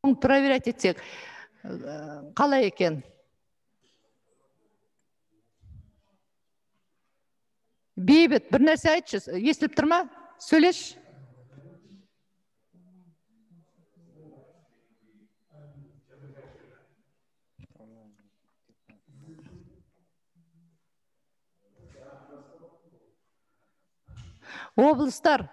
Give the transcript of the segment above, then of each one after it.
проверять етсек. Қалай екен? Бейбіт, бір нәрсе айтшы, естіліп тұр ма? Сөйлеш. Облыстар.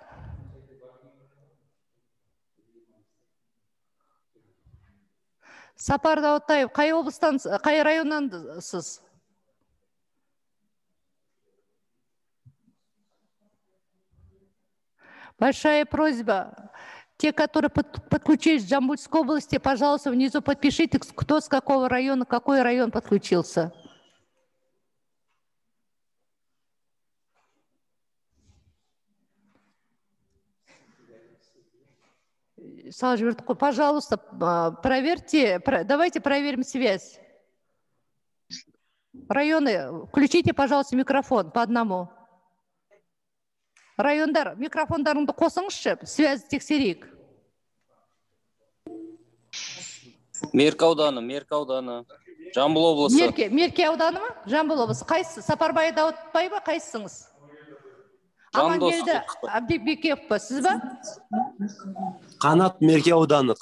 Сапар Даутаев, қай облыстан, қай районнан сіз? Большая просьба. Те, которые подключились в Жамбульской области, пожалуйста, внизу подпишите, кто с какого района, какой район подключился. Пожалуйста, проверьте, давайте проверим связь. Районы, включите, пожалуйста, микрофон по одному. Райондар, микрофондарыңды қосыңызшы, связь тексерейік. Меркі ауданы, Жамбыл облысы. Меркі ауданы ма? Жамбыл облысы. Қайсысы? Сапарбай Даутбай ба? Қайсысыңыз? Амангелді Абдибеков па? Сіз ба? Қанат Меркі ауданы.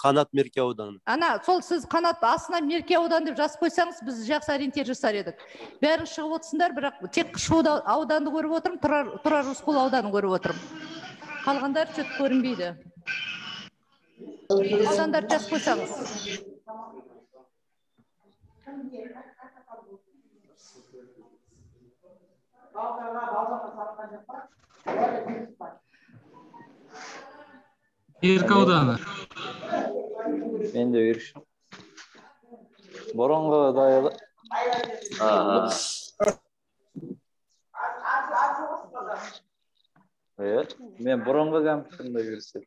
Ана, сол сіз Қанат астына Меркі ауданы деп жазып қойсаңыз, біз жақсы ориентир жасар едік. Бәрін шығып отырсыңдар, бірақ тек Шу ауданды көріп отырмын, Тұрар Рысқұл ауданын көріп отырмын. Қалғандар чөт көрінбейді. Аудандар жазып қойсаңыз. Меркі ауданы. Мен де берішім. Бұрынғы дайылы. Мен бұрынғы кәмпішімді берісіп.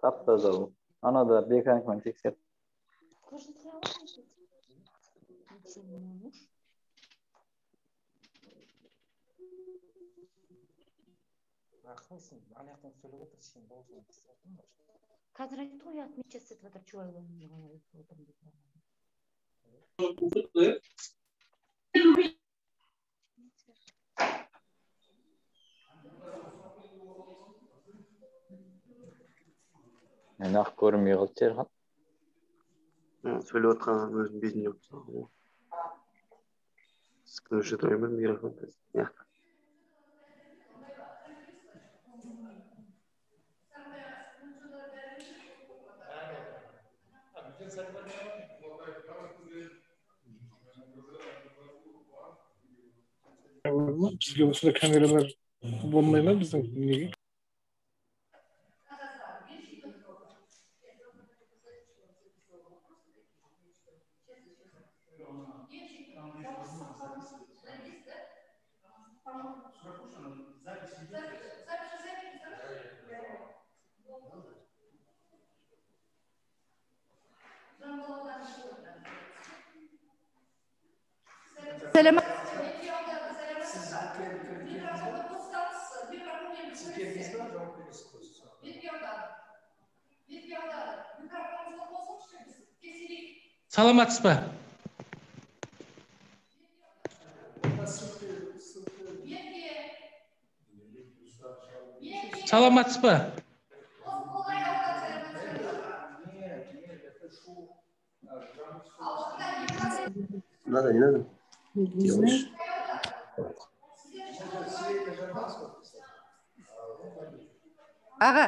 Тапта жау. Ана да беканкмен тексеп. Қазір айтты ғой, отмечать етіп отыр, чуайланып отырмын деп. Мен ақ көрмей қалды жерхан. Сөйлеп отқан өзім бетінде отырсың. Скажи, твой микрофон. Бізге осыда камералар болмай ма біздің неге? Сәлемат. Саламатсыз ба? Саламатсыз ба? Не надо. Делаешь. Аға.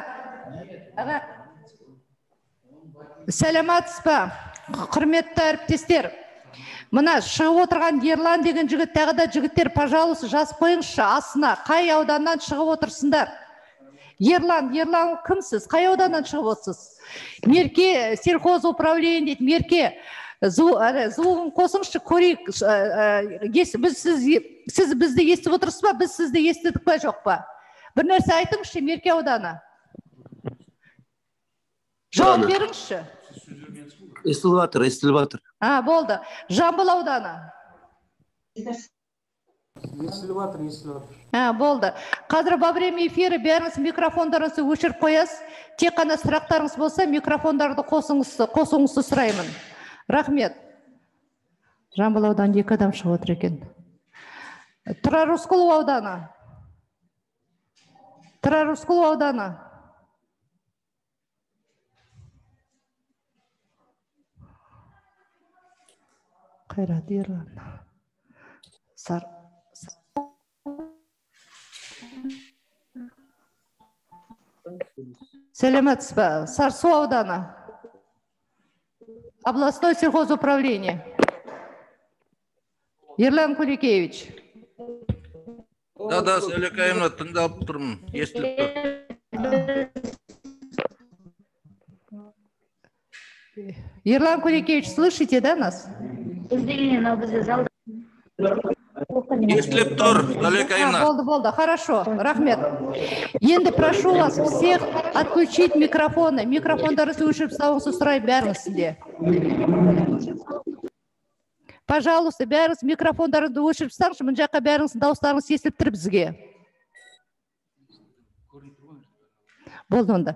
Сәлематсыз ба? Құрметті әріптестер. Мына шығып отырған Ерлан деген жігіт, тағы да жігіттер, пожалуйста, жазып қойыңызшы астына. Қай ауданнан шығып отырсыңдар? Ерлан кімсіз? Қай ауданнан шығып отырсыз? Мерке сельхоз управление дейді, Мерке. Звугын қосыңызшы, көрейік. Сіз бізді естіп отырсыз ба? Біз сізді естідік па, жоқ па? Бір нәрсе айтыңызшы, Мерке ауданы. Жауап беріңізші. Естіліп жатыр. Болды. Жамбыл ауданы. естіліп жатыр, естіліп жатыр. Болды. Қазір во время эфира бәріңіз микрофондарыңызды өшіріп қоясыз. Тек қана сұрақтарыңыз болса, микрофондарды қосуыңызды сұраймын. Рахмет. Жамбыл ауданы 2 адам шығып отыр екен. Тұрар Рысқұлов ауданы. Тұрар Рысқұлов ауданы. Қайрат Ерлан. Сәлеметсіз бе? Сарсу ауданы. Областной сельхозуправление. Ерлан Куликевич. Да, Сәлекаевна, тыңдап тұрмын. Естіліп тұр. Ерлан Куликевич, слышите, да, нас? Естіліп тұр, Сәлекаевна. Болды, хорошо, рахмет. Енді прошу вас всех отключить микрофоны. Микрофондарыңызды өшіріп тастауыңызды сұраймын бәріңіз сізде. Пожалуйста, бәріңіз микрофондарыңызды өшіріп тастаңызшы, мына жаққа бәріңіздің дауыстарыңыз естіліп тұр бізге. Болды онда.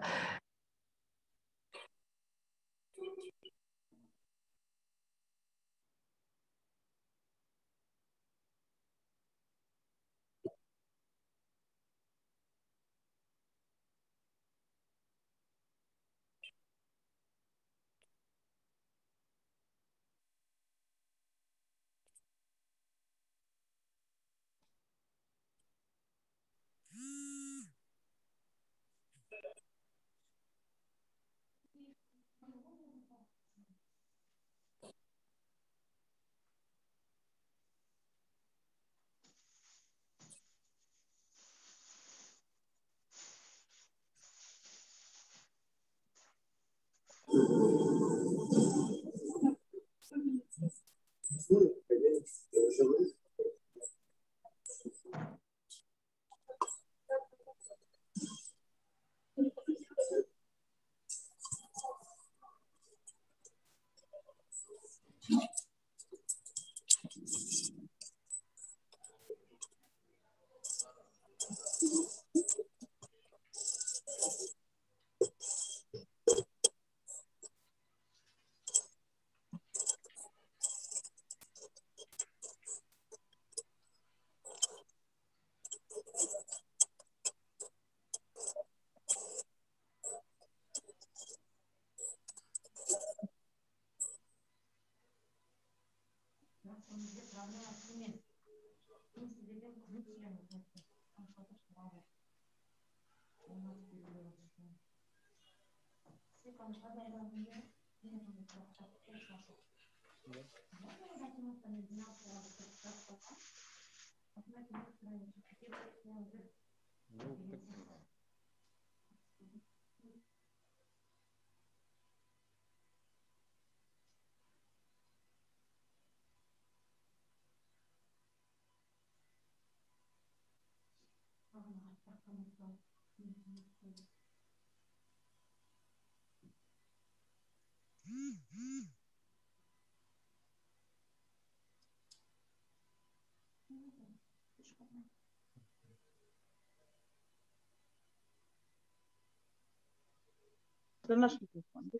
Это наш микрофон.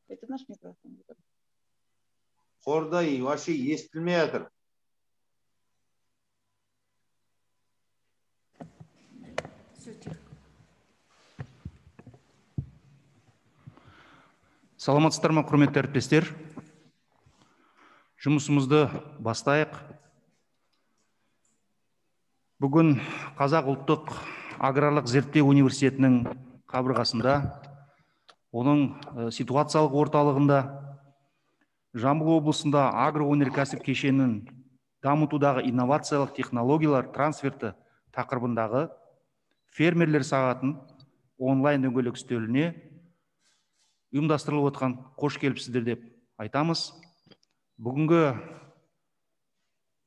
Это наш микрофон. Орда и вообще естілмей жатыр. Саламатсыздар ма, құрметті әріптестер? Жұмысымызды бастайық. Бүгін Қазақ ұлттық аграрлық зерттеу университетінің қабырғасында, оның ситуациялық орталығында, Жамбыл облысында агроөнеркәсіп кешенін дамытудағы инновациялық технологиялар трансферті тақырыбындағы фермерлер сағатын онлайн дөңгелек үстеліне ұйымдастырылып отқан қош келіпсіздер деп айтамыз. Бүгінгі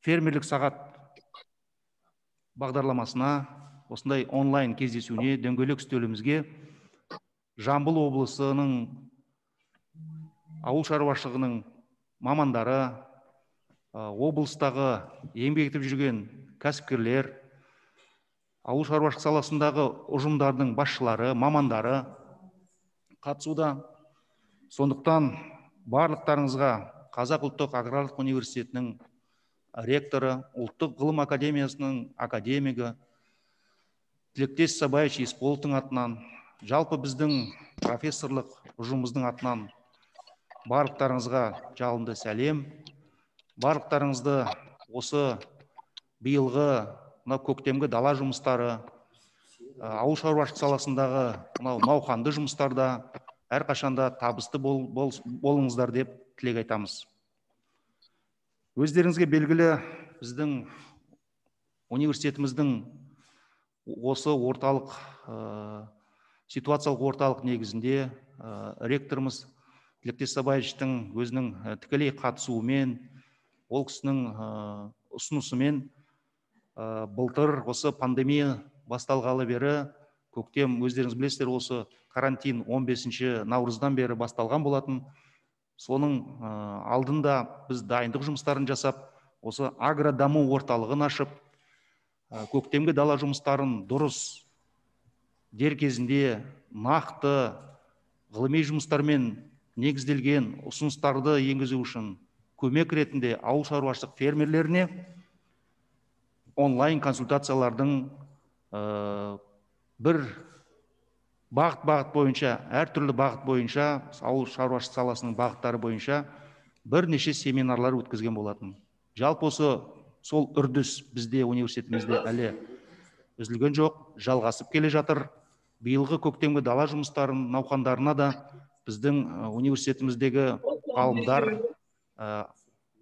фермерлік сағат бағдарламасына, осындай онлайн кездесуіне, дөңгелек үстелімізге Жамбыл облысының ауыл шаруашылығының мамандары, облыстағы еңбек етіп жүрген кәсіпкерлер, ауыл шаруашылық саласындағы ұжымдардың басшылары, мамандары қатысуда. Сондықтан барлықтарыңызға Қазақ ұлттық аграрлық университетінің ректоры, ұлттық ғылым академиясының академигі Тілектес Сабаевич Есполовтың атынан, жалпы біздің профессорлық ұжымымыздың атынан барлықтарыңызға жалынды сәлем. Барлықтарыңызды осы биылғы көктемгі дала жұмыстары, ауыл шаруашылық саласындағы науқанды жұмыстарда әрқашанда табысты болыңыздар деп тілек айтамыз. Өздеріңізге белгілі, біздің университетіміздің осы орталық, ситуациялық орталық негізінде ректорымыз Тілектес Сабаевичтің өзінің тікелей қатысуымен, ол кісінің ұсынысымен былтыр осы пандемия басталғалы бері, көктем, өздеріңіз білесіздер, осы карантин 15 наурыздан бері басталған болатын. Соның алдында біз дайындық жұмыстарын жасап, осы агродаму орталығын ашып, көктемгі дала жұмыстарын дұрыс, дер кезінде, нақты, ғылыми жұмыстармен негізделген ұсыныстарды енгізу үшін көмек ретінде ауыл шаруашылық фермерлеріне онлайн консультациялардың бір бағыт бойынша, әртүрлі бағыт бойынша, ауыл шаруашылық саласының бағыттары бойынша бірнеше семинарлар өткізген болатын. Жалпы осы сол үрдіс бізде университетімізде әлі үзілген жоқ, жалғасып келе жатыр. Биылғы көктемгі дала жұмыстарын науқандарына да біздің университетіміздегі ғалымдар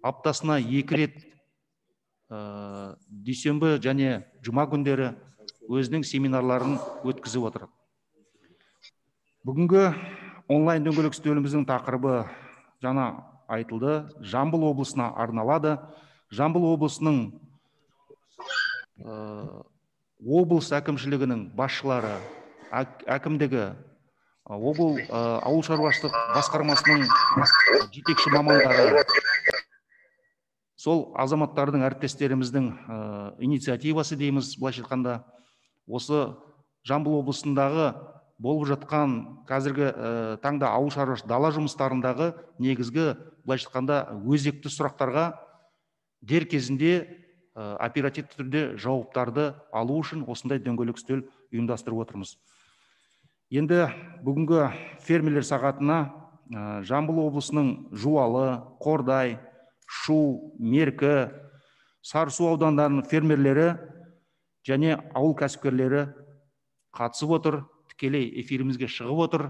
аптасына 2 рет дүйсенбі және жұма күндері өзінің семинарларын өткізіп отыр. Бүгінгі онлайн дөңгелек үстеліміздің тақырыбы жаңа айтылды, Жамбыл облысына арналады. Жамбыл облысының облыс әкімшілігінің басшылары, әкімдігі, ауыл шаруашылық басқармасының жетекші мамандары, сол азаматтардың, әріптестеріміздің инициативасы дейміз, былайша айтқанда, осы Жамбыл облысындағы болып жатқан қазіргі таңда ауыл шаруашылық дала жұмыстарындағы негізгі, былайша айтқанда, өзекті сұрақтарға дер кезінде оперативті түрде жауаптарды алу үшін осындай дөңгелек үстел ұйымдастырып отырмыз. Енді бүгінгі фермерлер сағатына Жамбыл облысының Жуалы, Қордай, Шу, Меркі, Сарысу аудандарының фермерлері және ауыл кәсіпкерлері қатысып отыр, тікелей эфирімізге шығып отыр.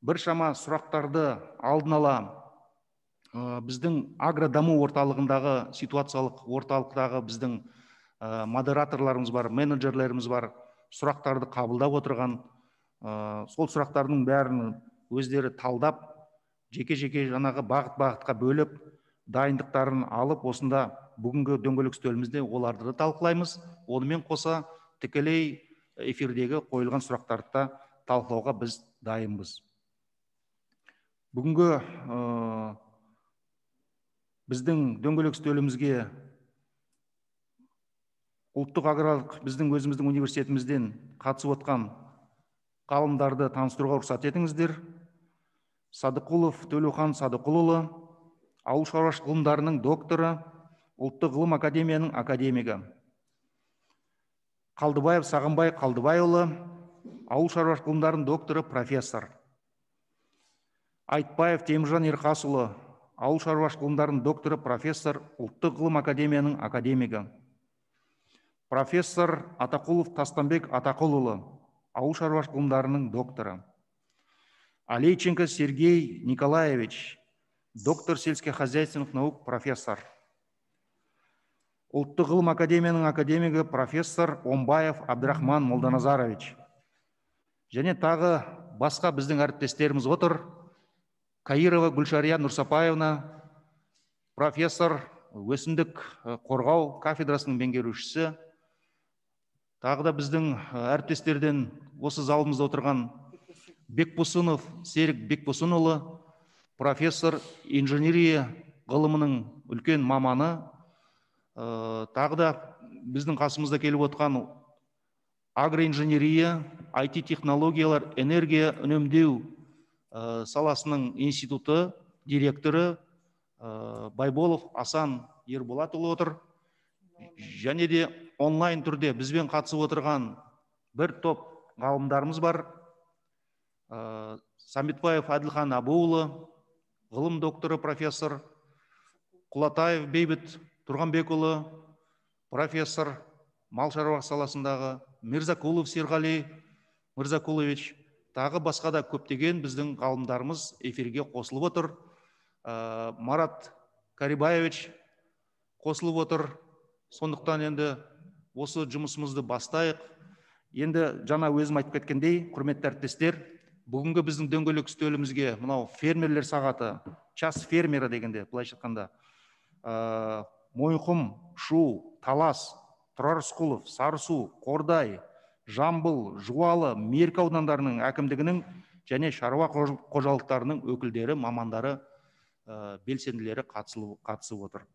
Біршама сұрақтарды алдын ала біздің агродаму орталығындағы, ситуациялық орталықтағы біздің модераторларымыз бар, менеджерлеріміз бар, сұрақтарды қабылдап отырған. Сол сұрақтардың бәрін өздері талдап, жеке-жеке жаңағы бағыт-бағытқа бөліп, дайындықтарын алып, осында бүгінгі дөңгелек үстелімізде оларды талқылаймыз. Онымен қоса тікелей эфирдегі қойылған сұрақтарды талқылауға біз дайынбыз. Бүгінгі біздің дөңгелек үстелімізге ұлттық аграрлық біздің өзіміздің университетімізден қатысып отқан ғалымдарды таныстыруға рұқсат етіңіздер. Садықұлов Төлеухан Садықұлұлы, ауыл шаруашылық ғылымдарының докторы, ұлттық ғылым академияның академигі. Қалдыбаев Сағынбай Қалдыбайұлы, ауыл шаруашылық ғылымдарының докторы, профессор. Айтбаев Теміржан Ерқасұлы, ауыл шаруашылық ғылымдарының докторы, профессор, ұлттық ғылым академияның академигі. Профессор Атақұлов Тастанбек Атақұлұлы, ауыл шаруашылық ғылымдарының докторы. Алейченко Сергей Николаевич, доктор сельскохозяйственных наук, профессор. Ұлттық ғылым академияның академигі, профессор Омбаев Абдрахман Молданазарович. Және тағы басқа біздің әріптестеріміз отыр. Каирова Гүлшария Нұрсапаевна, профессор, өсімдік қорғау кафедрасының меңгерушісі. Тағы да біздің әріптестерден осы залымызда отырған Бекбосынов Серік Бекбосынұлы, профессор, инженерия ғылымының үлкен маманы. Тағы да біздің қасымызда келіп отқан агроинженерия, IT технологиялар, энергия үнемдеу саласының институты директоры Байболов Асан Ерболатұлы отыр. Және де онлайн түрде бізбен қатысып отырған бір топ ғалымдарымыз бар. Самбетбаев Әділхан Абуұлы, ғылым докторы профессор, Құлатаев Бейбіт Тұрғанбекұлы, профессор, мал шаруашылығы саласындағы, Мирзакулов Серғали Мырзакулович, тағы басқа да көптеген біздің ғалымдарымыз эфирге қосылып отыр. Марат Карибаевич қосылып отыр. Сондықтан енді осы жұмысымызды бастайық. Енді жаңа өзім айтып кеткендей, құрметті әріптестер, бүгінгі біздің дөңгелек үстелімізге мынау фермерлер сағаты, час фермері дегенде, былайша айтқанда, Мойынқұм, Шу, Талас, Тұрар Рысқұлов, Сарысу, Қордай, Жамбыл, Жуалы, Меркі аудандарының әкімдігінің және шаруа қожалықтарының өкілдері, мамандары, белсенділері қатысып отыр.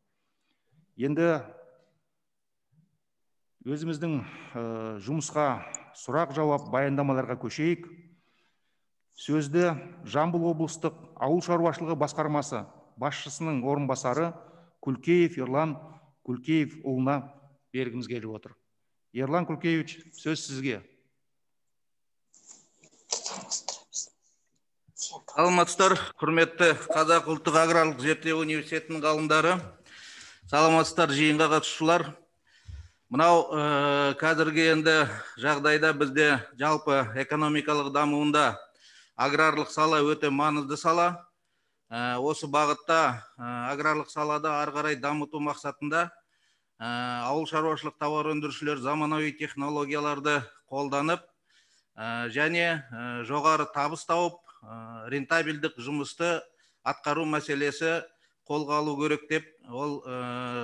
Енді өзіміздің жұмысқа сұрақ жауап баяндамаларға көшейік. Сөзді Жамбыл облыстық ауыл шаруашылығы басқармасы басшысының орынбасары Күлкеев Ерлан Күлкеев ұлына бергіміз келіп отыр. Ерлан Күлкеевич, сөз сізге. Саламатсыздар, құрметті Қазақ ұлттық аграрлық зерттеу университетінің ғалымдары, саламатсыздар, жиынға қатысушылар. Мынау қазіргі енді жағдайда бізде жалпы экономикалық дамуында аграрлық сала өте маңызды сала. Осы бағытта аграрлық салада ары қарай дамыту мақсатында ауыл шаруашылық тауар өндірушілер заманауи технологияларды қолданып және жоғары табыс тауып рентабелдік жұмысты атқару мәселесі қолға алу керек деп ол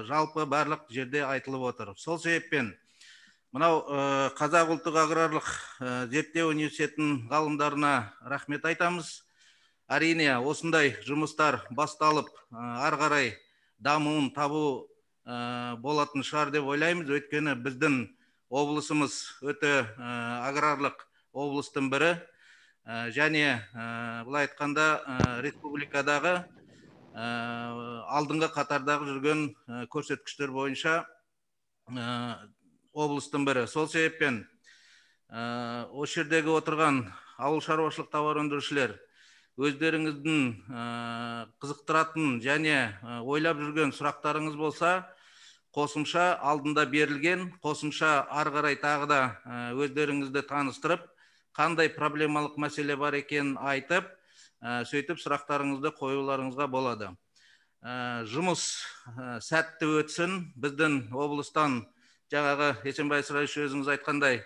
жалпы барлық жерде айтылып отыр. Сол себеппен мынау Қазақ ұлттық аграрлық зерттеу университетінің ғалымдарына рахмет айтамыз. Әрине, осындай жұмыстар басталып, ары қарай дамуын табу болатын шығар деп ойлаймыз. Өйткені біздің облысымыз өте аграрлық облыстың бірі. Және бұлай айтқанда республикадағы алдыңғы қатардағы жүрген көрсеткіштер бойынша облыстың бірі. Сол себеппен осы жердегі отырған ауыл шаруашылық тауар өндірушілер өздеріңіздің қызықтыратын және ойлап жүрген сұрақтарыңыз болса, қосымша алдында берілген, қосымша ары қарай тағы да өздеріңізді таныстырып, қандай проблемалық мәселе бар екенін айтып, сөйтіп сұрақтарыңызды қоюларыңызға болады. Жұмыс сәтті өтсін. Біздің облыстан жаңағы Есенбай Сырайш өзіңіз айтқандай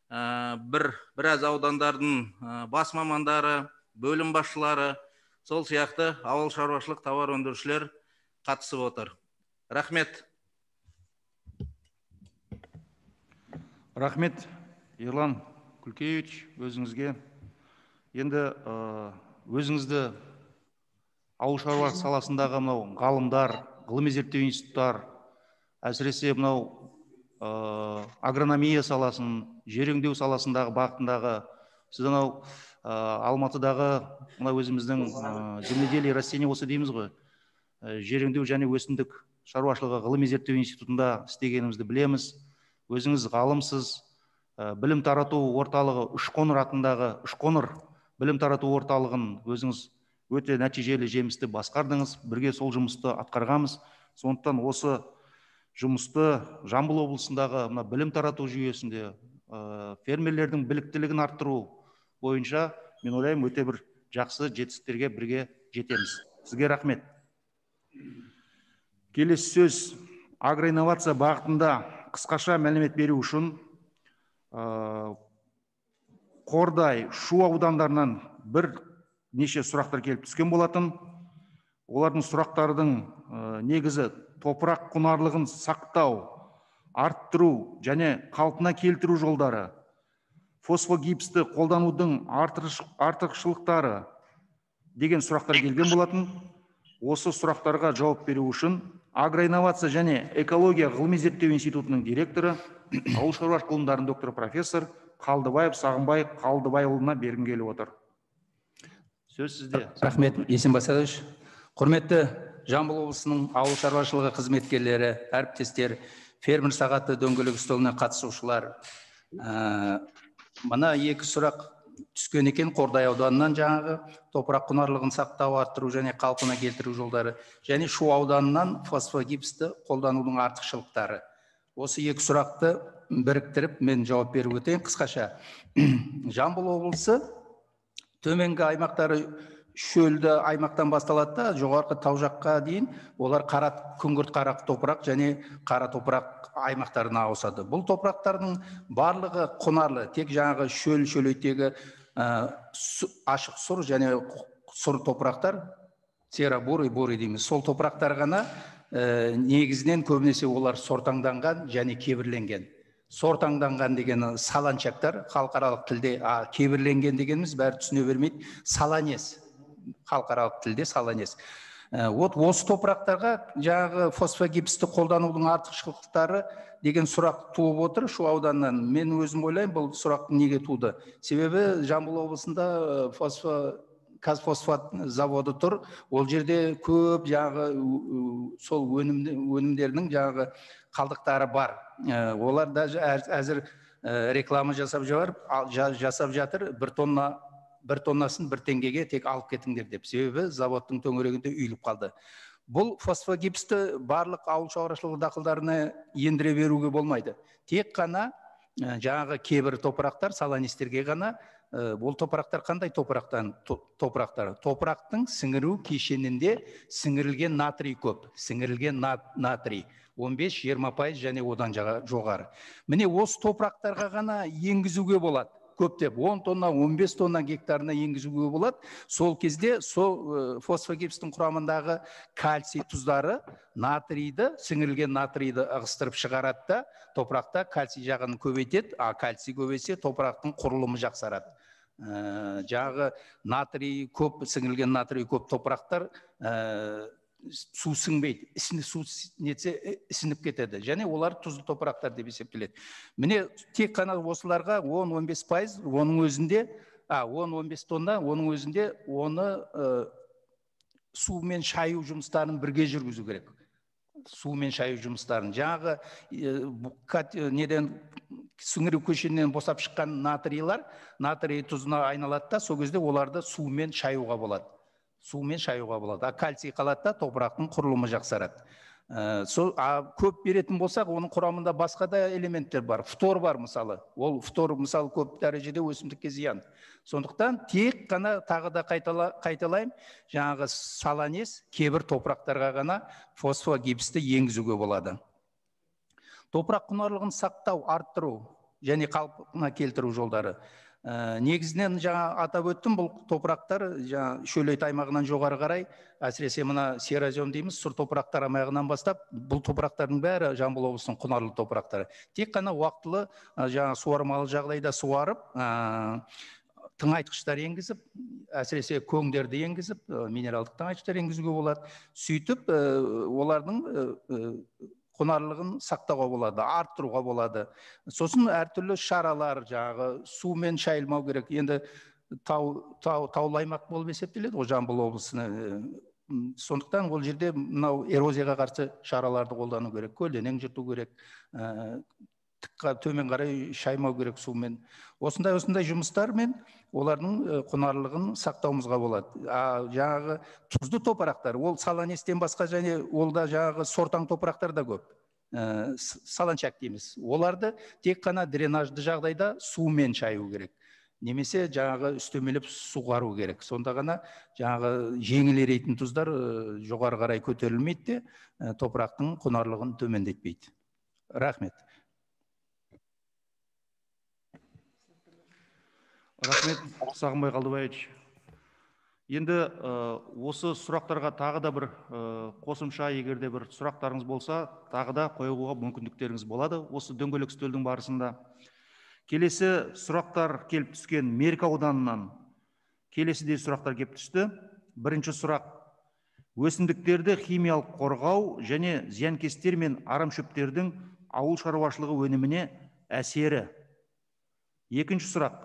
біраз аудандардың бас мамандары, бөлім басшылары, сол сияқты ауыл шаруашылық тауар өндірушілер қатысып отыр. Рахмет. Рахмет, Ерлан Күлкеевич, өзіңізге. Енді өзіңізді ауыл шаруашылық саласындағы мынау ғалымдар, ғылыми зерттеу институттар, әсіресе мынау агрономия саласын, жер өңдеу саласындағы бағытындағы, сіз анау Алматыдағы өзіміздің земледелие растениеводство дейміз ғой, жер өңдеу және өсімдік шаруашылығы ғылыми зерттеу институтында істегенімізді білеміз. Өзіңіз ғалымсыз, білім тарату орталығы Үшқоңыр атындағы Үшқоңыр білім тарату орталығын өзіңіз өте нәтижелі жемісті басқардыңыз, бірге сол жұмысты атқарғанбыз. Сондықтан осы жұмысты Жамбыл облысындағы білім тарату жүйесінде фермерлердің біліктілігін арттыру бойынша, мен ойлаймын, өте бір жақсы жетістіктерге бірге жетеміз. Сізге рахмет. Келесі сөз агроинновация бағытында қысқаша мәлімет беру үшін Қордай, Шу аудандарынан бір неше сұрақтар келіп түскен болатын. Олардың сұрақтардың негізі топырақ құнарлығын сақтау, арттыру және қалпына келтіру жолдары, фосфогипсті қолданудың артықшылықтары деген сұрақтар келген болатын. Осы сұрақтарға жауап беру үшін агроинновация және экология ғылыми зерттеу институтының директоры, ауыл шаруашылық ғылымдарының докторы профессор Қалдыбаев Сағынбай Қалдыбайұлына бергім келіп отыр. Сөз сізде. Рахмет, Есенбай Садович. Құрметті Жамбыл облысының ауыл шаруашылығы қызметкерлері, әріптестер, фермер сағаты дөңгелек үстеліне қатысушылар. Мына екі сұрақ түскен екен. Қордай ауданынан жаңағы топырақ құнарлығын сақтау, арттыру және қалпына келтіру жолдары, және Шу ауданынан фосфогипсті қолданудың артықшылықтары. Осы екі сұрақты біріктіріп мен жауап беріп өтейін қысқаша. Жамбыл облысы төменгі аймақтары шөлді аймақтан басталады да, жоғарғы тау жаққа дейін олар күңгірт қара топырақ және қара топырақ аймақтарына ауысады. Бұл топырақтардың барлығы құнарлы, тек жаңағы шөлейтегі ашық сұр және сұр топырақтар, серо-бурый, бурый дейміз. Сол топырақтар ғана негізінен көбінесе олар сортаңданған және кебірленген. Сортаңданған деген саланчактар, халықаралық тілде, кебірленген дегеніміз бәрі түсіне бермейді, саланес, халықаралық тілде саланес. Осы топырақтарға жаңағы фосфогипсті қолданудың артықшылықтары деген сұрақ туып отыр Шу ауданынан. Мен өзім ойлаймын, бұл сұрақ неге туды? Себебі Жамбыл облысында Казфосфат заводы тұр. Ол жерде көп жаңағы сол өнімдерінің жаңағы қалдықтары бар. Олар да әзір реклама жасап жатыр, бір тоннасын 1 теңгеге тек алып кетіңдер деп. Себебі заводтың төңірегінде үйіліп қалды. Бұл фосфогипсті барлық ауыл шаруашылығы дақылдарына ендіре беруге болмайды. Тек қана жаңағы кейбір топырақтар, саланистерге ғана. Бұл топырақтар қандай топырақтар? Топырақтың сіңіру кешенінде сіңірілген натрий көп. Сіңірілген натрий 15-20% және одан жоғары. Міне осы топырақтарға ғана енгізуге болады. Көптеп 10 тонна, 15 тонна гектарына енгізуге болады. Сол кезде сол фосфогипстің құрамындағы кальций тұздары натрийді, сіңірілген натрийді ығыстырып шығарады да, топырақта кальций жағын көбейтеді, кальций көбейсе топырақтың құрылымы жақсарады. Жағы натрий көп, сіңірілген натрий көп топырақтар су сіңбейді, су нетсе ісініп кетеді, және олар тұзды топырақтар деп есептеледі. Міне тек қана осыларға 10-15%, оның өзінде 10-15 тонна, оның өзінде оны сумен шаю жұмыстарын бірге жүргізу керек. Сумен шаю жұмыстарын. Жаңағы неден сіңіру көшенінен босап шыққан натрийлар, натрий тұзына айналады да, сол кезде оларды сумен шаюға болады. Сумен шаюға болады. Кальций қалады да, топырақтың құрылымы жақсарады. Көп беретін болсақ, оның құрамында басқа да элементтер бар. Фтор бар мысалы. Ол фтор мысалы көп дәрежеде өсімдікке зиян. Сондықтан тек қана тағы да қайталайым, жаңағы саланес кейбір топырақтарға ғана фосфогипсті енгізуге болады. Топырақ құнарлығын сақтау, арттыру және қалпына келтіру жолдары. Негізінен жаңа атап өттім, бұл топырақтар шөлейт аймағынан жоғары қарай, әсіресе мына серозем дейміз, сұр топырақтар аймағынан бастап, бұл топырақтардың бәрі Жамбыл облысының құнарлы топырақтары. Тек қана уақытылы суармалы жағдайда суарып, тыңайтқыштар енгізіп, әсіресе көңдерді енгізіп, минералдық тыңайтқыштар енгізуге болады. Сөйтіп, олардың құнарлығын сақтауға болады, арттыруға болады. Сосын әртүрлі шаралар, жаңағы сумен шайылмау керек. Енді таулы аймақ болып есептеледі, ол Жамбыл облысына. Сондықтан ол жерде мынау эрозияға қарсы шараларды қолдану керек, көлденең жырту керек, төмен қарай шаймау керек сумен. Осындай жұмыстармен олардың құнарлығын сақтауымызға болады. Жаңағы тұзды топырақтар, ол саланестен басқа және ол да жаңағы сортаң топырақтар да көп. Саланчак дейміз. Оларды тек қана дренажды жағдайда сумен шаю керек. Немесе жаңағы үстемелеп суғару керек. Сонда ғана жаңағы жеңіл еритін тұздар жоғары қарай көтерілмейді де, топырақтың құнарлығын төмендетпейді. Рахмет. Рахмет, Сағынбай Қалдыбаевич. Енді осы сұрақтарға тағы да бір қосымша, егерде бір сұрақтарыңыз болса, тағы да қоюға мүмкіндіктеріңіз болады осы дөңгелек үстелдің барысында. Келесі сұрақтар келіп түскен Меркі ауданынан келесідей сұрақтар келіп түсті. Бірінші сұрақ: өсімдіктерді химиялық қорғау және зиянкестер мен арамшөптердің ауыл шаруашылығы өніміне әсері. Екінші сұрақ.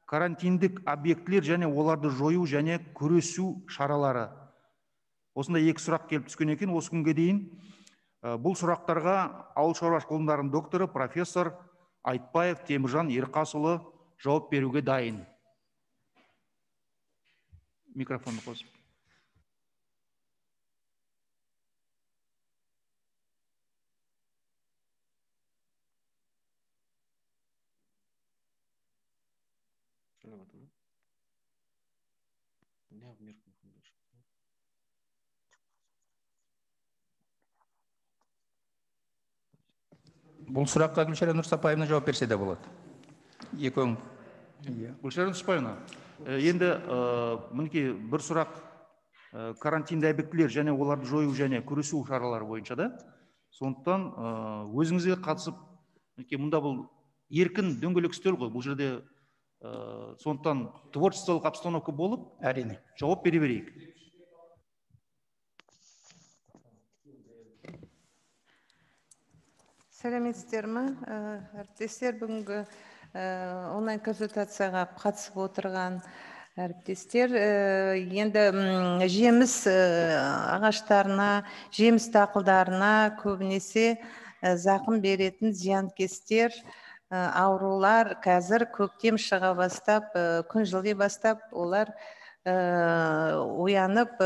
Карантиндік объектілер және оларды жою және күресу шаралары. Осында екі сұрақ келіп түскен екен осы күнге дейін. Бұл сұрақтарға ауыл шаруашылық ғылымдарының докторы профессор Айтбаев Теміржан Ерқасұлы жауап беруге дайын. Микрофонды қосып. Бұл сұраққа Гүлшара Нұрсапаевна жауап берсе де болады. Екеуің. Гүлшара Нұрсапаевна, енді мінекей бір сұрақ карантинді объектілер және оларды жою және күресу шаралары бойынша да. Сондықтан өзіңізге қатысып, мұнда бұл еркін дөңгелек үстел ғой, бұл жерде сондықтан творчестволық обстановка болып, әрине, жауап бере берейік. Сәлеметсіздер ме? Әріптестер, бүгінгі онлайн консультацияға қатысып отырған әріптестер, енді жеміс ағаштарына, жеміс дақылдарына көбінесе зақым беретін зиянкестер, аурулар қазір көктем шыға бастап, күн жыли бастап, олар оянып,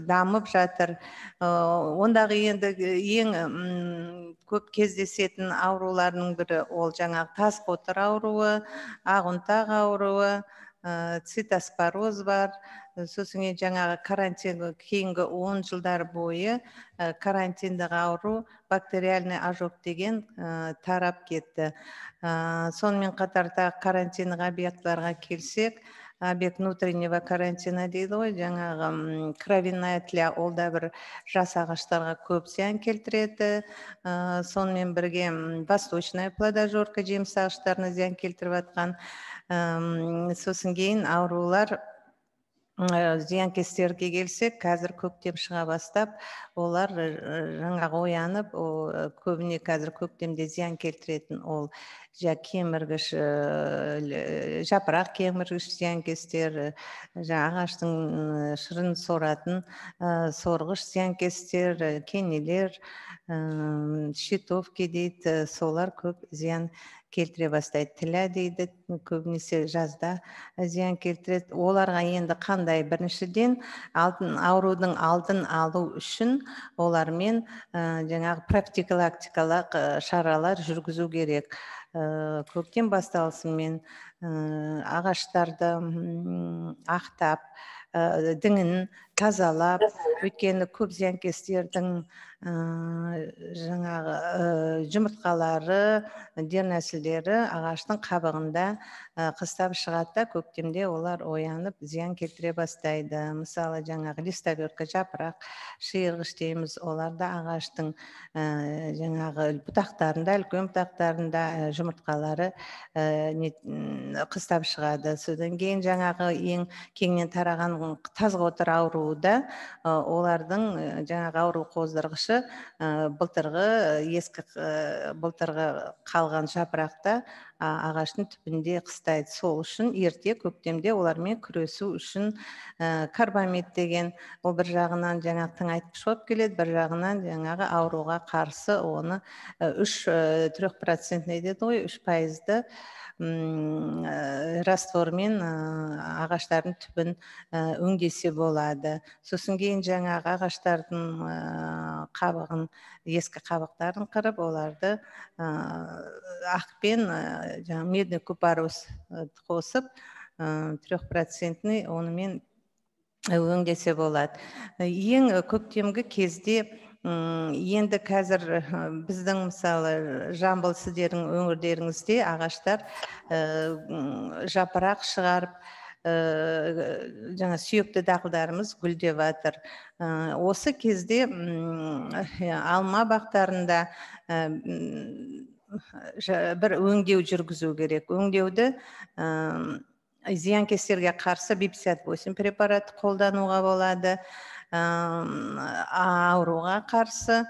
дамып жатыр. Ондағы енді ең көп кездесетін ауруларының бірі ол жаңағы тас қотыр ауруы, ағынтақ ауруы, цитоспороз бар. Сосын жаңағы карантин кейінгі 10 жылдар бойы карантиндік ауру бактериальный ожог деген тарап кетті. Сонымен қатарда карантиндік объектларға келсек, объект внутреннего карантина дейді ғой, жаңағы кровяная тля, ол да бір жас ағаштарға көп зиян келтіреді. Сонымен бірге восточная плодожорка жеміс ағаштарына зиян келтіріп атқан. Сосын кейін аурулар зиянкестерге келсек, қазір көктем шыға бастап, олар жаңағы оянып, көбіне қазір көктемде зиян келтіретін ол кеміргіш, жапырақ кеміргіш зиянкестер, ағаштың шырын соратын сорғыш зиянкестер, кенелер, щитовки дейді, солар көп зиян келтіре бастайды. Тілә дейді, көбінесе жазда зиян келтіреді. Оларға енді қандай? Біріншіден, аурудың алдын алу үшін олармен жаңағы профилактикалық шаралар жүргізу керек. Көктем басталысымен ағаштарды ақтап, діңін тазалап, өйткені көп зиянкестердің жаңағы жұмыртқалары, дернәсілдері ағаштың қабығында қыстап шығады, көктемде олар оянып зиян келтіре бастайды. Мысалы, жаңағы листоверка, жапырақ, шиырғыш дейміз, оларда ағаштың жаңағы бұтақтарында, үлкен бұтақтарында жұмыртқалары қыстап шығады. Содан кейін жаңағы ең кеңінен тараған тазғотыр ауруы да, олардың жаңағы ауру қоздырғышы былтырғы қалған жапырақта ағаштың түбінде қыстайды. Сол үшін ерте көктемде олармен күресу үшін карбамид деген, ол бір жағынан жаңағы тыңайтқыш болып келеді, бір жағынан жаңағы ауруға қарсы оны 3% деді ғой, 3% раствормен ағаштардың түбін өңдесе болады. Сосын кейін жаңағы ағаштардың қабығын, ескі қабықтарын қырып, оларды ақпен медный купорос қосып, 3% онымен өңдесе болады. Ең көктемгі кезде енді қазір біздің мысалы Жамбыл сіздердің өңірлеріңізде ағаштар жапырақ шығарып, жаңа сүйекті дақылдарымыз гүлдеп жатыр. Осы кезде алма бақтарында бір өңдеу жүргізу керек. Өңдеуді зиянкестерге қарсы B58 препарат қолдануға болады. ауруға қарсы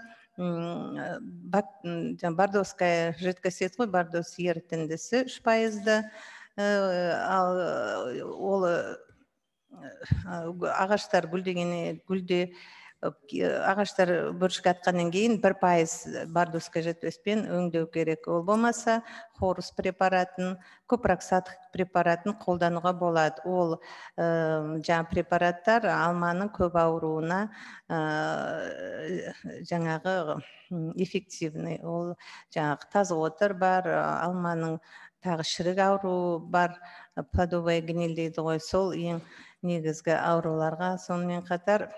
бардовская жидкость ғой, бардос ерітіндісі 3%-ды, ол ағаштар ағаштар бүршік атқаннан кейін 1% бардовская жидкостьпен өңдеу керек. Ол болмаса хорус препаратын, копроксат препаратын қолдануға болады. Ол жаңа препараттар алманың көп ауруына жаңағы эффективный. Ол жаңағы тазғотыр бар, алманың тағы шірік ауру бар, плодовая гниль дейді ғой, сол ең негізгі ауруларға. Сонымен қатар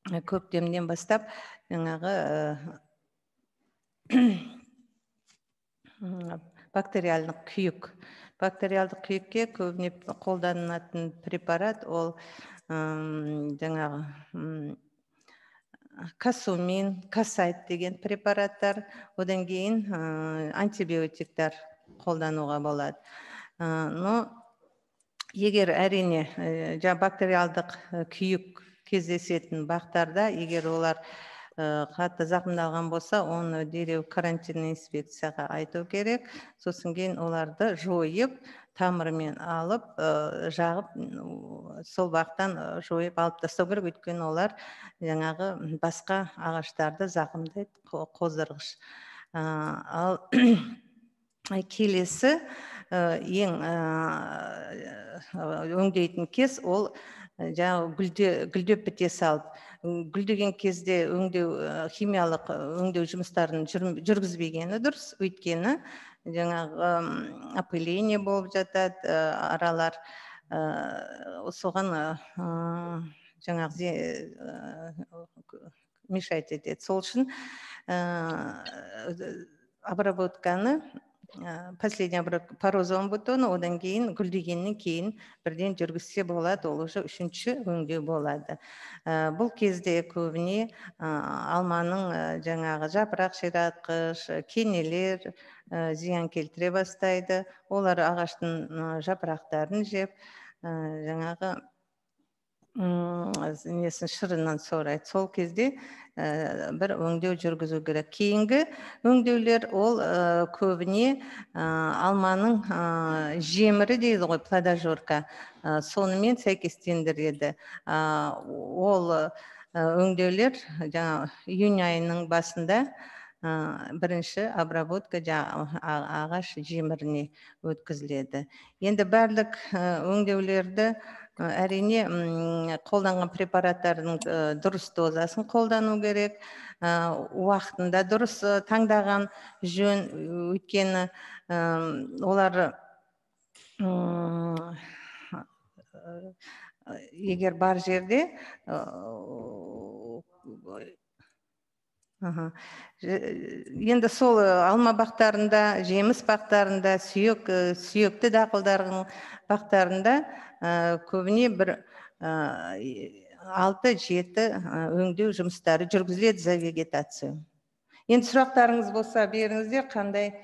көктемнен бастап жаңағы бактериалдық күйікке көбіне қолданылатын препарат ол жаңағы касумин, касайт деген препараттар, одан кейін антибиотиктар қолдануға болады. Но егер әрине бактериалдық күйік кездесетін бақтарда, егер олар қатты зақымдалған болса, оны дереу карантинный инспекцияға айту керек. Сосын кейін оларды жойып, тамырымен алып, жағып, сол бақтан жойып алып тастау керек, өйткені олар жаңағы басқа ағаштарды зақымдайды, қоздырғыш. Ал келесі ең өңдейтін кез ол гүлдеп біте салып. Гүлдеген кезде химиялық өңдеу жұмыстарын жүргізбегені дұрыс, өйткені жаңағы опыление болып жатады, аралар соған жаңағы мешать етеді. Сол үшін обработканы последний порозовым бутоны, одан кейін гүлдегеннен кейін бірден жүргізсе болады, ол уже үшінші өңдеу болады. Бұл кезде көбіне алманың жаңағы жапырақ ширатқыш, кенелер зиян келтіре бастайды. Олар ағаштың жапырақтарын жеп, жаңағы несін шырынан сорайды. Сол кезде бір өңдеу жүргізу керек. Кейінгі өңдеулер ол көбіне алманың жемірі дейді ғой, плодожорка, сонымен сәйкестендіреді. Ол өңдеулер июнь айының басында бірінші обработка ағаш жеміріне өткізіледі. Енді барлық өңдеулерді әрине қолданған препараттардың дұрыс дозасын қолдану керек, уақытында дұрыс таңдаған жөн, өйткені олар егер бар жерде енді сол алма бақтарында, жеміс бақтарында, сүйекті дақылдардың бақтарында көбіне бір 6-7 өңдеу жұмыстары жүргізіледі за вегетацию. Енді сұрақтарыңыз болса беріңіздер, қандай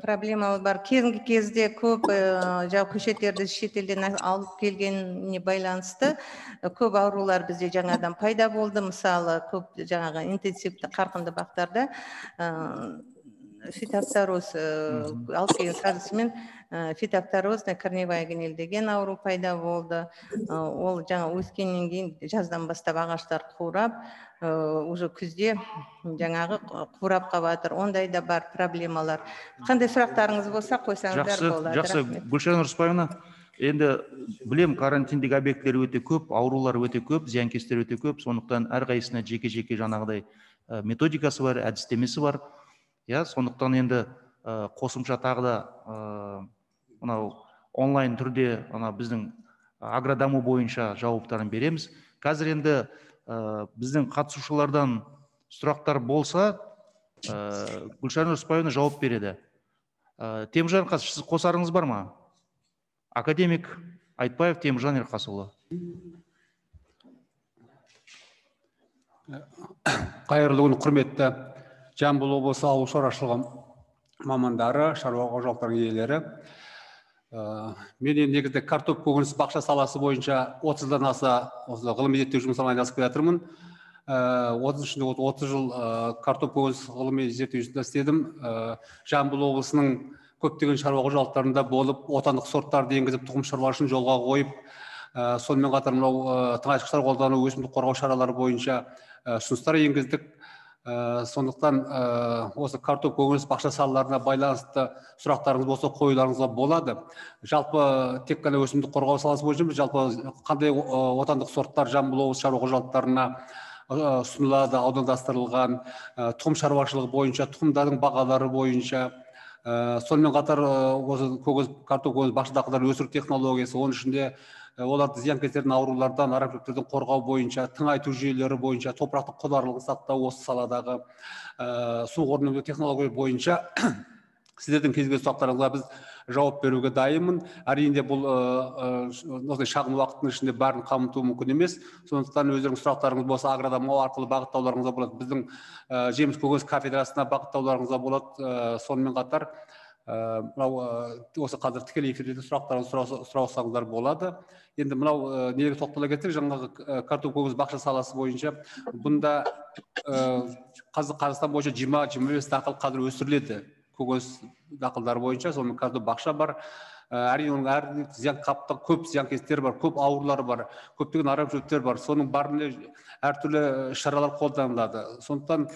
проблемалы бар. Кезінгі кезде көп көшеттерді шетелден алып келгеніне байланысты көп аурулар бізде жаңадан пайда болды. Мысалы, көп жаңағы интенсивті қарқынды бақтарда фитофтороз алып келген сазысымен фитофторозная корневая гниль деген ауру пайда болды. Ол жаңа өскеннен кейін жаздан бастап ағаштар қурап, уже күзде жаңағы қурап қалып. Ондай да бар проблемалар. Қандай сұрақтарыңыз болса қойсаңыздар болады. Жақсы, Гүлшара Нұрсыпаевна, енді білем, карантиндік объекттер өте көп, аурулар өте көп, зиянкестер өте көп, сондықтан әрқайсысына жеке-жеке жаңағыдай методикасы бар, әдістемесі бар. Сондықтан енді қосымша тағы да онлайн түрде біздің агродаму бойынша жауаптарын береміз. Қазір енді біздің қатысушылардан сұрақтар болса, Гүлшара Нұрсыпаевна жауап береді. Теміржан Ерқасов, сіз қосарыңыз бар ма? Академик Айтбаев Теміржан Ерқасұлы. Қайырлы күн, құрметті Жамбыл облысы ауыл шаруашылығы мамандары, шаруа қожалықтарының иелері. Мен негізде картоп көкөніс бақша саласы бойынша 30-дан аса осы ғылыми зерттеу жұмысымен айналысып келатырмын. 30 жыл картоп көкөніс ғылыми зерттеу жұмысында істедім. Жамбыл облысының көптеген шаруа қожалықтарында болып, отандық сорттарды енгізіп, тұқым шаруашылығын жолға қойып, сонымен қатар мынау тыңайтқыштар қолдану, өсімдік қорғау шаралары бойынша ұсыныстар енгіздік. Сондықтан осы картоп көкөніс бақша салаларына байланысты сұрақтарыңыз болса қоюларыңызға болады. Жалпы тек қана өсімдік қорғау саласы бойынша жалпы қандай отандық сорттар Жамбыл облысы шаруа қожалықтарына ұсынылады, аудандастырылған, тұқым шаруашылығы бойынша, тұқымдардың бағалары бойынша, сонымен қатар осы картоп көкөніс бақша дақылдарын өсіру технологиясы, оның ішінде оларды зиянкестердің аурулардан, арамшөптерден қорғау бойынша, тыңайту жүйелері бойынша, топырақтың құнарлығын сақтау осы саладағы су қорын өңдеу технология бойынша сіздердің кез келген сұрақтарыңызға біз жауап беруге дайынмын. Әрине бұл осындай шағын уақыттың ішінде бәрін қамту мүмкін емес. Сондықтан өздеріңіз сұрақтарыңыз болса агродамау арқылы бағыттауларыңызға болады. Біздің жеміс көкөніс кафедрасына бағыттауларыңызға болады. Сонымен қатар осы қазір тікелей эфирде сұрақтарыңызды сұрасаңыздар болады. Енді мынау неге тоқтала кетсек, жаңағы картоп көкөніс бақша саласы бойынша бұнда Қазақстан бойынша 20-25 дақыл қазір өсіріледі. Көкөніс дақылдары бойынша, сонымен картоп бақша бар. Әрине оның әр зиян қаптың көп зиянкестері бар, көп аурулары бар, көптеген арамшөптер бар. Соның бәріне әртүрлі шаралар қолданылады. Сондықтан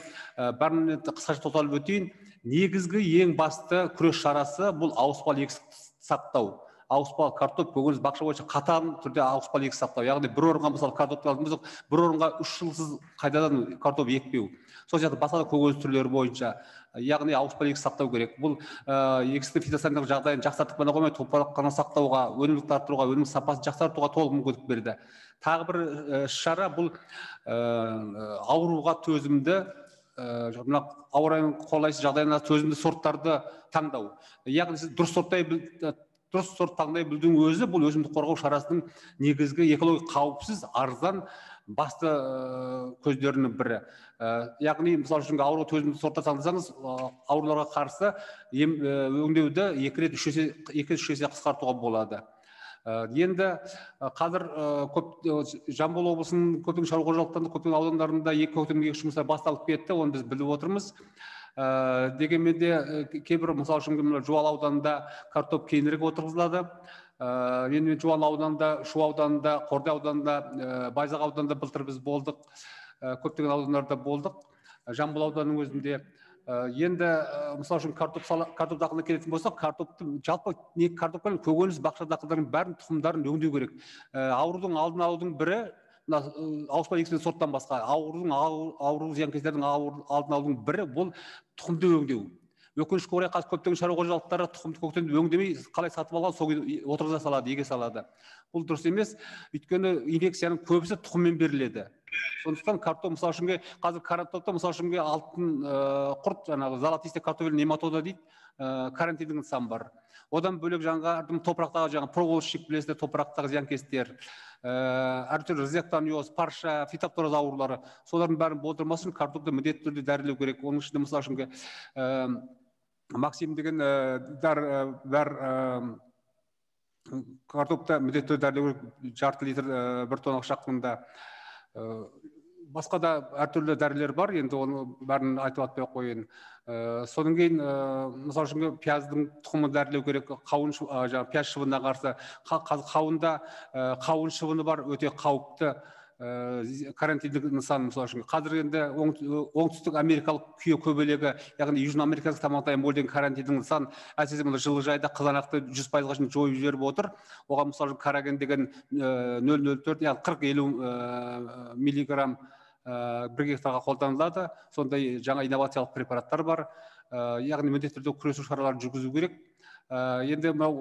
бәріне қысқаша тоқталып өтейін. Негізгі ең басты күрес шарасы бұл ауыспалы егістік сақтау. Ауыспалы картоп көкөніс бақша бойынша қатаң түрде ауыспалы егістік сақтау. Яғни бір орынға мысалы картопты алдым болсақ, бір орынға 3 жылсыз қайтадан картоп екпеу. Сол сияқты басқа да көкөніс түрлері бойынша, яғни ауыспалы егістік сақтау керек. Бұл егістіктің фитосанитарлық жағдайын жақсартып қана қоймай, топырақ сақтауға, өнімділікті арттыруға, өнім сапасын жақсартуға толық мүмкіндік берді. Тағы бір шара бұл ауруға төзімді, ауа райының қолайсыз жағдайына төзімді сорттарды таңдау. Яғни сіз дұрыс сорт таңдай білудің өзі бұл өсімдік қорғау шарасының негізгі экологиялық қауіпсіз, арзан басты көздерінің бірі. Яғни мысалы үшін ауруға төзімді сорттар таңдасаңыз, ауруларға қарсы өңдеуді 2-3 есе қысқартуға болады. Енді қазір Жамбыл облысының көптеген шаруа қожалықтарында, көптеген аудандарында көктемгі егіс жұмыстары басталып кетті, оны біз біліп отырмыз. Дегенмен де кейбір мысалы үшін Жуалы ауданында картоп кейінірек отырғызылады. Енді Жуалы ауданында, Шу ауданында, Қордай ауданында, Байзақ ауданында былтыр біз болдық, көптеген аудандарда болдық. Жамбыл ауданының өзінде енді мысалы үшін картоп дақылына келетін болсақ, картопты жалпы картоппен көкөніс бақша дақылдарының бәрін тұқымдарын өңдеу керек. Аурудың алдын алудың бірі ауыспалы егістік сорттан басқа ауру зиянкестердің алдын алудың бірі бұл тұқымды өңдеу. Өкінішке орай қазір көптеген шаруа қожалықтары тұқымды көктемді өңдемей қалай сатып алған сол отырғыза салады, еге салады. Бұл дұрыс емес, өйткені инфекцияның көбісі тұқыммен беріледі. Сондықтан картоп мысалы үшін қазір картопта мысалы үшін алтын құрт, жаңағы золотистый картофель нематода дейді, карантиндің нысан бар. Одан бөлек жаңағы топырақтағы проволочник білесіздер, топырақтағы зиянкестер, әртүрлі ризектаниоз, парша, фитофтороз аурулары, солардың бәрін болдырмас үшін картопты міндетті түрде дәрілеу керек. Оның ішінде мысалы үшін Максим деген картопта міндетті түрде дәрілеу керек, жарты литр 1 тонна шаққанда. Басқа да әртүрлі дәрілер бар, енді оны бәрін айтып атпай қойын. Содан кейін мысалы үшін пияздың тұқымын дәрілеу керек, пияз шыбынына қарсы. Қауында қауын шыбыны бар, өте қауіпті карантиндік нысан. Мысалы үшін қазір енді оңтүстік америкалық күйе көбелегі, яғни Южно америкалық тамақтайын бол деген карантиндік нысан әсіресе жылыжайда қызанақты 100%-ға шейін жойып жіберіп отыр. Оған мысалы караген деген 0,04, яғни 40-50 миллиграмм 1 гектарға қолданылады. Сондай жаңа инновациялық препараттар бар. Яғни міндетті түрде күресу шараларын жүргізу керек. Енді мынау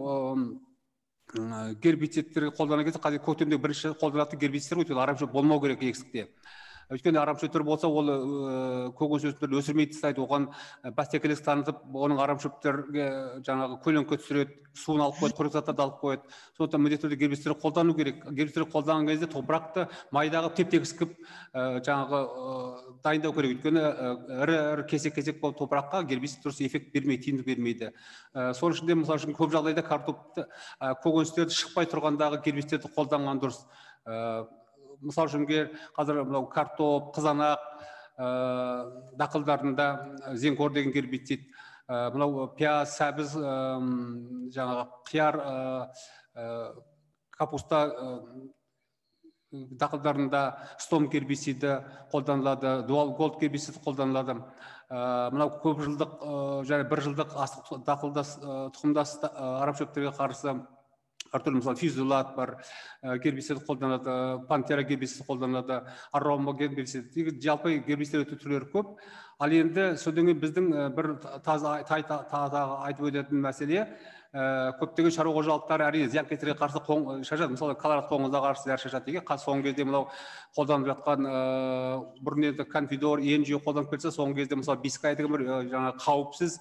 гербицидтер қолдана кетсе, қазір көктемде бірінші қолданатын гербицидтер өйткені арамшөп болмау керек егістікте. Өйткені арамшөптер болса, ол көкөніс өсімдіктерін өсірмей тастайды, оған бәсекелестік танытып, оның арамшөптерге жаңағы көлеңке түсіреді, суын алып қояды, қорек заттарды алып қояды. Сондықтан міндетті түрде гербицидтерді қолдану керек. Гербицидтерді қолданған кезде топырақты майдағы теп-тегіс қылып жаңағы дайындау керек. Өйткені ірі кесек-кесек болып топыраққа гербицид дұрыс эффект бермейді, тиімділік бермейді. Сол үшін де мысалы үшін көп жағдайда картопты көкөністерді шықпай тұрғандағы гербицидтерді қолданған дұрыс. Мысалы үшін қазір мынау картоп, қызанақ дақылдарында зенкор деген гербицид, мынау пияз, сәбіз, жаңағы қияр, капуста дақылдарында стом гербициді қолданылады, дуал голд гербициді қолданылады. Мынау көп жылдық және бір жылдық астық дақылдас тұқымдас арамшөптерге қарсы әртүрлі мысалы физулат бар, гербицид қолданылады, пантера гербицид қолданылады, арома гербицид, жалпы гербицидтер түрлері көп. Ал енді содан кейін біздің бір таза айтып өтетін мәселе, көптеген шаруа қожалықтары әрине зиянкестерге қарсы шашады. Мысалы колорад қоңызға қарсы зияр шашады деген. Соңғы кезде мынау қолданып жатқан бұрын енді конфидор, енжи қолданып келсе, соңғы кезде мысалы бискай деген бір жаңа қауіпсіз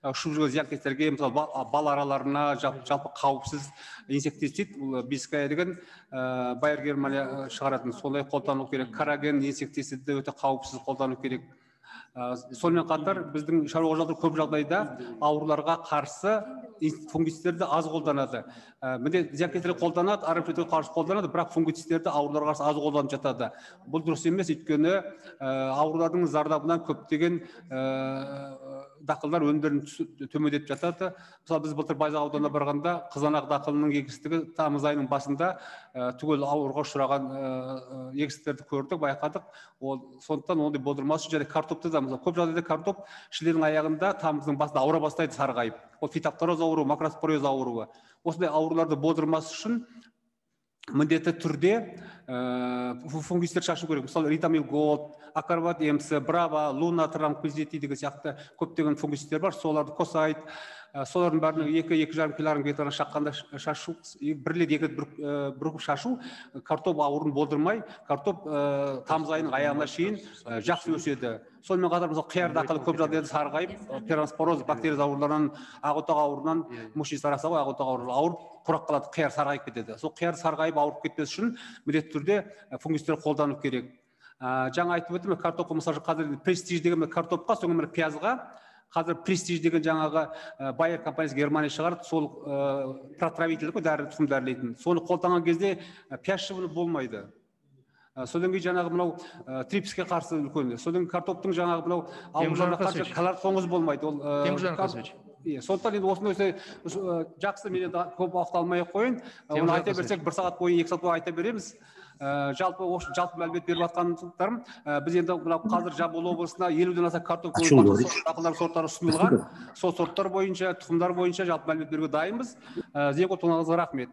ұшып жүрген зиянкестерге, мысалы бал араларына жалпы қауіпсіз инсектицид, бискай деген Байер Германия шығаратын, сондай қолдану керек. Караген инсектицидті өте қауіпсіз қолдану керек. Сонымен қатар біздің шаруа қожалықтар көп жағдайда ауруларға қарсы фунгицидтерді аз қолданады. Міне зиянкестерді қолданады, арамшөптерге қарсы қолданады, бірақ фунгицидтерді ауруларға қарсы аз қолданып жатады. Бұл дұрыс емес, өйткені аурулардың зардабынан көптеген дақылдар өнімдерін төмендетіп жатады. Мысалы біз былтыр Байзақ ауданына барғанда қызанақ дақылының егістігі тамыз айының басында түгел ауруға ұшыраған егістіктерді көрдік, байқадық. Сондықтан ондай болдырмас үшін және картопты да көп жағдайда картоп шілденің аяғында тамыздың басында ауыра бастайды сарғайып. Ол фитофтороз ауруы, макроспороз ауруы. Осындай ауруларды болдырмас үшін міндетті түрде фунгицидтер шашу керек. Мысалы Ритамил Голд, Акарват МС, Браво, Луна, Трампизети деген сияқты көптеген фунгицидтер бар. Соларды қосайд. Солардың бәрінің 2-2,5 килограмм гектарына шаққанда шашу, бірлет бір шашу картоп ауырын болдырмай, картоп тамыз айының аяғына шейін жақсы өседі. Сонымен қатар мысалы қияр дақылы көп жағдайда сарғайып, перонспороз бактерия ауруларынан, ағотақ ауруынан, муши сараса ғой, ағотақ ауруы ауырып құрақ қалады, қияр сарғайып кетеді. Сол қияр сарғайып ауырып кетпес үшін міндетті түрде фунгицидтер қолдану керек. Жаңа айтып өттім, картопқа мысалы қазір престиж деген картопқа, соңғы пиязға қазір престиж деген жаңағы Байер компаниясы Германия шығарып, сол протравитель ғой, дәрі тұқым дәрілейтін. Соны қолданған кезде пияз шыбыны болмайды. Содан кейін жаңағы мынау трипске қарсы үлкен. Содан кейін картоптың жаңағы мынау ауруларына қарсы колорад қоңыз болмайды. Сондықтан енді осындай жақсы, мен енді көп уақыт алмай ақ қояйын. Оны айта берсек, 1 сағат бойы, 2 сағат бойы айта береміз. Жалпы мәлімет беріп жатқандарым, біз енді қазір Жамбыл облысына 50-ден аса картоп дақылдар сорттары ұсынылған. Сол сорттар бойынша, тұқымдар бойынша жалпы мәлімет беруге дайынбыз. Зенкор тоңаңызға рахмет.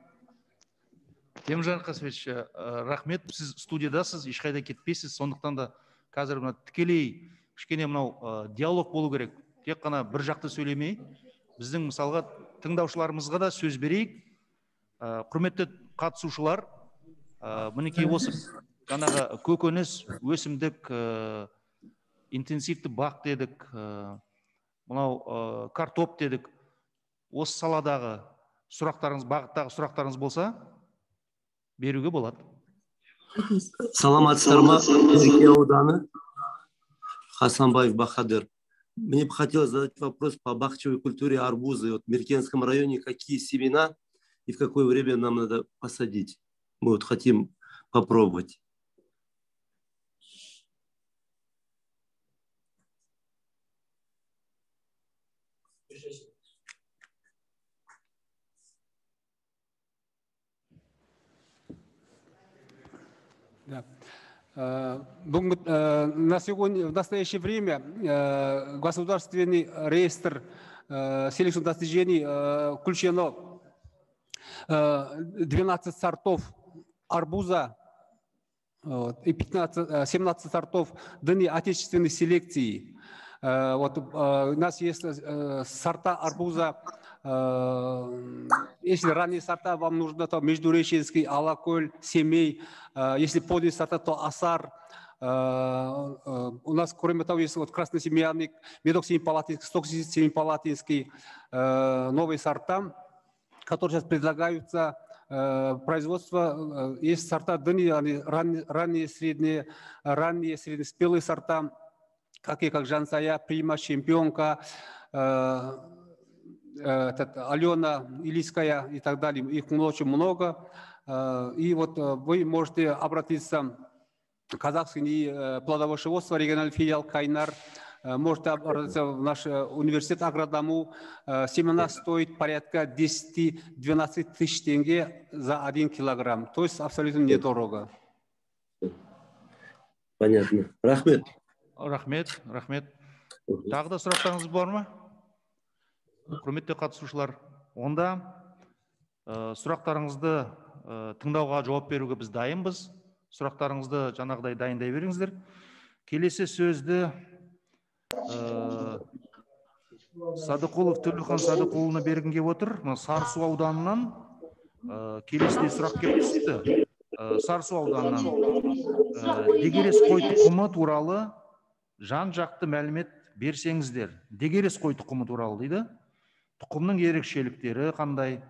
Теміржан Қасымович, рахмет. Сіз студиядасыз, ешқайда кетпейсіз. Сондықтан да қазір тікелей кішкене мынау диалог болу керек. Тек қана бір жақты сөйлемей, біздің мысалға тыңдаушыларымызға да сөз берейік. Құрметті қатысушылар, мінекей осы жаңағы көкөніс, өсімдік, интенсивті бақ дедік, мынау картоп дедік. Осы саладағы сұрақтарыңыз, бағыттағы сұрақтарыңыз болса, беруге болады. Саламатсыздар ма, Мерке ауданы, Хасанбаев Бахадыр. Мне бы хотелось задать вопрос по бахчевой культуре арбуза. Вот в Меркенском районе какие семена и в какое время нам надо посадить? Мы вот хотим попробовать. Да. На сегодня, в настоящее время государственный реестр селекционных достижений включено 12 сортов арбуза и 17 сортов данной отечественной селекции. Вот, у нас есть сорта арбуза. Если ранние сорта вам нужно, то Междуреченский, Алаколь, Семей. Если поздние сорта, то Асар, У нас, кроме того, есть вот красносемьянник, медок семипалатинский, сток семипалатинский, новые сорта, которые сейчас предлагаются производство. Есть сорта дыни, они ранние, среднеспелые сорта, такие как Жансая, Прима, Чемпионка, Алена, Илийская и так далее. Их очень много. И вот вы можете обратиться в Казахский плодоводство, региональный филиал Кайнар. Можете обратиться в наш университет Агродому. Семена стоит порядка 10-12 тысяч тенге за 1 килограмм. То есть абсолютно недорого. Понятно. Рахмет. Рахмет. Тағы да сұрақтарыңыз бар ма? Құрметті қатысушылар, онда сұрақтарыңызды тыңдауға жауап беруге біз дайынбыз. Сұрақтарыңызды жаңағыдай дайындай беріңіздер. Келесі сөзді Садықұлов Төлеухан Садықұлына бергім келіп отыр. Сарысу ауданынан келесідей сұрақ келіп түсті. Сарысу ауданынан дегерес қой тұқымы туралы жан-жақты мәлімет берсеңіздер. Дегерес қой тұқымы туралы дейді. Тұқымның ерекшеліктері қандай?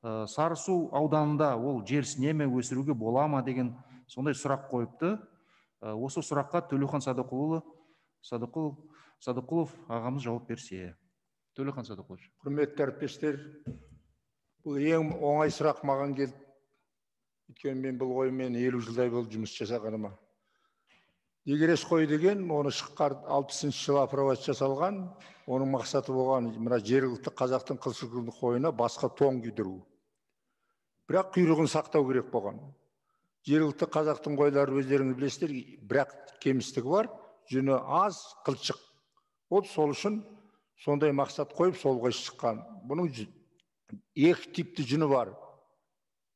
Сарысу ауданында ол жерсіне ме өсіруге бола ма деген сондай сұрақ қойыпты. Осы сұраққа Төлеухан Садықұлов ағамыз жауап берсе. Төлеухан Садықұлов. Құрметті әріптестер, бұл ең оңай сұрақ маған келді. Өйткені мен бұл қоймен 50 жылдай болды жұмыс жасағаныма. Дегерес қой деген, оны шыққар 60 жылы апробация жасалған, оның мақсаты болған, мына жергілікті қазақтың қылшылқылды қойына басқа тоң күйдіру. Бірақ құйрығын сақтау керек болған. Жергілікті қазақтың қойлары өздеріңіз білесіздер, бірақ кемістігі бар, жүні аз, қылшық. Ол сол үшін сондай мақсат қойып, солға шыққан. Бұның екі типті жүні бар.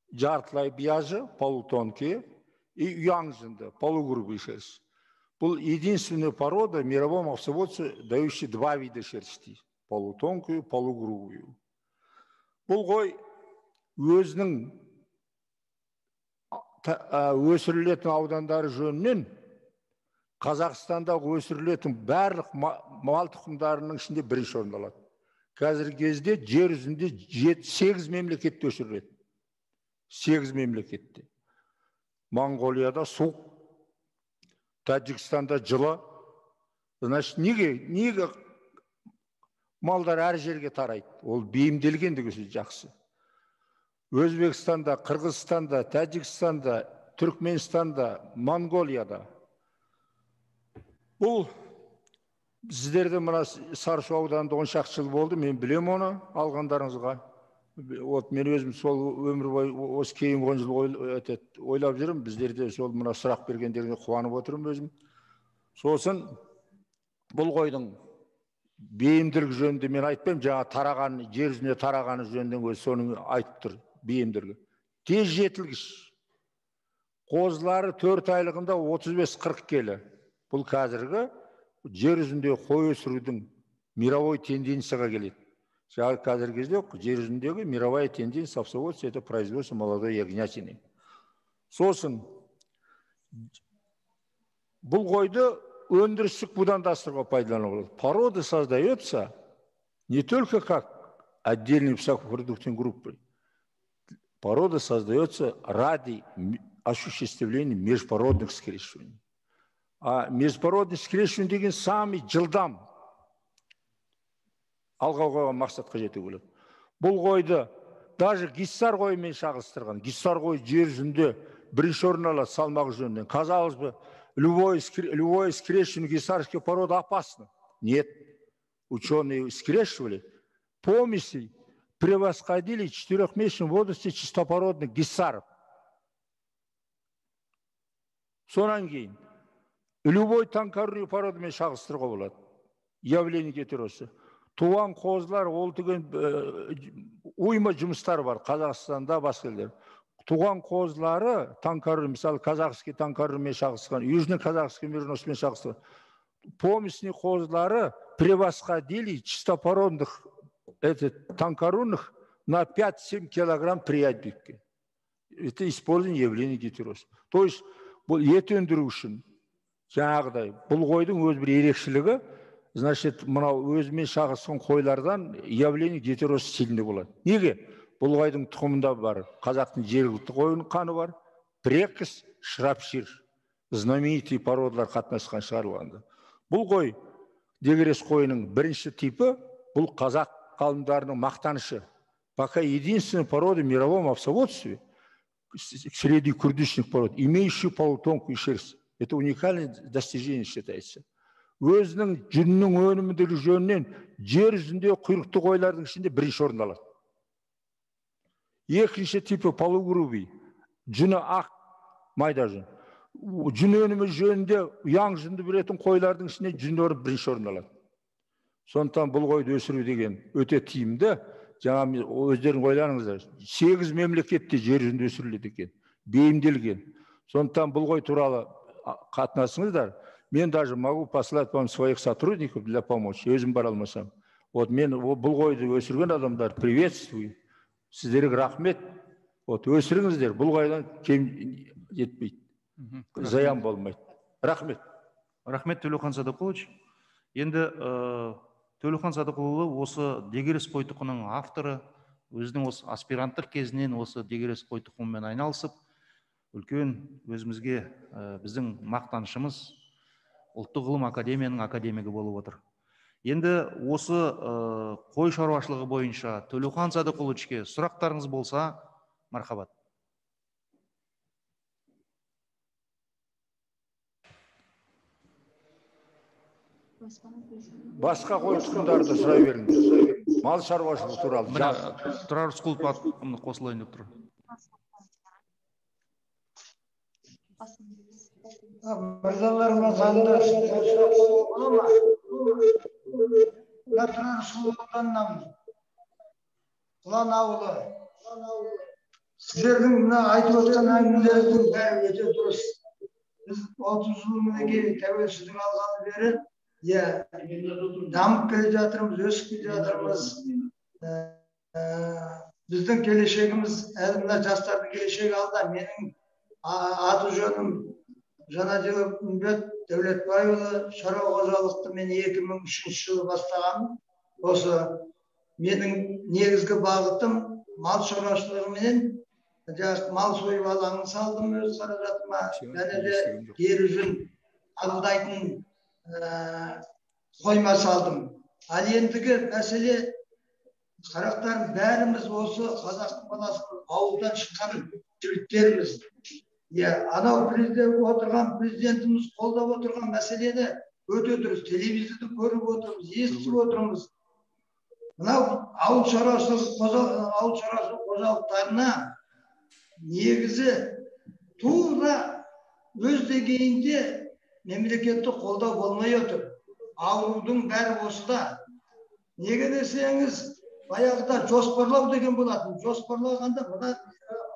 Жартылай биязы, полутонкие, и уяң жынды, полугрубый. Бұл единственная порода в мировом овцеводстве, дающая два вида шерсти. Полутонкую, полугрубую. Бұл қой өзінің өсірілетін аудандары жөнінен Қазақстанда өсірілетін барлық мал тұқымдарының ішінде бірінші орын алады. Қазіргі кезде жер жүзінде 8 мемлекетте өсіріледі. 8 мемлекетте. Монғолияда суық, Тәжікстанда жылы. Значит, неге малдар әр жерге тарайды? Ол бейімделгендігі жақсы. Өзбекстанда, Қырғызстанда, Тәжікстанда, Түркменстанда, Монғолияда. Бұл сіздерді мына Сарысу ауданында 10 шақты жыл болды, мен білем оны алғандарыңызға. Мен өзім сол өмір бойы осы кейін 10 жыл ойлап жүрмін, біздерде сол мына сұрақ бергендеріне қуанып отырмын өзім. Сосын бұл қойдың бейімділігі жөнінде мен айтпаймын, жаңа тарағаны, жер жүзіне тарағаны жөнінен өзі соның айтып тұр, бейімділігі. Тез жетілгіш. Қозылары 4 айлығында 35-40 келі. Бұл қазіргі жер жүзінде қой өсірудің мировой тенденцияға келеді. Қазіргі кезде жер жүзіндегі мировая тенденция овцеводства — это производство молодой ягнятины. Сосын бұл қойды өндірістік будандастыруға пайдалануға болады. Порода создается не только как отдельной высокопродуктивной группой. Порода создается ради осуществления межпородных скрещиваний. А межпородный скрещивание деген самый жылдам алға қойған мақсатқа жете болады. Бұл қойды даже гиссар қойымен шағылыстырған. Гиссар қой жер жүзінде бірінші орын алады салмағы жөнінен. Казалось бы, любое скрещивание гиссарской породы опасно. Нет. Ученые скрещивали помеси, превосходили в 4-месячном возрасте чистопородных гиссаров. Сонан кейін любой танкарный породымен шағылыстыруға болады. Явление гетеросы. Туған қозылар, ол деген уйма жұмыстар бар Қазақстанда, басқа елдер. Туған қозылары танкарный, мысалы казахский танкарныймен шағылыстырған, южный казахский мериносымен шағылыстырған. Помесни қозылары превосходили чистопородных танкарунных на 5-7 килограмм при отбивке. Это использование явления гетероса. То есть ет өндіру үшін жаңағыдай бұл қойдың өз бір ерекшелігі, значит, мынау өзімен шағысқан қойлардан явление гетеростильный болады. Неге? Бұл қойдың тұқымында бар қазақтың жергілікті қойының қаны бар, прекіс, шрапшир, знаменитый породалар қатынасқан шығарылғанда. Бұл қой дегерес қойының бірінші типі, бұл қазақ ғалымдарының мақтанышы. Пока единственная порода в мировом овцеводстве, среднекурдичных пород, имеющая полутонкую шерсть. Это уникальное достижение считается. Өзінің жүннің өнімділігі жөнінен жер жүзінде құйрықты қойлардың ішінде бірінші орын алады. Екінші типі полугрубый, жүні ақ, майда жүн. Жүн өнімі жөнінде ұяң жүнді беретін қойлардың ішінде жүн орын бірінші орын алады. Сондықтан бұл қойды өсіру деген өте тиімді. Жаңа өздерің ойланыңыздар, 8 мемлекетте жер жүзінде өсіріледі екен, бейімделген. Сондықтан бұл қой туралы қатынасыңыздар. Мен даже могу послать вам своих сотрудников для помощи, өзім бара алмасам. Вот мен бұл қойды өсірген адамдар приветствую. Сіздерге рахмет. Вот өсіріңіздер, бұл қойдан кем жетпейді. Заян болмайды. Рахмет. Рахмет, Төлеухан Садықұлыч. Енді Төлеухан Садықұлы осы дегерес қой тұқымының авторы, өзінің осы аспиранттық кезінен осы дегерес қой тұқымымен айналысып, үлкен өзімізге біздің мақтанышымыз ұлттық ғылым академияның академигі болып отыр. Енді осы қой шаруашылығы бойынша Төлеухан Садықұлычке сұрақтарыңыз болса, мархабат. Басқа қой тұқымдарды сұрай беріңдер. Мал шаруашылығы туралы. Тұрар Рысқұлов қосылайын деп тұр. Мырзаларыма заңда сұрақ қойуға ма? Тұрар Рысқұловтаннан Құлан ауылы. Сіздердің мына айтып отқан әңгімелердің бәрі өте дұрыс. Біз 30 жыл мінекей тәуелсіздік алғалы бері дамып келе жатырмыз, өсіп келе жатырмыз. Біздің келешегіміз, әлі жастардың келешегі алда. Менің аты жөнім Жанаділов Үмбет Дәулетбайұлы, шаруа қожалықты мен 2003 жылы бастағанмын. Осы менің негізгі бағытым мал шаруашылығымен мал сойып алаңын салдым өз қаражатыма. Және де ері жүн қабылдайтын қойма салдым. Ал ендігі мәселе, қарақтарым, бәріміз осы қазақтың баласының ауылдан шыққан жігіттеріміз. Анау отырған президентіміз қолдап отырған мәселені өте дұрыс. Телевизорды көріп отырмыз, естіп отырмыз. Мынау ауыл шаруашылығы қожалықтарына негізі тура өз деңгейінде мемлекетті қолдау болмай отыр. Аурудың бәрі осыда. Неге десеңіз, баяғыда жоспарлау деген болатын. Жоспарлағанда мына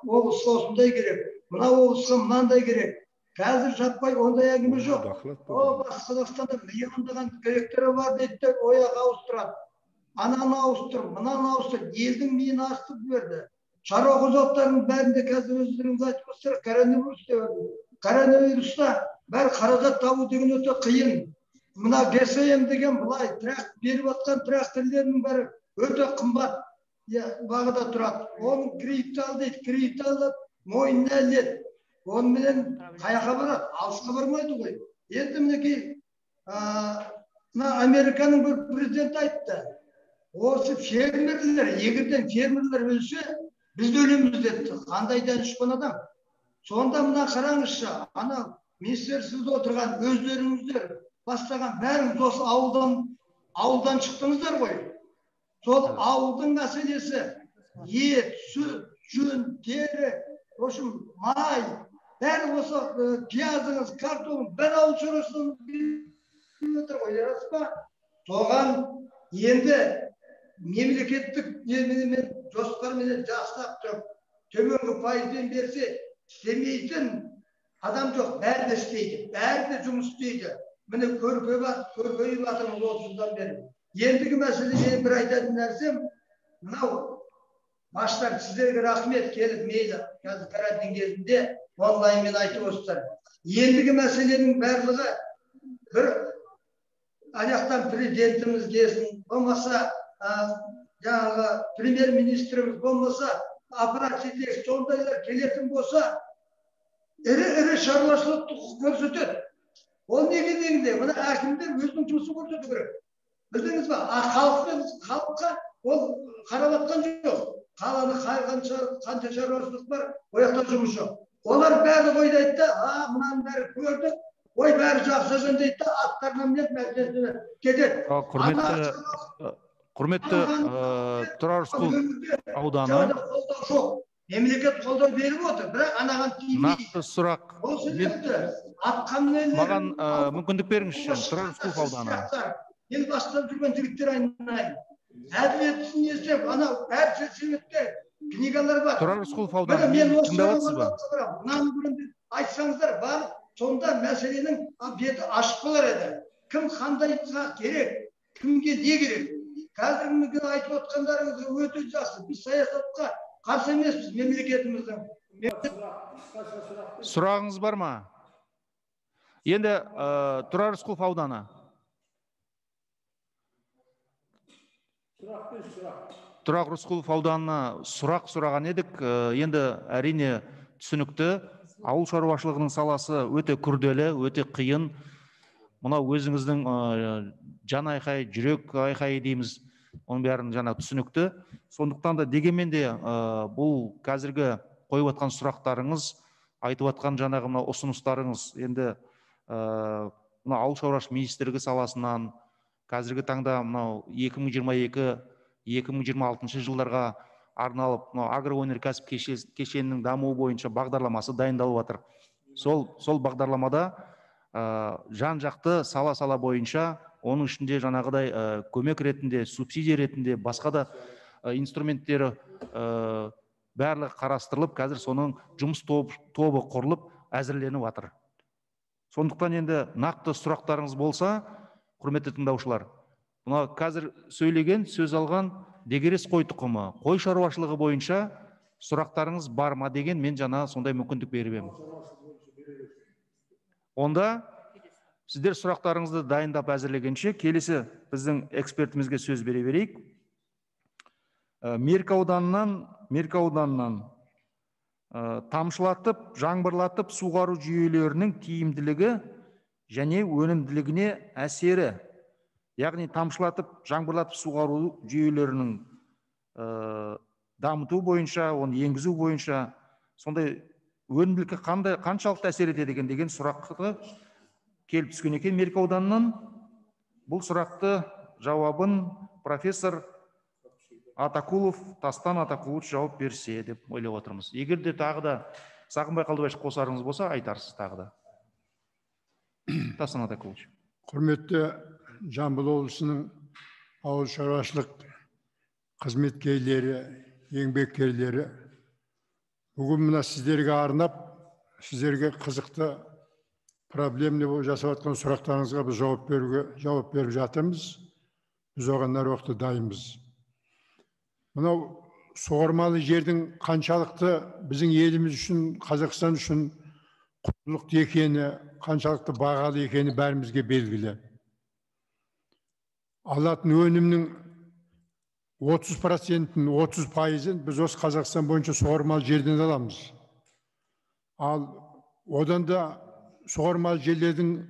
облысқа осындай керек, мына облысқа мынандай керек. Қазір жаппай ондай әңгіме жоқ. Батыс Қазақстанда миллиондаған директоры бар дейді, ояқ ауыстырады. Ананы ауыстыр, мынаны ауыстыр. Елдің миын астып берді. Шаруа қожалықтарының бәрінде қазір өздеріңіз айтып отырсыздар, коронавирус деп берді. Коронавируста бәрі қаражат табу деген өте қиын. Мына ГСМ деген былай беріп отқан тракторлердің бәрі өте қымбат бағада тұрады. Оның кредит ал дейді, кредит алып, мойнына іледі. Онымен қаяққа барады, алысқа бармайды ғой. Енді мінекей Американың бір президенті айтты. Осы фермерлер, егерден фермерлер өлсе, біз өлеміз деді. Қандай данышпан адам. Сонда мына қараңызшы, ана министерствода отырған өздеріңіздер бастаған бәріңіз осы ауылдан шықтыңыздар ғой. Сол ауылдың мәселесі ет, сүт, жүн, тері, май, бәрі осы пиязыңыз, картоп, бәрі ауыл шаруашылығын отыр ғой, рас па? Соған енді мемлекеттік жоспармен жасап тұрып, төменгі пайызбен берсе, істемейтін адам жоқ, бәрі де істейді, бәрі де жұмыс істейді. Міне көркейіп жатырмыз 30 жылдан бері. Ендігі мәселе мен бір айтатын нәрсем, мынау баштар сіздерге рахмет келіп мейлі, қазір карантин кезінде онлайнмен айтып отырсыздар. Ендігі мәселенің барлығы бір аяқтан президентіміз келсін, болмаса жаңағы премьер-министріміз, болмаса аппарат жетекшісі, сондайлар келетін болса, ірі шаруашылықты көрсетеді. Ол неге дегенде, мына әкімдер өзінің жұмысын көрсету керек. Білдіңіз ба? Халыққа ол қарап атқан жоқ. Қаланы қанша шаруашылық бар, ол жақта жұмыс жоқ. Олар бәрі ойлайды да, мынаның бәрі көрді, ой бәрі жақсы екен дейді да, аттарына мінеді, мәселесіне кетеді. Құрметті Тұрар Рысқұлов ауданы. Мемлекет қолдау беріп отыр, бірақ анаған тиімді. Нақты сұрақ. Маған мүмкіндік беріңізші, Тұрар Рысқұлов ауданы. Ел бастап жүрген жігіттер айналайын. Әділетсін естеп, анау әр себепте книгалар бар. Тұрар Рысқұлов ауданы тыңдап отырсыз ба? Мынаның бірінде айтсаңыздар бар, сонда мәселенің беті ашық болар еді. Кім қандайға керек, кімге не керек? Қазіргі айтып отқандарыңыз өте жақсы. Біз саясатқа қарсы емеспіз, мемлекетіміздің. Сұрағыңыз бар ма? Енді Тұрар Рысқұлов ауданы. Тұрар Рысқұлов ауданына сұрақ сұраған едік. Енді әрине түсінікті. Ауыл шаруашылығының саласы өте күрделі, өте қиын. Мына өзіңіздің жан айқай, жүрек айқай дейміз. Оның бәрін жаңа түсінікті. Сондықтан да дегенмен де бұл қазіргі қойып атқан сұрақтарыңыз, айтып атқан жаңағы мына ұсыныстарыңыз енді мына ауыл шаруашылық министрлігі саласынан қазіргі таңда мынау 2022-2026 жылдарға арналып агроөнеркәсіп кешенінің дамуы бойынша бағдарламасы дайындалып жатыр. Сол бағдарламада жан-жақты сала бойынша, оның ішінде жаңағыдай көмек ретінде, субсидия ретінде, басқа да инструменттері барлығы қарастырылып, қазір соның жұмыс тобы құрылып, әзірленіп жатыр. Сондықтан енді нақты сұрақтарыңыз болса, құрметті тыңдаушылар, мына қазір сөйлеген, сөз алған Дегерес қой тұқымы, қой шаруашылығы бойынша сұрақтарыңыз бар ма деген мен жаңа сондай мүмкіндік беріп едім. Онда сіздер сұрақтарыңызды дайындап әзірлегенше келесі біздің экспертімізге сөз бере берейік. Меркі ауданынан тамшылатып, жаңбырлатып суғару жүйелерінің тиімділігі және өнімділігіне әсері, яғни тамшылатып, жаңбырлатып суғару жүйелерінің дамыту бойынша, оны енгізу бойынша сондай өнімділікке қаншалықты әсер етеді деген сұрақты келіп түскен екен Меркі ауданынан. Бұл сұрақты жауабын профессор Тастан Атакулов жауап берсе деп ойлап отырмыз. Егер де тағы да Сағынбай Қалдыбаевич қосарыңыз болса, айтарсыз тағы да. Тастан Атакулович. Құрметті Жамбыл облысының ауыл шаруашылық қызметкерлері, еңбеккерлері, бүгін мына сіздерге арнап, сіздерге қызықты проблемный жасап жатқан сұрақтарыңызға біз жауап беріп жатырмыз. Біз оған әр уақытта дайынбыз. Мынау суармалы жердің қаншалықты біздің еліміз үшін, Қазақстан үшін құндылықты екені, қаншалықты бағалы екені бәрімізге белгілі. Алатын өнімнің 30%-ін, 30%-ын біз осы Қазақстан бойынша суармалы жерден аламыз. Ал одан да суармалы жерлердің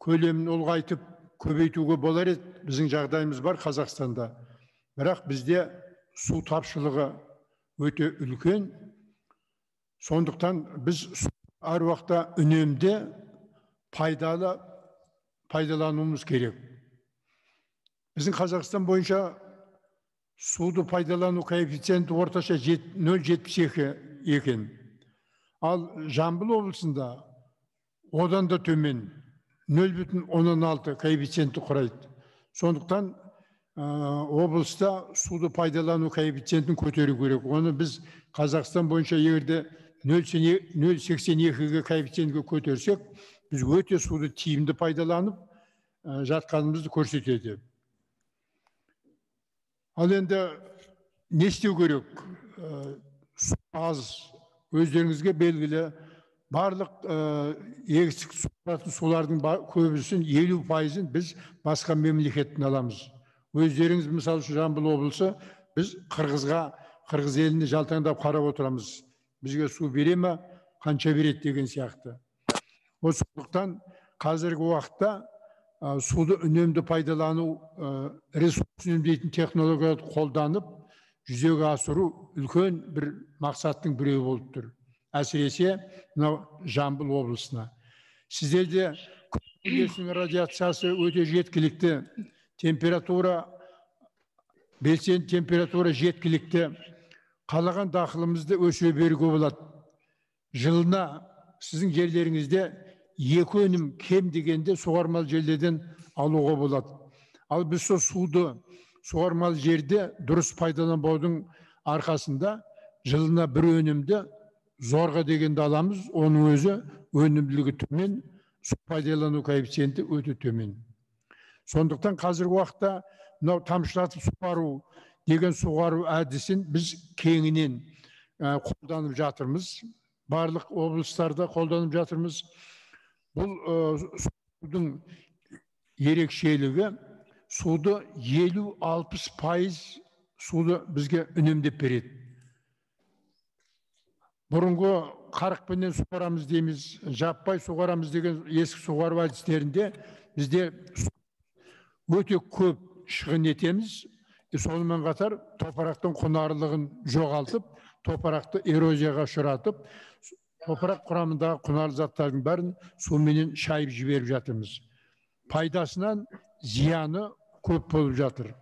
көлемін ұлғайтып, көбейтуге болар еді. Біздің жағдайымыз бар Қазақстанда. Бірақ бізде су тапшылығы өте үлкен. Сондықтан біз әр уақытта үнемді пайдалануымыз керек. Біздің Қазақстан бойынша суды пайдалану коэффициенті орташа 0,72 екен. Ал Жамбыл облысында одан да төмен 0,16 коэффициенті құрайды. Сондықтан облыста суды пайдалану коэффициентін көтеру керек. Оны біз Қазақстан бойынша егерде 0,82-ге коэффициентке көтерсек, біз өте суды тиімді пайдаланып жатқанымызды көрсетеді. Ал енді не істеу керек? Су аз, өздеріңізге белгілі, барлық егістік сулардың көбісін 50%-ін біз басқа мемлекеттен аламыз. Өздеріңіз мысалы Жамбыл облысы, біз қырғыз еліне жалтаңдап қарап отырамыз. Бізге су бере ме, қанша береді деген сияқты. Сондықтан қазіргі уақытта суды үнемді пайдалану, ресурс үнемдейтін технологияларды қолданып, жүзеге асыру үлкен бір мақсаттың біреуі болып тұр. Әсіресе Жамбыл облысына. Сіздерде күн радиациясы өте жеткілікті, белсенді температура жеткілікті, қалаған дақылымызды өсіре беруге болады. Жылына сіздің жерлеріңізде 2 өнім кем дегенде суармалы жерлерден алуға болады. Ал біз суды суармалы жерде дұрыс пайдаланбаудың арқасында жылына 1 өнімді зорға дегенде аламыз, оның өзі өнімділігі төмен, су пайдалану коэффициенті өте төмен. Сондықтан қазіргі уақытта мынау тамшылатып суару деген суару әдісін біз кеңінен қолданып жатырмыз. Барлық облыстарда қолданып жатырмыз. Бұл судың ерекшелігі, суды 50-60% суды бізге үнемдеп береді. Бұрынғы 40-пенен суарамыз дейміз, жаппай суарамыз деген ескі суару әдістерінде бізде өте көп шығын етеміз. Сонымен қатар топырақтың құнарлығын жоғалтып, топырақты эрозияға ұшыратып, топырақ құрамындағы құнарлы заттардың бәрін суменен шайып жіберіп жатырмыз. Пайдасынан зияны көп болып жатыр.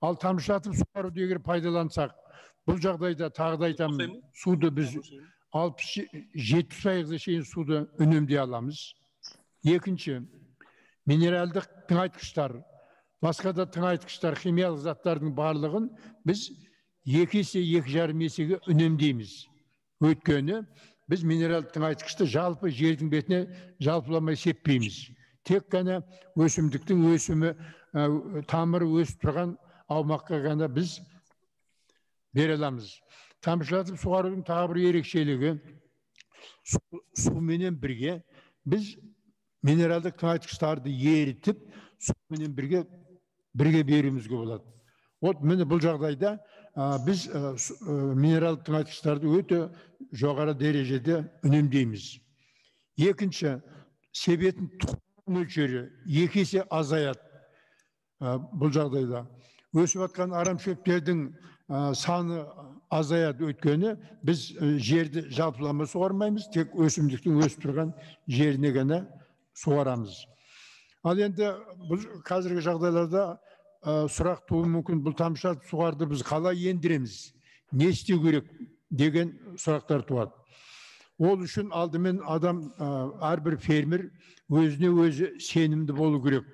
Ал тамшылатып суару егер пайдалансақ, бұл жағдайда тағы да айтамын, суды біз 60-70% шейін суды үнемдей аламыз. Екінші, минералдық тыңайтқыштар, басқа да тыңайтқыштар, химиялық заттардың барлығын біз 2 есе, 2,5 есеге үнемдейміз. Өйткені біз минералдық тыңайтқышты жалпы жердің бетіне жалпыламай сеппейміз. Тек қана өсімдіктің өсімі, тамыры өсіп тұрған аумаққа ғана біз бере аламыз. Тамшылатып суарудың тағы бір ерекшелігі, суменен бірге біз минералдық тыңайтқыштарды ерітіп, суменен бірге беруімізге болады. Міне бұл жағдайда біз минералдық тыңайтқыштарды өте жоғары дәрежеде үнемдейміз. Екінші, себетін тұқым мөлшері 2 есе азаяды. Бұл жағдайда өсіп жатқан арамшөптердің саны азаяды. Өйткені біз жерді жалпылама суармаймыз, тек өсімдіктің өсіп тұрған жеріне ғана суарамыз. Ал енді қазіргі жағдайларда сұрақ туы мүмкін, бұл тамшылатып суарды біз қалай ендіреміз, не істеу керек деген сұрақтар туады. Ол үшін алдымен адам, әрбір фермер өзіне өзі сенімді болу керек.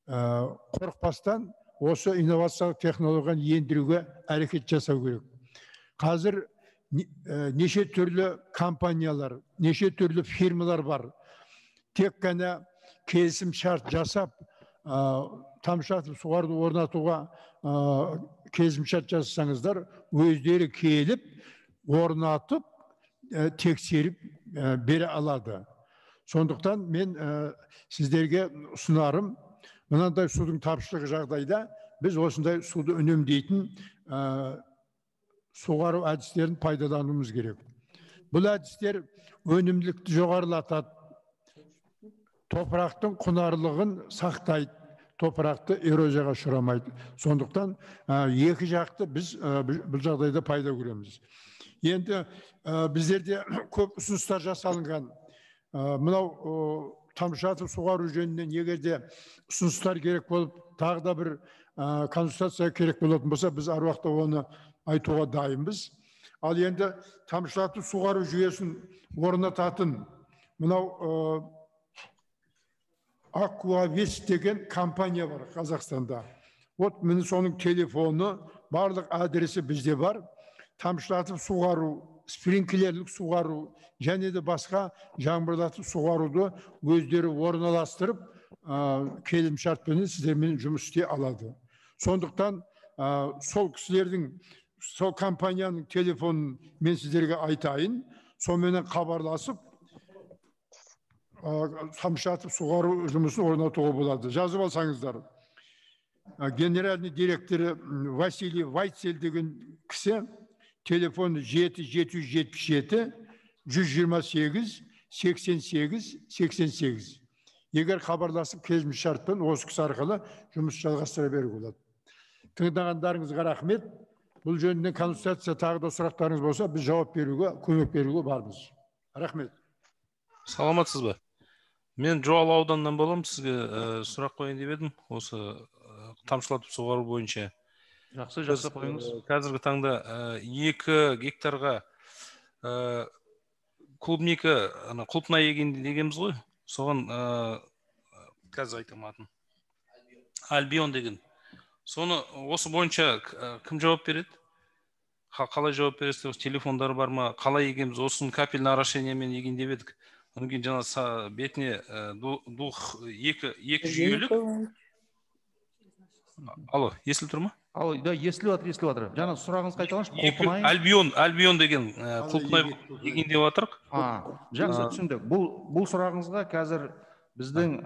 Қорықпастан осы инновациялық технологияны ендіруге әрекет жасау керек. Қазір неше түрлі компаниялар, неше түрлі фирмалар бар. Тек қана келісім шарт жасап, тамшылатып суаруды орнатуға келісім шарт жасасаңыздар, өздері келіп, орнатып, тексеріп бере алады. Сондықтан мен сіздерге ұсынарым, мынандай судың тапшылығы жағдайда біз осындай суды үнемдейтін суару әдістерін пайдалануымыз керек. Бұл әдістер өнімділікті жоғарылатады, топырақтың құнарлығын сақтайды, топырақты эрозияға ұшырамайды. Сондықтан екі жақты біз бұл жағдайда пайда көреміз. Енді біздерде көп ұсыныстар жасалынған. Мынау тамшылатып суару жөнінен егерде ұсыныстар керек болып, тағы да бір консультация керек болатын болса, біз әр уақытта оны айтуға дайынбыз. Ал енді тамшылатып суару жүйесін орнататын мынау Аквавес деген компания бар Қазақстанда. Міне соның телефоны, барлық адресі бізде бар. Тамшылатып суару, спринклерлік суару, және де басқа жаңбырлатып суаруды өздері орналастырып, келісімшартпен сіздермен жұмыс істей алады. Сондықтан сол кісілердің, сол компанияның телефонын мен сіздерге айтайын, сонымен хабарласып, тамшатып суғару жұмысын орнатуға болады. Жазып алсаңыздар. Генеральный директоры Василий Вайцель деген кісі телефон 7-777 128 88 88. Егер хабарласып келісімшартпен осы кісі арқылы жұмыс жалғастыра беруге болады. Тыңдағандарыңызға рахмет. Бұл жөнінен консультация тағы да сұрақтарыңыз болса, біз жауап беруге, көмек беруге бармыз. Рахмет. Саламатсыз ба? Мен Жуалы ауданынан боламын, сізге сұрақ қойын деп едім, осы тамшылатып суғару бойынша. Жақсы қойыңыз. Қазіргі таңда 2 гектарға клубника, құлпына егенде дегенбіз ғой, соған қазір айтаматын. Альбион деген. Соны осы бойынша кім жауап береді? Қалай жауап бересіз? Телефондары бар ма? Қалай егеміз? Осын капельный орошениемен еген деп едік. Одан кейін жаңа бетіне екі жүйелік. Алло, естіліп тұр ма? Алло, да, естіліп жатыр. Жаңа сұрағыңыз қайталаңыз. Альбион деген құлпынай еген деп жатырық. Жақсы түсіндік. Бұл сұрағыңызға қазір біздің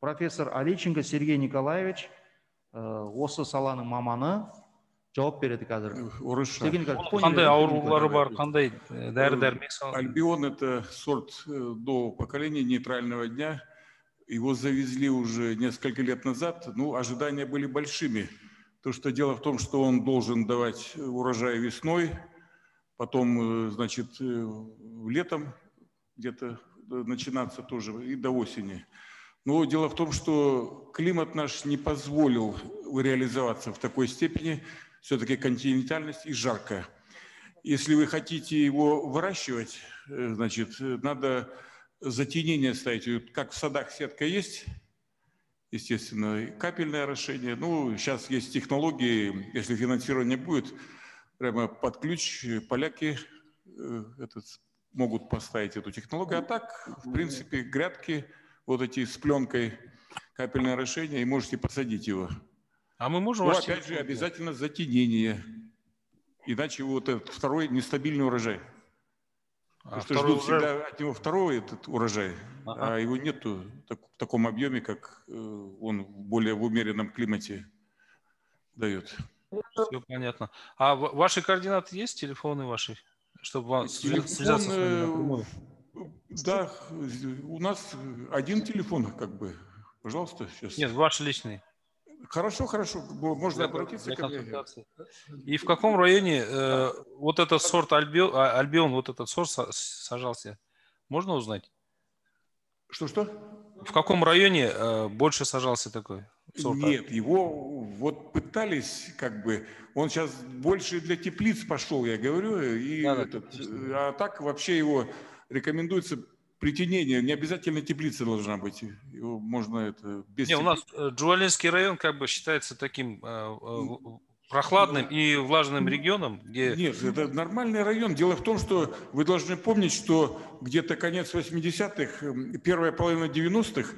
профессор Алейченко Сергей Николаевич осы саланың маманы жауап береді қазір. Қандай аурулары бар, қандай дәрі-дәрмек салады? Альбион — это сорт до поколения нейтрального дня. Его завезли уже несколько лет назад. Ну, ожидания были большими. То, что дело в том, что он должен давать урожай весной, потом, значит, летом где-то начинаться тоже и до осени. Но дело в том, что климат наш не позволил реализоваться в такой степени, все-таки континентальность и жарко. Если вы хотите его выращивать, значит, надо затенение ставить. Как в садах сетка есть, естественно, капельное орошение. Ну, сейчас есть технологии, если финансирование будет, прямо под ключ поляки могут поставить эту технологию. А так, в принципе, грядки вот эти с пленкой, капельное орошение, и можете посадить его. А мы можем... Ну, опять же, обязательно затенение. Иначе вот этот второй нестабильный урожай. Потому что ждут всегда от него второй этот урожай, а его нету в таком объеме, как он более в умеренном климате дает. Все понятно. А ваши координаты есть, телефоны ваши, чтобы вам связаться с вами напрямую? Да, у нас один телефон, как бы. Пожалуйста, сейчас. Нет, ваш личный. Хорошо, можно обратиться ко мне. И в каком районе вот этот сорт Альбион, вот этот сорт сажался? Можно узнать? Что? В каком районе больше сажался такой сорт? Нет, его вот пытались, как бы, он сейчас больше для теплиц пошел, я говорю, и а так вообще его рекомендуется притенение, не обязательно теплица должна быть, его можно это без. Не, у нас Джуалинский район как бы считается таким прохладным и влажным регионом, где... Нет, это нормальный район. Дело в том, что вы должны помнить, что где-то конец 80-х, первая половина 90-х,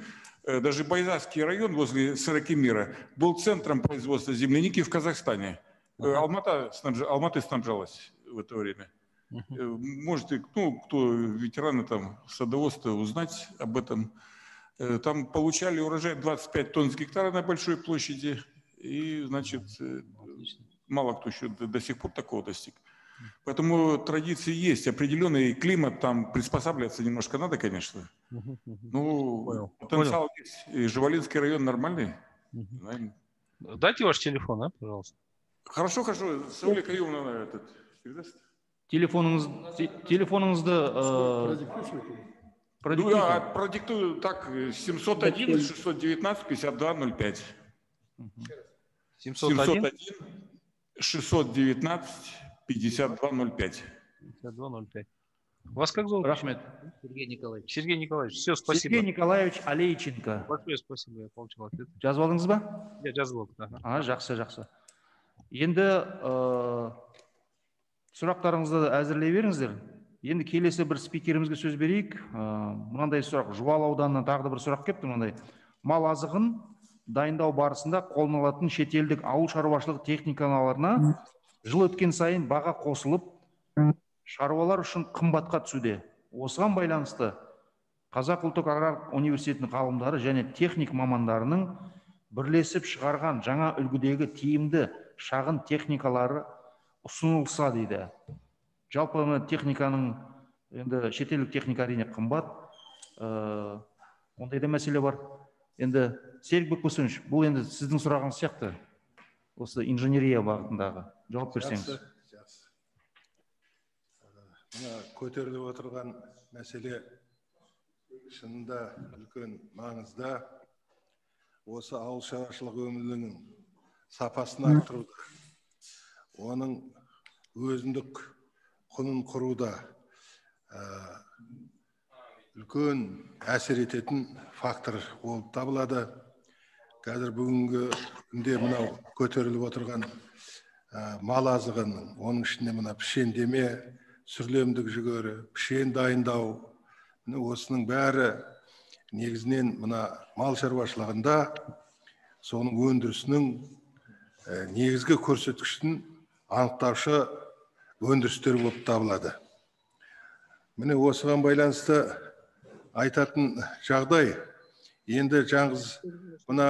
даже Байзасский район возле Сорокемира был центром производства земляники в Казахстане. Алматы снабжалась в это время. Можете, ну, кто ветераны там садоводства, узнать об этом. Там получали урожай 25 тонн с гектара на большой площади. И, значит, мало кто еще до сих пор такого достиг. Поэтому традиции есть. Определенный климат там приспосабливаться немножко надо, конечно. Ну, потенциал есть. И Жуалинский район нормальный. Дайте ваш телефон, пожалуйста. Хорошо. Сауля Каюмовна передаст. Телефоныңызды продиктую так: 701 619 5205. 701 619 5205. 5205. Вас как зовут? Рахмет. Сергей Николаевич. Сергей Николаевич, все, спасибо. Сергей Николаевич Алейченко. Большое спасибо, я получил ответ. Жазып алдыңыз ба? Я жазып алдым. Жақсы. Енді сұрақтарыңызды әзірлей беріңіздер. Енді келесі бір спикерімізге сөз берейік. Мынандай сұрақ, Жуалы ауданынан тағы да бір сұрақ келіпті мынандай. Мал азығын дайындау барысында қолданылатын шетелдік ауыл шаруашылық техникаларына жыл өткен сайын баға қосылып, шаруалар үшін қымбатқа түсуде. Осыған байланысты Қазақ ұлттық аграрлық университетінің ғалымдары және техник мамандарының бірлесіп шығарған жаңа үлгідегі тиімді шағын техникалары ұсынылса дейді. Жалпы техниканың, енді шетелдік техника әрине қымбат, ондай да мәселе бар. Енді Серік Бекбосынович, бұл енді сіздің сұрағыңыз сияқты, осы инженерия бағытындағы. Жауап берсеңіз. Көтеріліп отырған мәселе шынында үлкен маңызда. Осы ауыл шаруашылығы өнімінің сапасын арттыруда, оның өзіндік құнын құруда үлкен әсер ететін фактор болып табылады. Қазір бүгінгі күнде мынау көтеріліп отырған мал азығының, оның ішінде мына пішендеме, сүрлемдік жүгері, пішен дайындау, осының бәрі негізінен мына мал шаруашылығында соның өндірісінің негізгі көрсеткішін анықтаушы өндірістер болып табылады. Міне осыған байланысты айтатын жағдай, енді жаңғыз мына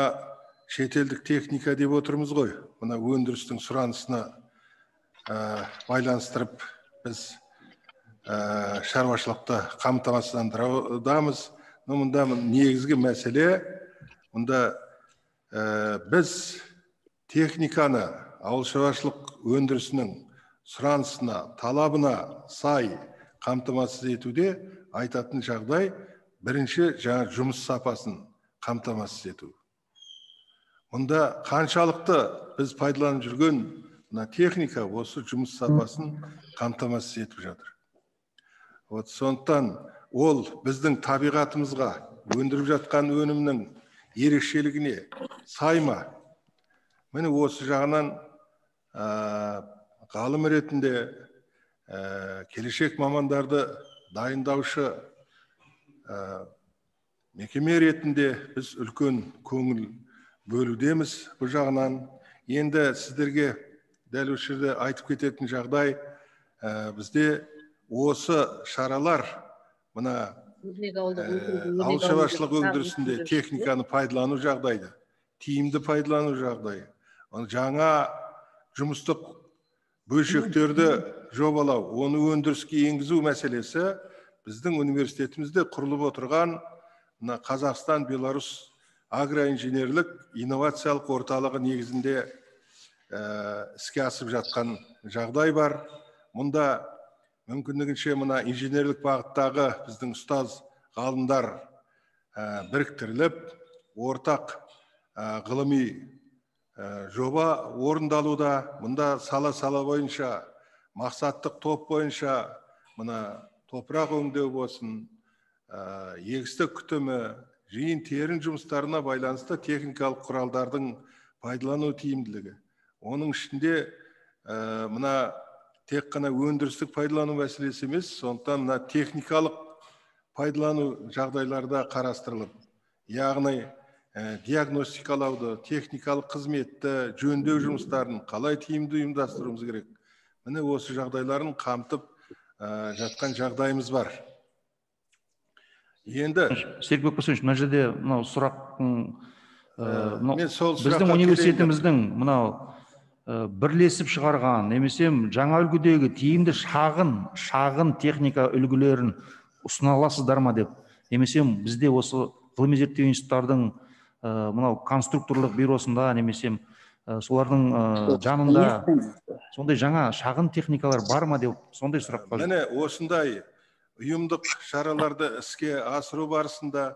шетелдік техника деп отырмыз ғой, мына өндірістің сұранысына байланыстырып біз шаруашылықты қамтамасыздандырудамыз. Мұнда негізгі мәселе, мұнда біз техниканы ауыл шаруашылық өндірісінің сұранысына, талабына сай қамтамасыз етуде айтатын жағдай бірінші жаңа жұмыс сапасын қамтамасыз ету. Мұнда қаншалықты біз пайдаланып жүрген мына техника осы жұмыс сапасын қамтамасыз етіп жатыр. Сондықтан ол біздің табиғатымызға, өндіріп жатқан өнімнің ерекшелігіне сай ма? Міне осы жағынан ғалым ретінде келешек мамандарды дайындаушы мекеме ретінде біз үлкен көңіл бөлудеміз. Бұл жағынан енді сіздерге дәл осы жерде айтып кететін жағдай, бізде осы шаралар мына ауыл шаруашылығы өндірісінде техниканы пайдалану жағдайды, тиімді пайдалану жағдайы, жаңа жұмыстық бөлшектерді жобалау, оны өндіріске енгізу мәселесі біздің университетімізде құрылып отырған Қазақстан Беларусь агроинженерлік инновациялық орталығы негізінде іске асып жатқан жағдай бар. Мұнда мүмкіндігінше мына инженерлік бағыттағы біздің ұстаз ғалымдар біріктіріліп, ортақ ғылыми жоба орындалуда. Мұнда сала бойынша, мақсаттық топ бойынша, мына топырақ өңдеу болсын, егістік күтімі, жиын терін жұмыстарына байланысты техникалық құралдардың пайдалану тиімділігі. Оның ішінде мына тек қана өндірістік пайдалану мәселесі емес, сондықтан мына техникалық пайдалану жағдайларда қарастырылып, яғни диагностикалауды, техникалық қызметті, жөндеу жұмыстарын қалай тиімді ұйымдастыруымыз керек. Міне осы жағдайларын қамтып жатқан жағдайымыз бар. Енді Серік Бекбосынович, мына жерде мынау сұрақтың біздің университетіміздің мынау бірлесіп шығарған, немесе жаңа үлгідегі тиімді шағын техника үлгілерін ұсына аласыздар ма деп, немесе бізде осы ғылыми зерттеу институттардың мынау конструкторлық бюросында, немесе солардың жанында сондай жаңа шағын техникалар бар ма деп, сондай сұрақ бар. Міне осындай ұйымдық шараларды іске асыру барысында,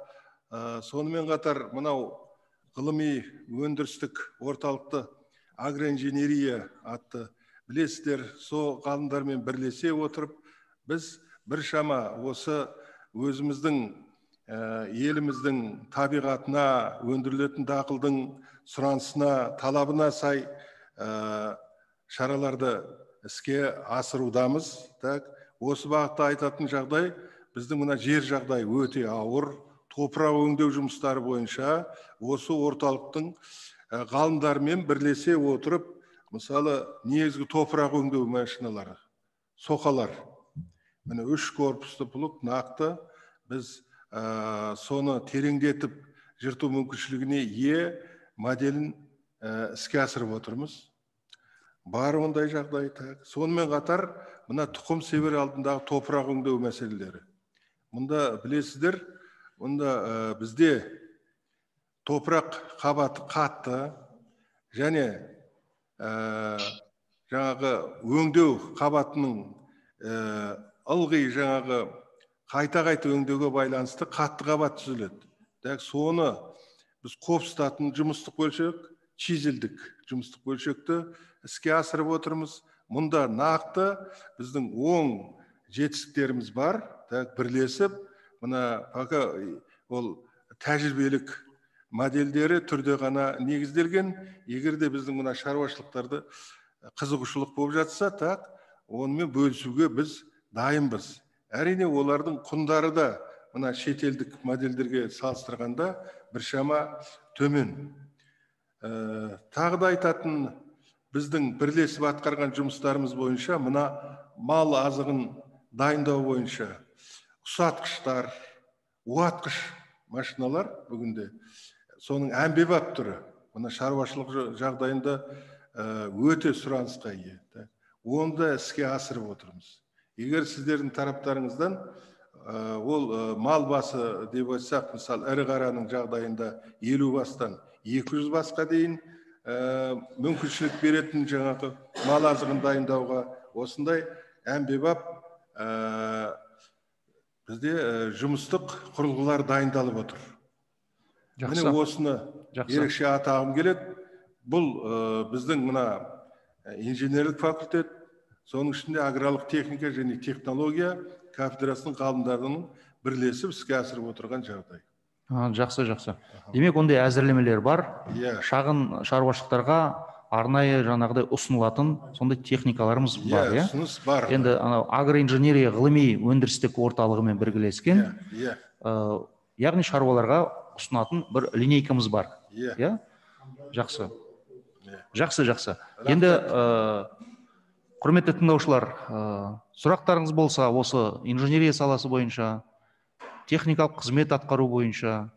сонымен қатар мынау ғылыми өндірістік орталықты агроинженерия атты білесіздер, сол ғалымдармен бірлесе отырып, біз біршама осы өзіміздің еліміздің табиғатына, өндірілетін дақылдың сұранысына, талабына сай шараларды іске асырудамыз. Осы бағытта айтатын жағдай, біздің мына жер жағдай өте ауыр, топырақ өңдеу жұмыстары бойынша осы орталықтың ғалымдармен бірлесе отырып, мысалы, негізгі топырақ өңдеу машиналары, соқалар, міне 3 корпусты плуг нақты біз соны тереңдетіп жырту мүмкіншілігіне ие моделін іске асырып отырмыз. Бар ондай жағдай. Сонымен қатар мына тұқым себер алдындағы топырақ өңдеу мәселелері. Мұнда білесіздер, мұнда бізде топырақ қабаты қатты және жаңағы өңдеу қабатының ылғи жаңағы қайта өңдеуге байланысты қатты қабат түзіледі. Соны біз қопсытатын жұмыстық бөлшек, чизелдік жұмыстық бөлшекті іске асырып отырмыз. Мұнда нақты біздің оң жетістіктеріміз бар, бірлесіп, мына пока ол тәжірибелік модельдері түрде ғана негізделген. Егерде біздің мына шаруашылықтарды қызығушылық болып жатса, онымен бөлісуге біз дайынбыз. Әрине олардың құндары да мына шетелдік модельдерге салыстырғанда біршама төмен. Тағы да айтатын біздің бірлесіп атқарған жұмыстарымыз бойынша мына мал азығын дайындау бойынша ұсатқыштар, уатқыш машиналар бүгінде соның әмбебап түрі. Мына шаруашылық жағдайында өте сұранысқа ие. Онда іске асырып отырмыз. Егер сіздердің тараптарыңыздан ол мал басы деп айтсақ, мысалы, ірі қараның жағдайында 50 бастан 200 басқа дейін мүмкіншілік беретін жаңағы мал азығын дайындауға осындай әмбебап бізде жұмыстық құрылғылар дайындалып отыр. Міне осыны ерекше атағым келеді. Бұл біздің мына инженерлік факультет, соның ішінде аграрлық техника және технология кафедрасының ғалымдарының бірлесіп іске асырып отырған жағдай. Жақсы. Демек, ондай әзірлемелер бар. Шағын шаруашылықтарға арнайы жаңағыдай ұсынылатын сондай техникаларымыз бар, иә? Ұсыныс бар. Енді агроинженерия ғылыми өндірістік орталығымен біргелескен, яғни шаруаларға ұсынатын бір линейкамыз бар. Иә? Жақсы. Енді құрметті тыңдаушылар, сұрақтарыңыз болса, осы инженерия саласы бойынша, техникалық қызмет атқару бойынша,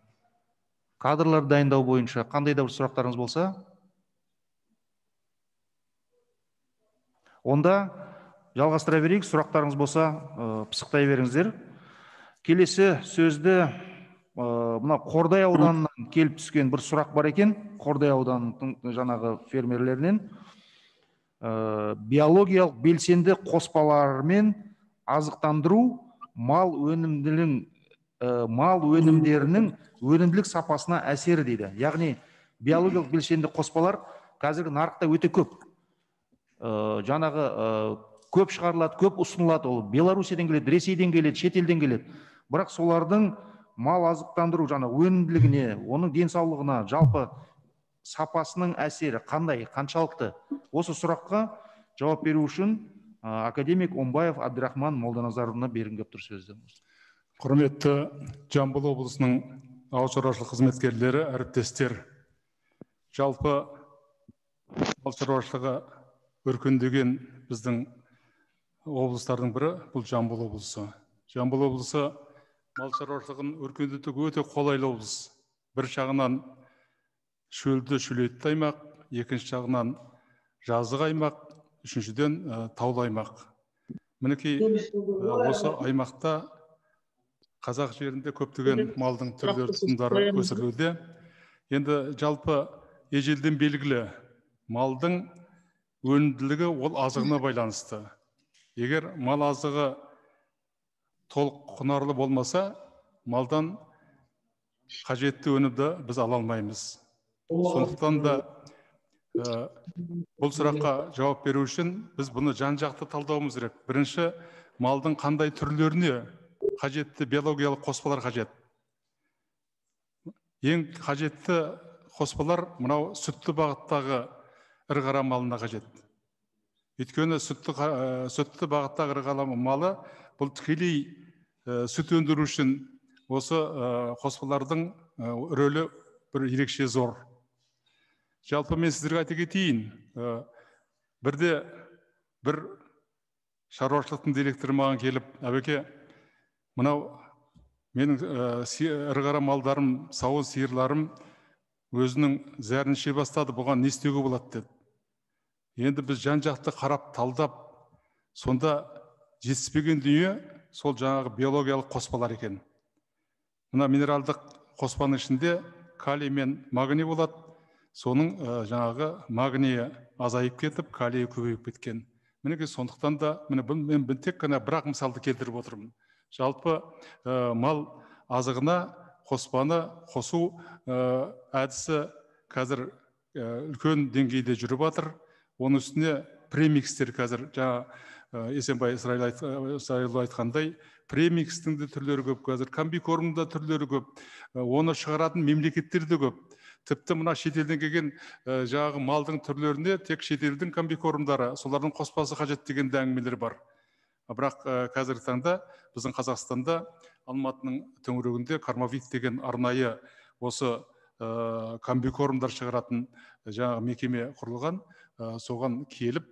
кадрлар дайындау бойынша қандай да бір сұрақтарыңыз болса, онда жалғастыра берейік. Сұрақтарыңыз болса, пысықтай беріңіздер. Келесі сөзді мына Қордай ауданынан келіп түскен бір сұрақ бар екен. Қордай ауданының жаңағы фермерлерінен биологиялық белсенді қоспалармен азықтандыру мал өнімдерінің өнімділік сапасына әсері дейді. Яғни биологиялық белсенді қоспалар қазіргі нарықта өте көп. Жаңағы көп шығарылады, көп ұсынылады. Ол Беларусиядан келеді, Ресейден келеді, шетелден келеді. Бірақ солардың мал азықтандыру жаңа өнімділігіне, оның денсаулығына, жалпы сапасының әсері қандай, қаншалықты? Осы сұраққа жауап беру үшін академик Омбаев Абдрахман Молданазаровна беріңгіп тұр сөзді. Құрметті Жамбыл облысының ауыл шаруашылық қызметкерлері, әріптестер, жалпы мал шаруашылығы өркендеген біздің облыстардың бірі бұл Жамбыл облысы. Жамбыл облысы мал шаруашылығын өркендетуге өте қолайлы облыс. Бір жағынан шөлді шөлейтті аймақ, екінші жағынан жазық аймақ, үшіншіден таулы аймақ. Мінекей осы аймақта қазақ жерінде көптеген малдың түрлері тұқымдары өсірілуде. Енді жалпы ежелден белгілі малдың өнімділігі ол азығына байланысты. Егер мал азығы толық құнарлы болмаса, малдан қажетті өнімді біз ала алмаймыз. Сондықтан да бұл сұраққа жауап беру үшін біз бұны жан-жақты талдауымыз керек. Бірінші, малдың қандай түрлеріне қажетті биологиялық қоспалар қажет. Ең қажетті қоспалар мынау сүтті бағыттағы ірі қара малына қажет. Өйткені сүтті бағыттағы ірі қара малы бұл тікелей сүт өндіру үшін осы қоспалардың рөлі бір ерекше зор. Жалпы мен сіздерге айта кетейін, бірде бір шаруашылықтың директоры маған келіп, әбеке, мынау менің ірі қара малдарым, сауын сиырларым өзінің зәрін іше бастады, бұған не істеуге болады деді. Енді біз жан жақты қарап, талдап, сонда жетіспеген дүние сол жаңағы биологиялық қоспалар екен. Мына минералдық қоспаның ішінде калий мен магний болады. Соның жаңағы магнийі азайып кетіп, калийі көбейіп кеткен. Мінеке сондықтан да мен тек қана бірақ мысалды келтіріп отырмын. Жалпы мал азығына қоспаны қосу әдісі қазір үлкен деңгейде жүріп жатыр. Оның үстіне премикстер қазір жаңа Есенбай Исраилов айтқандай, премикстің де түрлері көп, қазір комбикормның да түрлері көп, оны шығаратын мемлекеттер де көп. Тіпті мына шетелден келген жаңағы малдың түрлеріне тек шетелдің комбикормдары, солардың қоспасы қажет деген әңгімелер бар. Бірақ қазіргі таңда біздің Қазақстанда Алматының төңірегінде Кармавит деген арнайы осы комбикормдар шығаратын жаңағы мекеме құрылған. Соған келіп,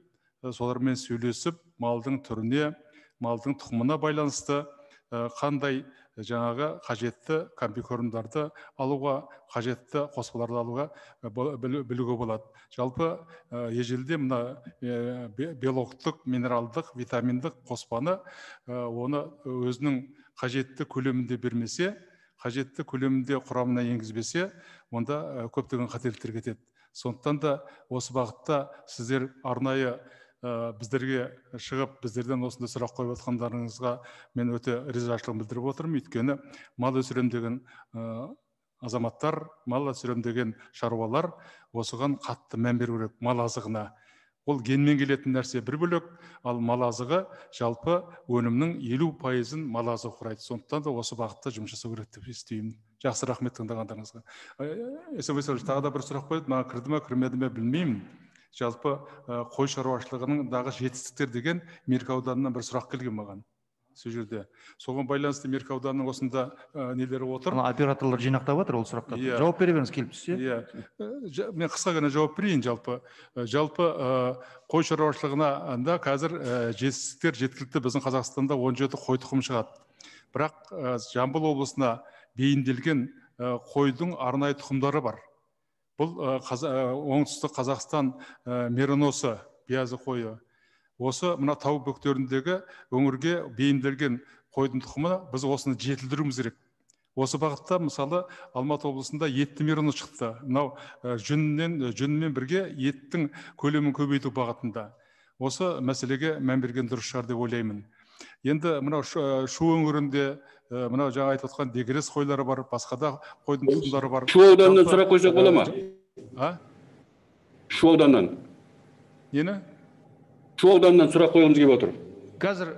солармен сөйлесіп, малдың түріне, малдың тұқымына байланысты қандай жаңағы қажетті комбикормдарды алуға, қажетті қоспаларды алуға білуге болады. Жалпы ежелде мына белоктық, минералдық, витаминдік қоспаны оны өзінің қажетті көлемінде бермесе, қажетті көлемінде құрамына енгізбесе, онда көптеген қателіктер кетеді. Сондықтан да осы бағытта сіздер арнайы біздерге шығып, біздерден осындай сұрақ қойып отқандарыңызға мен өте ризашылығын білдіріп отырмын. Өйткені мал өсірем деген азаматтар, мал өсірем деген шаруалар осыған қатты мән беру керек, мал азығына. Ол генмен келетін нәрсе бір бөлек, ал мал азығы жалпы өнімнің 50%-ын мал азығы құрайды. Сондықтан да осы бағытта жұмыс жасау керек деп естимін. Жақсы, рахмет тыңдағандарыңызға. Есенбай Исраилович, тағы да бір сұрақ қойды, маған кірді ме, кірмеді ме білмеймін. Жалпы қой шаруашылығындағы жетістіктер деген Меркі ауданынан бір сұрақ келген маған. Сол жерде. Соған байланысты Меркі ауданының осында нелері отыр. Операторлар жинақтап отыр ол сұрақтарды. Жауап бере беріңіз келіп түссе. Мен қысқа ғана жауап берейін жалпы. Жалпы қой шаруашылығында қазір жетістіктер жеткілікті. Біздің Қазақстанда 17 қой тұқымы шығады. Бірақ Жамбыл облысына бейімделген қойдың арнайы тұқымдары бар. Бұл оңтүстік Қазақстан мериносы, биязы қойы. Осы мына тау бөктеріндегі өңірге бейімделген қойдың тұқымы біз осыны жетілдіруіміз керек. Осы бағытта мысалы Алматы облысында етті мериноз шықты. Мынау жүнмен бірге еттің көлемін көбейту бағытында. Осы мәселеге мән берген дұрыс шығар деп ойлаймын. Енді мынау Шу өңірінде мынау жаңа айтып отқан дегерес қойлары бар, басқа да қойдың тұқымдары бар. Шу ауданынан сұрақ қойсақ бола ма? Шу ауданынан. Нені? Шу ауданынан сұрақ қойғымыз келіп отыр. Қазір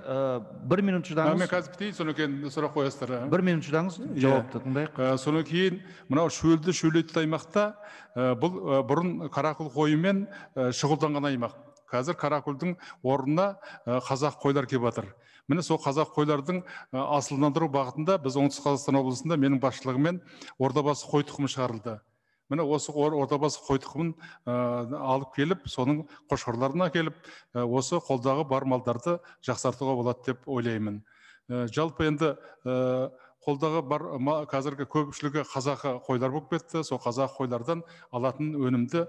1 минут шыдаңыз. Мен қазір бітейін, содан кейін сұрақ қоясыздар. 1 минут шыдаңыз, жауапты тыңдайық. Содан кейін мынау шөлді шөлейтті аймақта бұл бұрын қарақұл қойымен шұғылданған аймақ. Қазір қарақұлдың орнына қазақ қойлар келіп жатыр. Міне сол қазақ қойлардың асылдандыру бағытында біз оңтүстік Қазақстан облысында менің басшылығымен ордабасы қой тұқымы шығарылды. Міне осы ордабасы қой тұқымын алып келіп, соның қошқарларына келіп, осы қолдағы бар малдарды жақсартуға болады деп ойлаймын. Жалпы енді қолдағы бар қазіргі көпшілігі қазақы қойлар болып кетті. Сол қазақ қойлардан алатын өнімді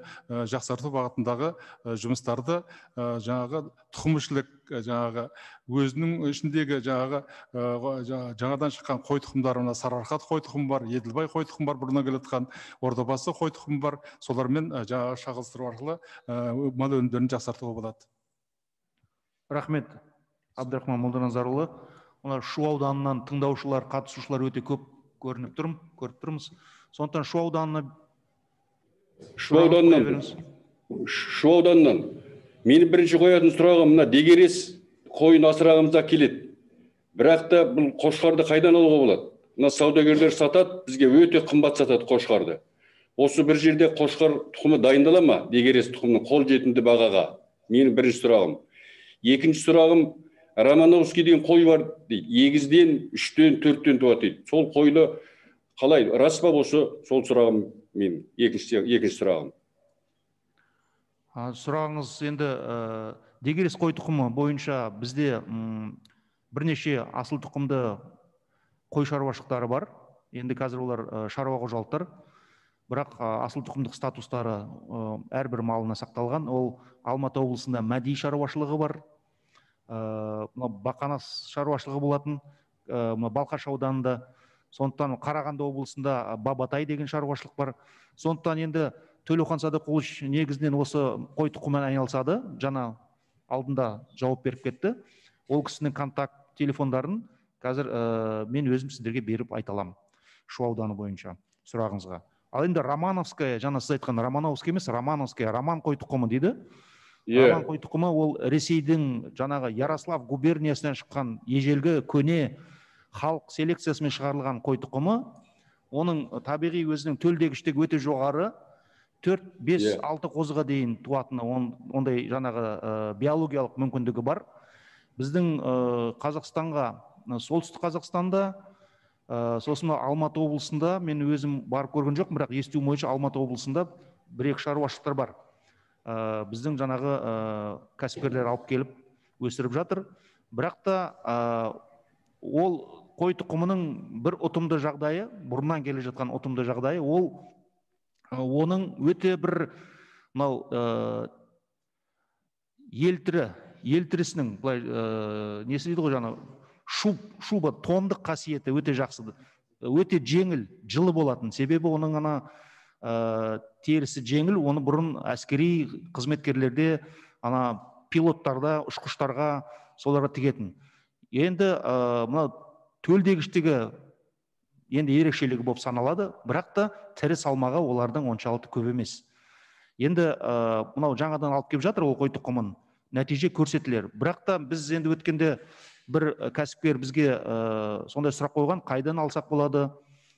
жақсарту бағытындағы жұмыстарды жаңағы тұқымшылық жаңағы өзінің ішіндегі жаңадан шыққан қой тұқымдарына Сарыарқат қой тұқымы бар, Еділбай қой тұқымы бар, бұрыннан келатқан Ордабасы қой тұқымы бар. Солармен жаңағы шағылыстыру арқылы мал өнімдерін жақсартуға болады. Рахмет, Абдрахман Молданазарұлы. Шу ауданынан тыңдаушылар, қатысушылар өте көп көріп тұрмыз. Сондықтан Шу ауданынан мені бірінші қоятын сұрағым, мына дегерес қойын асырағымызда келеді. Бірақ та бұл қошқарды қайдан алуға болады? Мына саудагерлер сатады, бізге өте қымбат сатады қошқарды. Осы бір жерде қошқар тұқымы дайындала ма? Дегерес тұқымның қол жетімді бағаға. Менің бірінші сұрағым. Екінші сұрағым, Романовский деген қой бар дейді. Егізден 3-тен 4-тен туады дейді. Сол қойлы қалай? Рас па осы? Сол сұрағым мен. Екінші сұрағым. Сұрағыңыз енді дегерес қой тұқымы бойынша бізде бірнеше асыл тұқымды қой шаруашылықтары бар. Енді қазір олар шаруа қожалықтар. Бірақ асыл тұқымдық статустары әрбір малына сақталған. Ол Алматы облысында мәди шаруашылығы бар. Бақанас шаруашылығы болатын, Балқаш ауданында. Сондықтан Қарағанды облысында Бабатай деген шаруашылық бар. Сондықтан енді Төлеухан Садықұлыш негізінен осы қой тұқымымен айналысады. Жаңа алдында жауап беріп кетті. Ол кісінің контакт телефондарын қазір мен өзім сіздерге беріп айта аламын. Шу ауданы бойынша сұрағыңызға. Ал енді Романовская, жаңа сіз айтқан Романовская емес, Романовская, Роман қой тұқымы дейді. Роман қой тұқымы ол Ресейдің жаңағы Ярослав губерниясынан шыққан ежелгі көне халық селекциясымен шығарылған қой тұқымы. Оның табиғи өзінің төлдегіштігі өте жоғары. 4-5-6 қозыға дейін туатыны ондай жаңағы биологиялық мүмкіндігі бар. Біздің Қазақстанға, солтүстік Қазақстанда, сосын Алматы облысында мен өзім барып көрген жоқпын, бірақ естуім бойынша Алматы облысында бір-екі шаруашылықтар бар. Біздің жаңағы кәсіпкерлер алып келіп өсіріп жатыр. Бірақ та ол қой тұқымының бір ұтымды жағдайы, бұрыннан келе жатқан ұтымды жағдайы, ол оның өте бір елтірісінің несі дейді ғой, жаңа шуба томдық қасиеті өте жақсы, өте жеңіл, жылы болатын. Себебі оның терісі жеңіл, оны бұрын әскери қызметкерлерде, пилоттарда, ұшқыштарға соларға тігетін. Енді төлдегіштігі енді ерекшелігі болып саналады, бірақ та тірі салмағы олардың оншалықты көп емес. Енді мынау жаңадан алып келіп жатыр ол қой тұқымын, нәтиже көрсетілер. Бірақ та біз енді өткенде бір кәсіпкер бізге сондай сұрақ қойған, қайдан алсақ болады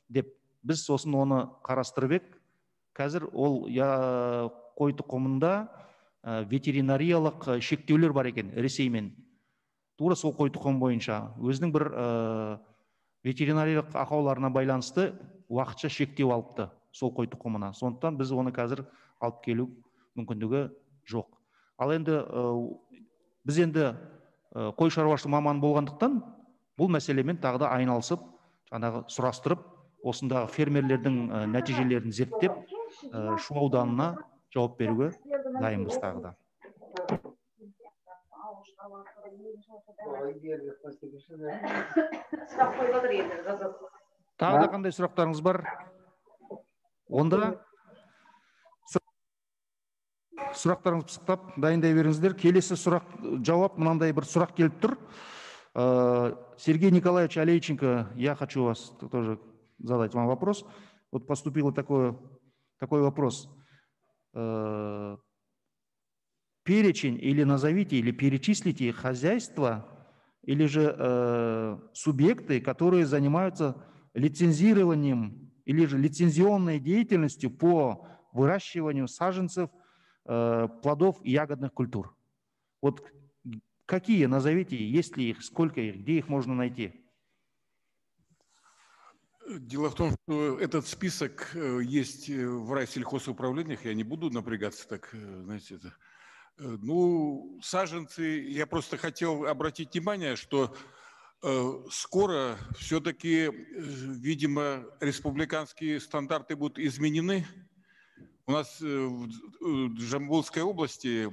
деп, біз сосын оны қарастырып ек. Қазір ол қой тұқымында ветеринариялық шектеулер бар екен Ресеймен. Тура сол қой тұқым бойынша өзінің бір ветеринариялық ақауларына байланысты уақытша шектеу алыпты сол қой тұқымына. Сондықтан біз оны қазір алып келу мүмкіндігі жоқ. Ал енді біз енді қой шаруашылығы маманы болғандықтан бұл мәселемен тағы да айналысып, жаңағы сұрастырып, осындағы фермерлердің нәтижелерін зерттеп, Шу ауданына жауап беруге дайынбыз тағы да. Тағы да қандай сұрақтарыңыз бар? Онда сұрақтарыңыз пысықтап, дайындай беріңіздер. Келесі сұрақ, жауап, мынандай бір сұрақ келіп тұр. Сергей Николаевич Алейченко, я хочу вас тоже задать вам вопрос. Вот поступил такой вопрос. Перечень или назовите, или перечислите хозяйства, или же субъекты, которые занимаются лицензированием или же лицензионной деятельностью по выращиванию саженцев, плодов и ягодных культур. Вот какие назовите, есть ли их, сколько их, где их можно найти? Дело в том, что этот список есть в райсельхозуправлениях, я не буду напрягаться так, знаете, это. Ну, саженцы, я просто хотел обратить внимание, что скоро все-таки, видимо, республиканские стандарты будут изменены. У нас в Жамбулской области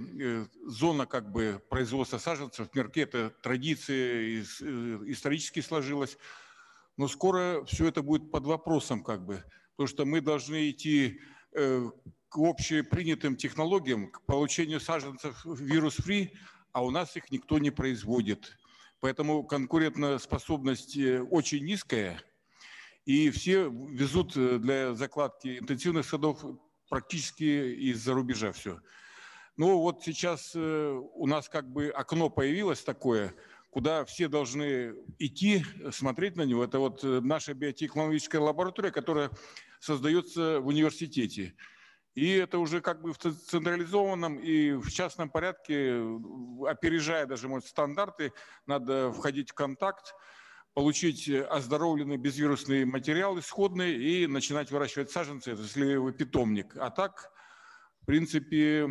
зона как бы производства саженцев в Мерке, это традиция исторически сложилась. Но скоро все это будет под вопросом как бы, потому что мы должны идти к общепринятым технологиям, к получению саженцев вирус-фри, а у нас их никто не производит. Поэтому конкурентоспособность очень низкая, и все везут для закладки интенсивных садов практически из-за рубежа все. Ну вот сейчас у нас как бы окно появилось такое, куда все должны идти, смотреть на него. Это вот наша биотехнологическая лаборатория, которая создается в университете. И это уже как бы в централизованном и в частном порядке, опережая даже, может, стандарты, надо входить в контакт, получить оздоровленный безвирусный материал исходный и начинать выращивать саженцы, это сливовый питомник. А так, в принципе,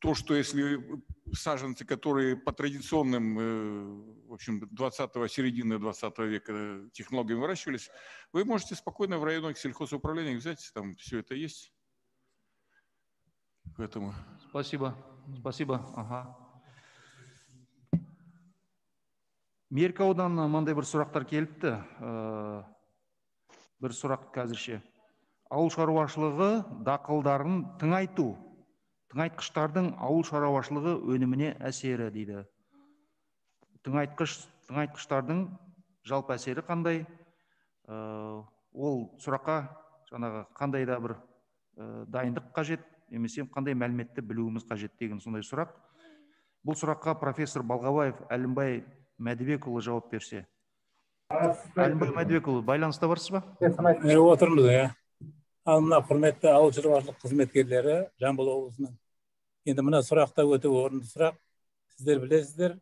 то, что если саженцы, которые по традиционным, в общем, середины 20 века технологиям выращивались, вы можете спокойно в районных сельхозуправлениях взять, там все это есть. Поэтому... Спасибо. Спасибо. Ага. Меркі ауданынан мынандай бір сұрақтар келіпті. Бір сұрақ қазірше. Ауыл шаруашылығы дақылдарын тыңайту. Тыңайтқыштардың ауыл шаруашылығы өніміне әсері дейді. Тыңайтқыштардың жалпы әсері қандай? Ол сұраққа жаңағы қандай да бір дайындық қажет, немесе қандай мәліметті білуіміз қажет деген сондай сұрақ. Бұл сұраққа профессор Балғабаев Әлімбай Мәдібекұлы жауап берсе. Әлімбай Мәдібекұлы, байланыста барсыз ба? Отырмыз, иә. Ал мына құрметті ауыл шаруашылық қызметкерлері Жамбыл облысының. Енді мына сұрақта өте орынды сұрақ. Сіздер білесіздер,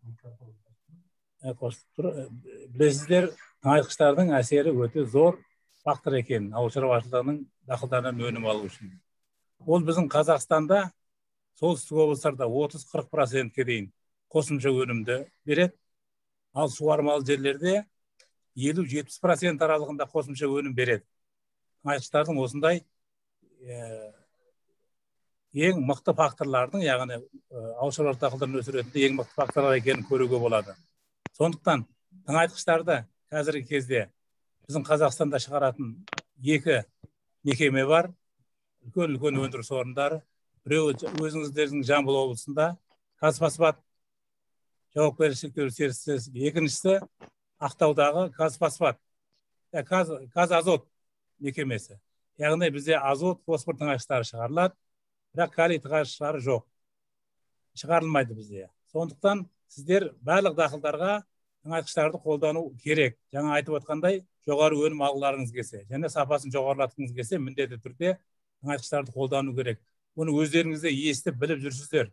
тыңайтқыштардың әсері өте зор фактор екен ауыл шаруашылығының дақылдарынан өнім алу үшін. Ол біздің Қазақстанда солтүстік облыстарда 30-40%-ке дейін қосымша өнімді береді. Ал суармалы жерлерде 50-70% аралығында қосымша өнім береді. Тыңайтқыштардың осындай ең мықты факторлардың, яғни ауыл шаруашылық дақылдарын өсіретінде ең мықты факторлар екенін көруге болады. Сондықтан тыңайтқыштарды қазіргі кезде біздің Қазақстанда шығаратын 2 мекеме бар, үлкен өндіріс орындары. Біреуі өзіңіздердің Жамбыл облысында Қазфосфат жауапкершілігі шектеулі серіктестік, екіншісі Ақтаудағы Қазфосфат, Қазазот мекемесі. Яғни бізде азот, фосфор тыңайтқыштары шығарылады, бірақ калий тыңайтқыштары жоқ. Шығарылмайды бізде. Сондықтан сіздер барлық дақылдарға тыңайтқыштарды қолдану керек. Жаңа айтып отқандай, жоғары өнім алғыларыңыз келсе, және сапасын жоғарылатқыңыз келсе, міндетті түрде тыңайтқыштарды қолдану керек. Оны өздеріңізде естіп біліп жүрсіздер.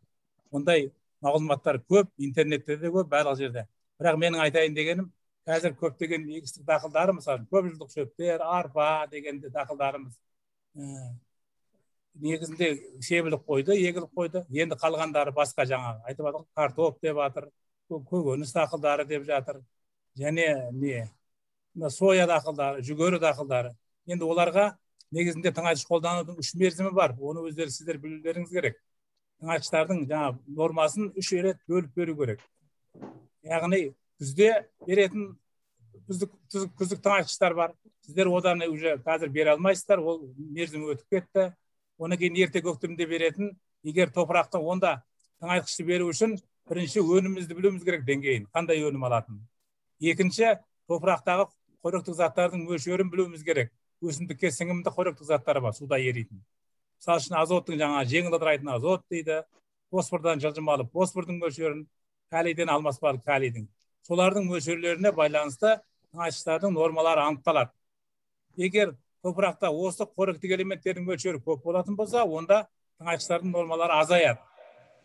Ондай мағлұматтар көп, интернетте де көп, барлық жерде. Бірақ менің айтайын дегенім, қазір көптеген егістік дақылдары, мысалы, көп жылдық шөптер, арпа дегенде дақылдарымыз негізінде себіліп қойды, егіліп қойды. Енді қалғандары басқа жаңағы айтып жатыр, картоп деп жатыр, көкөніс дақылдары деп жатыр, және соя дақылдары, жүгері дақылдары. Енді оларға негізінде тыңайтқыш қолданудың 3 мерзімі бар. Оны сіздер білулеріңіз керек. Тыңайтқыштардың жаңа нормасын 3 рет бөліп беру керек. Яғни күзде беретін күздік тыңайтқыштар бар. Сіздер одан уже қазір бере алмайсыздар, ол мерзімі өтіп кетті. Оны кейін ерте көктемде беретін, егер топырақты онда тыңайтқышты беру үшін бірінші өнімімізді білуіміз керек деңгейін, қандай өнім алатын. Екінші, топырақтағы қоректік заттардың мөлшерін білуіміз керек. Өсімдікке сіңімді қоректік заттары бар, суда еритін. Мысалы үшін азоттың жаңа жеңіл ыдырайтын азот дейді, фосфордан жылжымалы фосфордың мөлшерін, калийден алмаспалы калийдің. Солардың мөлшерлеріне байланысты тыңайтқыштардың нормалары анықталады. Егер топырақта осы қоректік элементтердің мөлшері көп болатын болса, онда тыңайтқыштардың нормалары азаяды.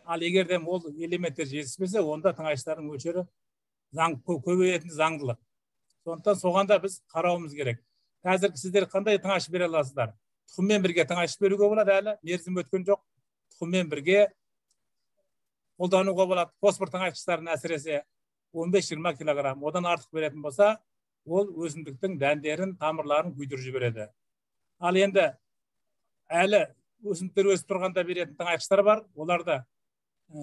Ал егер ол элементтер жетіспесе, онда тыңайтқыштардың мөлшері көбейетін заңдылық. Сондықтан соғанда біз қарауымыз керек. Қазір сіздер қандай тыңайтқыш бере аласыздар? Тұқыммен бірге тыңайтқыш беруге болады, әлі мерзім өткен жоқ. Тұқыммен бірге қолдануға болады. Фосфор тыңайтқыштарын әсіресе 15-20 килограмм, одан артық беретін болса, ол өсімдіктің дәндерін, тамырларын күйдіріп жібереді. Ал енді әлі өсімдіктер өсіп тұрғанда беретін тыңайтқыштар бар. Оларды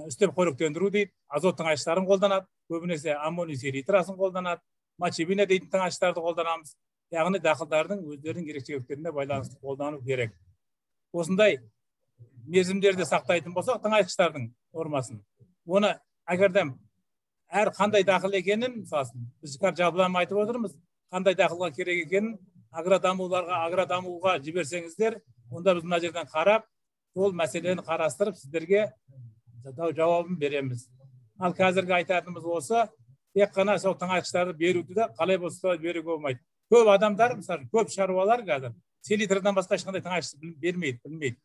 үстеп қоректендіру дейді, азот тыңайтқыштарын қолданады, көбінесе аммоний селитрасын қолданады, мочебина дейтін тыңайтқыштарды қолданамыз. Яғни дақылдардың өздерінің ерекшеліктеріне байланысты қолдану керек. Осындай мерзімдерді сақтайтын болсақ, тыңайтқыштардың нормасын. Оны әгерден әр қандай дақыл екенін, мысалсын, біз жалпылама айтып отырмыз, қандай дақылға керек екенін агродамуға жіберсеңіздер, онда біз мына жерден қарап, сол мәселені қарастырып, сіздерге жауабын береміз. Ал қазіргі айтатынымыз осы, тек қана сол тыңайтқыштарды беруді де қалай болса беруге болмайды. Көп адамдар, мысалы, көп шаруалар қазір селитрдан басқа ешқандай тыңайтқыш бермейді, білмейді.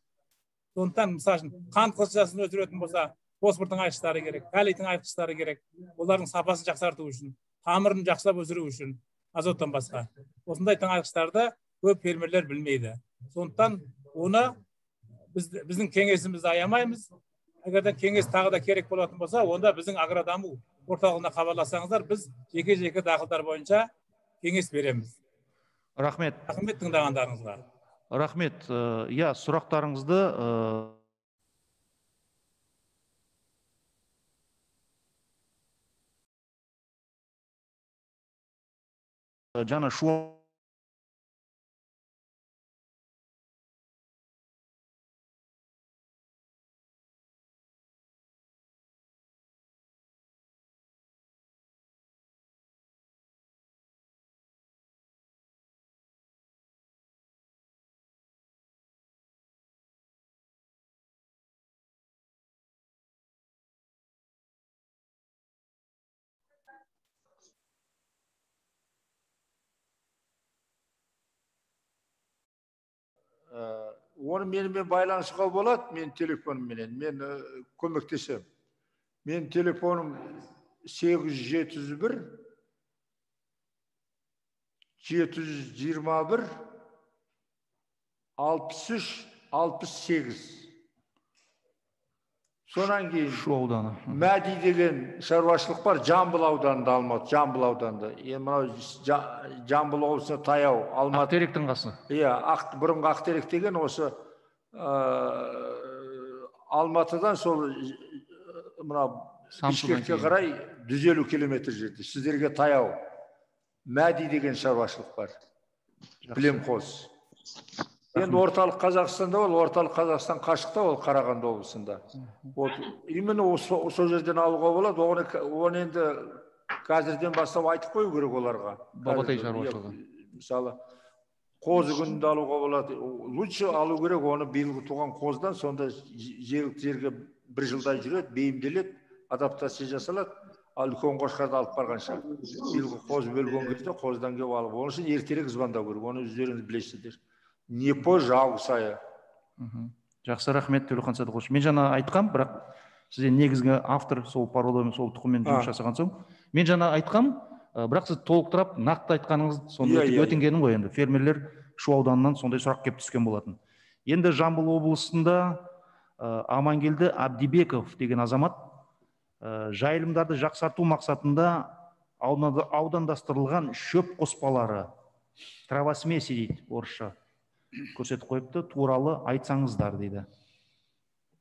Сондықтан, мысалы, қант қызылшасын өсіретін болса, фосфор тыңайтқыштары керек, калий тыңайтқыштары керек. Олардың сапасын жақсарту үшін, тамырын жақсылап өсіру үшін, азоттан басқа. Осындай тыңайтқыштарды көп фермерлер білмейді. Сондықтан оны біздің кеңесімізді аямаймыз. егерде кеңес тағы да керек болатын болса, онда біздің агродаму орталығына хабарлассаңыздар, біз жеке дақылдар бойынша кеңес береміз. Рахмет. Рахмет тыңдағандарыңызға. Рахмет. Иә, сұрақтарыңызды жаңа оны менімен байланысуға болады, мен телефонменен, мен көмектесем. Мен телефоным 871 721 63 68. Сонан кейін Шу ауданы. Мәди деген шаруашылық бар, Жамбыл ауданында, Алматы, Жамбыл ауданында. Жамбыл облысына таяу, Алматы. Ақтеректің қасы. Иә, бұрынғы Ақтерек деген осы Алматыдан сол Бішкекке қарай 150 километр жерде. Сіздерге таяу. Мәди деген шаруашылық бар. Білемқоз. Енді орталық Қазақстанда ол, орталық Қазақстан қашықта ол, Қарағанды облысында. Именно сол жерден алуға болады, оны енді қазірден бастап айтып қою керек оларға. Бабатай шаруашылығы. Мысалы, қозы күнінде алуға болады. Лучше алу керек оны биылғы туған қоздан, сонда жерге бір жылдай жүреді, бейімделеді, адаптация жасалады. Ал үлкен қошқарды алып барғанша. Биылғы қоз бөлген кезде қоздан келіп алып. Оның үшін ертерек звондау керек, оны өздеріңіз білесіздер. Не позже, август айы. Жақсы, рахмет, Төлеухан Садықович. Мен жаңа айтқам, бірақ сізден негізгі автор сол пародиямен, сол тұқыммен жұмыс жасаған соң. Мен жаңа айтқам, бірақ сіз толықтырап, нақты айтқаныңыз сонда өтінгенім ғой енді. Фермерлер Шу ауданынан сондай сұрақ келіп түскен болатын. Енді Жамбыл облысында Амангелді Абдибеков деген азамат жайылымдарды жақсарту мақсатында аудандастырылған шөп қоспалары, травосмеси дейді орысша, көрсетіп қойыпты, туралы айтсаңыздар дейді.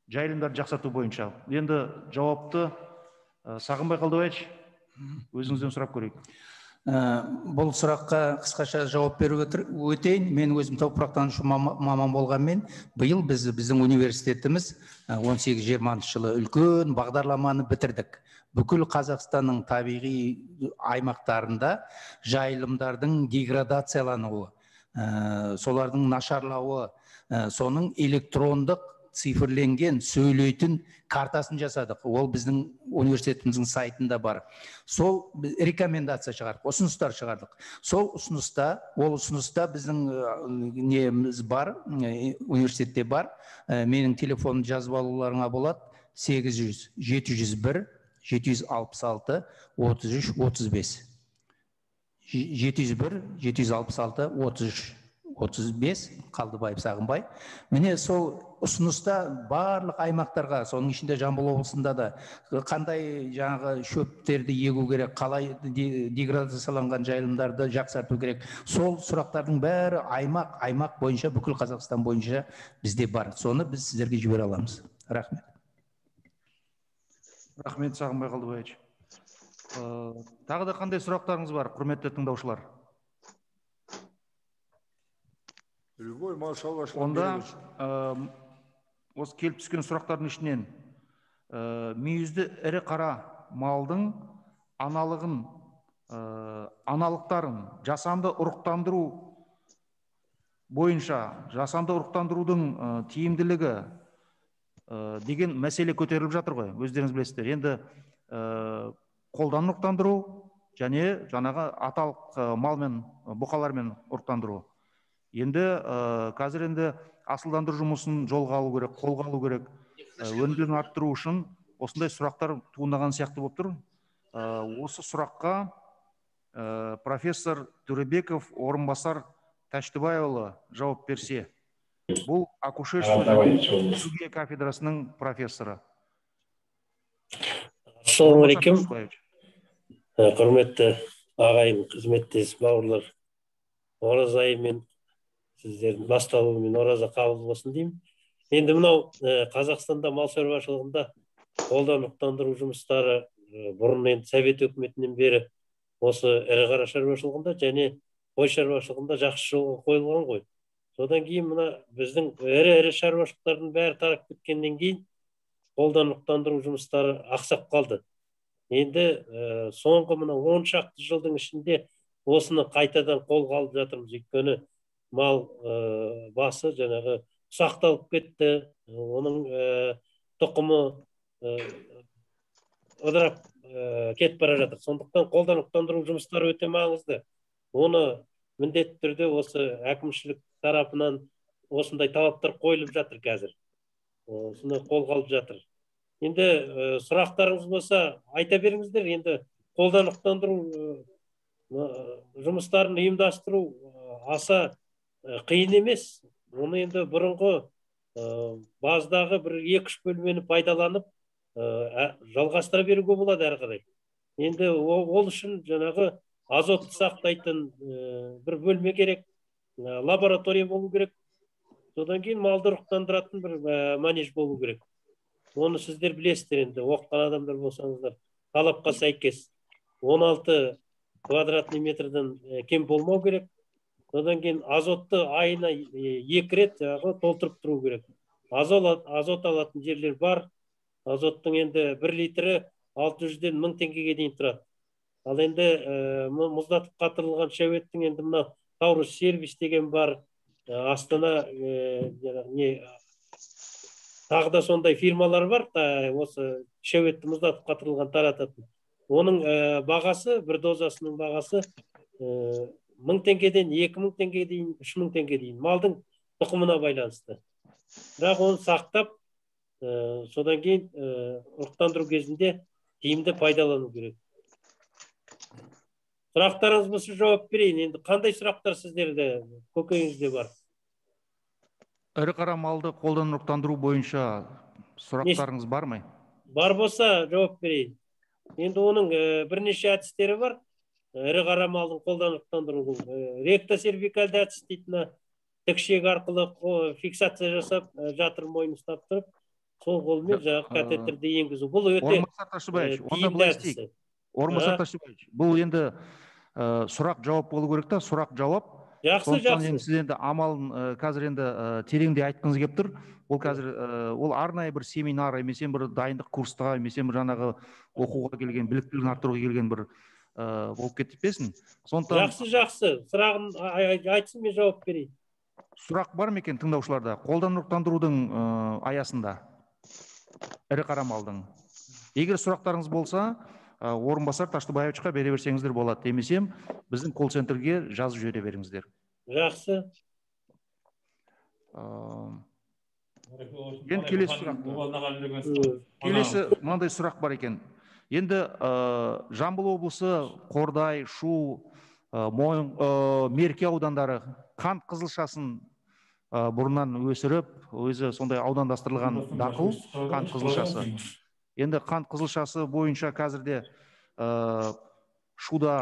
Жайылымдарды жақсарту бойынша. Енді жауапты Сағынбай Қалдыбаевич, өзіңізден сұрап көрейік. Бұл сұраққа қысқаша жауап беріп өтейін. Мен өзім топырақтанушы маман болғанмен, биыл біздің университетіміз 18-20 жылы үлкен бағдарламаны бітірдік. Бүкіл Қазақстанның табиғи аймақтарында жайылымдардың деградациялануы, солардың нашарлауы, соның электрондық цифрленген сөйлейтін картасын жасадық. Ол біздің университетіміздің сайтында бар. Сол рекомендация шығардық, ұсыныстар шығардық. Сол ұсыныста біздің неміз бар, университетте бар. Менің телефонымды жазып алуларыңа болады. 800-701-766-33-35. 701-766-33-35, Қалдыбаев Сағынбай. Міне сол ұсыныста барлық аймақтарға, соның ішінде Жамбыл облысында да қандай жаңағы шөптерді егу керек, қалай деградацияланған жайылымдарды жақсарту керек. Сол сұрақтардың бәрі аймақ бойынша, бүкіл Қазақстан бойынша бізде бар. Соны біз сіздерге жібере аламыз. Рахмет. Рахмет, Сағынбай Қалдыбаевич. Тағы да қандай сұрақтарыңыз бар, құрметті тыңдаушылар? Онда осы келіп түскен сұрақтардың ішінен мүйізді ірі қара малдың аналықтарын жасанды ұрықтандыру бойынша, жасанды ұрықтандырудың тиімділігі деген мәселе көтеріліп жатыр ғой, өздеріңіз білесіздер. Енді қолдан ұрықтандыру және жаңағы аталық малмен, бұқалармен ұрықтандыру. Енді қазір асылдандыру жұмысын жолға алу керек, қолға алу керек. Өнімділігін арттыру үшін осындай сұрақтар туындаған сияқты болып тұр. Осы сұраққа профессор Төребеков орынбасар Тәштібайұлы жауап берсе. Бұл акушерство кафедрасының профессоры. Ассалаумағалейкум. Құрметті ағайын, қызметтес бауырлар, ораза айымен сіздердің басталуымен ораза қабыл болсын деймін. Енді мынау Қазақстанда мал шаруашылығында қолданықтандыру жұмыстары бұрын енді Совет өкіметінен бері осы ірі қара шаруашылығында және қой шаруашылығында жақсы жолға қойылған ғой. Содан кейін мына біздің ірі шаруашылықтардың бәрі тарап кеткеннен кейін қолданықтандыру жұмыстары ақсап қалды. Енді соңғы мына 10 шақты жылдың ішінде осыны қайтадан қолға алып жатырмыз. Өйткені мал басы жаңағы ұсақталып кетті, оның тұқымы ыдырап кетіп бара жатыр. Сондықтан қолданықтандыру жұмыстары өте маңызды. Оны міндетті түрде осы әкімшілік тарапынан осындай талаптар қойылып жатыр қазір. Осыны қолға алып жатыр. Енді сұрақтарыңыз болса айта беріңіздер. Енді қолданықтандыру жұмыстарын ұйымдастыру аса қиын емес. Оны енді бұрынғы баздағы бір 2-3 бөлмені пайдаланып жалғастыра беруге болады әрі қарай. Енді ол үшін жаңағы азотты сақтайтын бір бөлме керек, лаборатория болу керек. Содан кейін малды ұрықтандыратын бір манеж болу керек. Оны сіздер білесіздер енді, оқыған адамдар болсаңыздар, талапқа сәйкес 16 квадратный метрден кем болмау керек. Содан кейін азотты айына 2 рет толтырып тұру керек. Азот алатын жерлер бар. Азоттың енді 1 литрі 600-ден 1000 теңгеге дейін тұрады. Ал енді мұздатып қатырылған шәуеттің енді мына Таурус сервис деген бар. Астана тағы да сондай фирмалар бар, осы шәуетті мұздатып қатырылған тарататын. Оның бағасы, бір дозасының бағасы 1000 теңгеден 2000 теңгеге дейін, 3000 теңгеге дейін. Малдың тұқымына байланысты. Бірақ оны сақтап, содан кейін ұрықтандыру кезінде тиімді пайдалану керек. Сұрақтарыңыз болса жауап берейін. Енді қандай сұрақтар сіздерде, көкейіңізде бар? Ірі қара малды қолданықтандыру бойынша сұрақтарыңыз бар ма? Бар болса жауап берейін. Енді оның бірнеше әдістері бар. Ірі қара малдың қолданықтандыру. Ректосервикальды әдіс дейтін, тікшек арқылы фиксация жасап, жатыр мойын ұстап тұрып, сол қолмен жаңағы катетерді енгізу. Бұл өте тиімді әдісі. Орынбасар Ташибаевич, бұл енді сұрақ жауап болу керек та, сұрақ жауап. Жақсы. Сіз енді амалын қазір енді тереңде айтқыңыз келіп тұр. Ол қазір ол арнайы бір семинар, емесен бір дайындық курсқа, емесен бір жаңағы оқуға келген, біліктілігін арттыруға келген бір болып кетпесін. Жақсы. Сұрағын айтсын, мен жауап берейін. Сұрақ бар ма екен тыңдаушыларда? Қолданықтандырудың аясында ірі қара малдың. Егер сұрақтарыңыз болса, орынбасар Таштыбаевичқа бере берсеңіздер болады. Демесем, біздің колл-центрге жазып жібере беріңіздер. Жақсы. Енді келесі сұрақ. Келесі мынандай сұрақ бар екен. Енді Жамбыл облысы, Қордай, Шу, Мерке аудандары қант қызылшасын бұрыннан өсіріп, өзі сондай аудандастырылған дақыл қант қызылшасы. Енді қант қызылшасы бойынша қазірде Шуда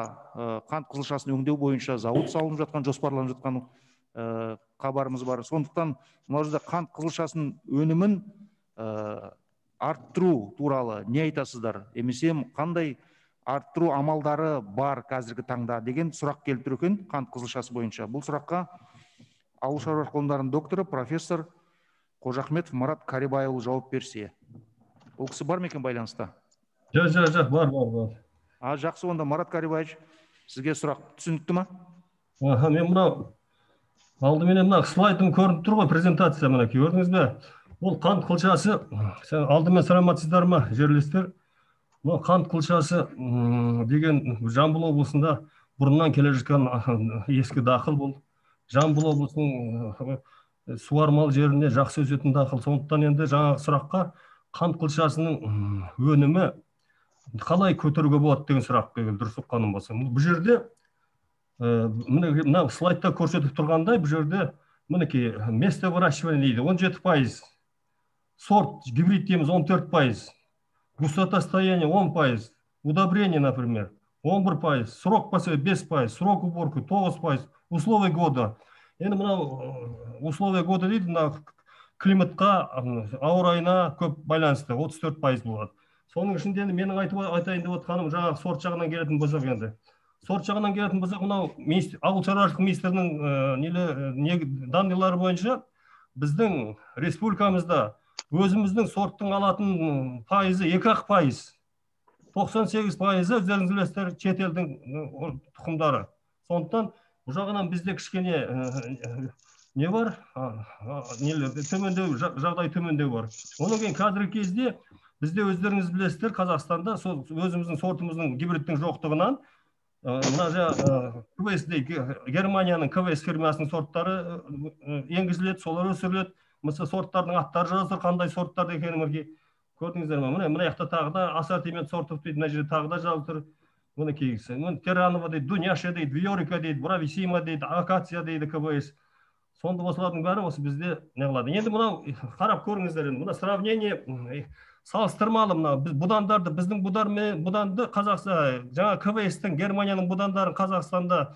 қант қызылшасын өңдеу бойынша зауыт салынып жатқан, жоспарланып жатқан хабарымыз бар. Сондықтан мына жерде қант қызылшасын өнімін арттыру туралы не айтасыздар? Емесем, қандай арттыру амалдары бар қазіргі таңда деген сұрақ келіп тұр екен қант қызылшасы бойынша. Бұл сұраққа ауыл шаруашылық ғылымдарының докторы, профессор Қожахметов Марат Карибайұлы жауап берсе. Ол кісі бар ма екен байланыста? Жоқ, бар. Жақсы, онда Марат Карибайевич, сізге сұрақ түсінікті ма? Мен мынау алдыменен мына слайдым көрініп тұр ғой, презентация мына көрдіңіз бе? Ол қант қылшасы, алдымен саламатсыздар ма, жерлестер? Бұл қант қылшасы деген Жамбыл облысында бұрыннан келе жатқан ескі дақыл бұл. Жамбыл облысының суармалы жеріне жақсы өсетін дақыл. Сондықтан енді жаңағы сұраққа қант қылшасының өнімі қалай көтеруге болады деген сұрақ келді, дұрыс ұққаным болса. Бұл жерде мына слайдта көрсетіп тұрғандай, бұл жерде мінекей место выращивания дейді 17%, сорт гибрид дейміз 14%. густотостояние 10%, удобрение, например, 11%, срок посева 5%, срок уборки 9%, условия года. Енді мынау условия года дейді, мына климатқа, ауа райына көп байланысты 34% болады. Соның ішінде менің айтайын деп отқаным, жаңағы сорт жағынан келетін болсақ енді. Сорт жағынан келетін болсақ, мынау ауыл шаруашылық министрінің данныйлары бойынша біздің республикамызда өзіміздің сорттың алатын пайызы 2%. 98% өздеріңіз білесіздер шетелдің тұқымдары. Сондықтан бұл жағынан бізде кішкене не бар? Төмендеу, жағдай төмендеу бар. Оның кейін қазіргі кезде бізде өздеріңіз білесіздер, Қазақстанда өзіміздің сортымыздың гибридтің жоқтығынан Германияның КВС фирмасының сорттары енгізіледі, солар өсіріледі. Мысалы сорттардың аттары жазылыр, қандай сорттар екені мінекей көрдіңіздер ме? Мына жақта тағы да ассортимент сортов дейді, мына жерде тағы да жазылыр. Мінекейгісі. Теранова дейді, Дуняша дейді, Виорика дейді, Брависима дейді, Акация дейді КВС. Сонда осылардың бәрі осы бізде не қылады. Енді мынау қарап көріңіздер, мына сравнение салыстырмалы, мына будандарды, біздің буданды Қазақстан, жаңа КВС-тің Германияның будандарын Қазақстанда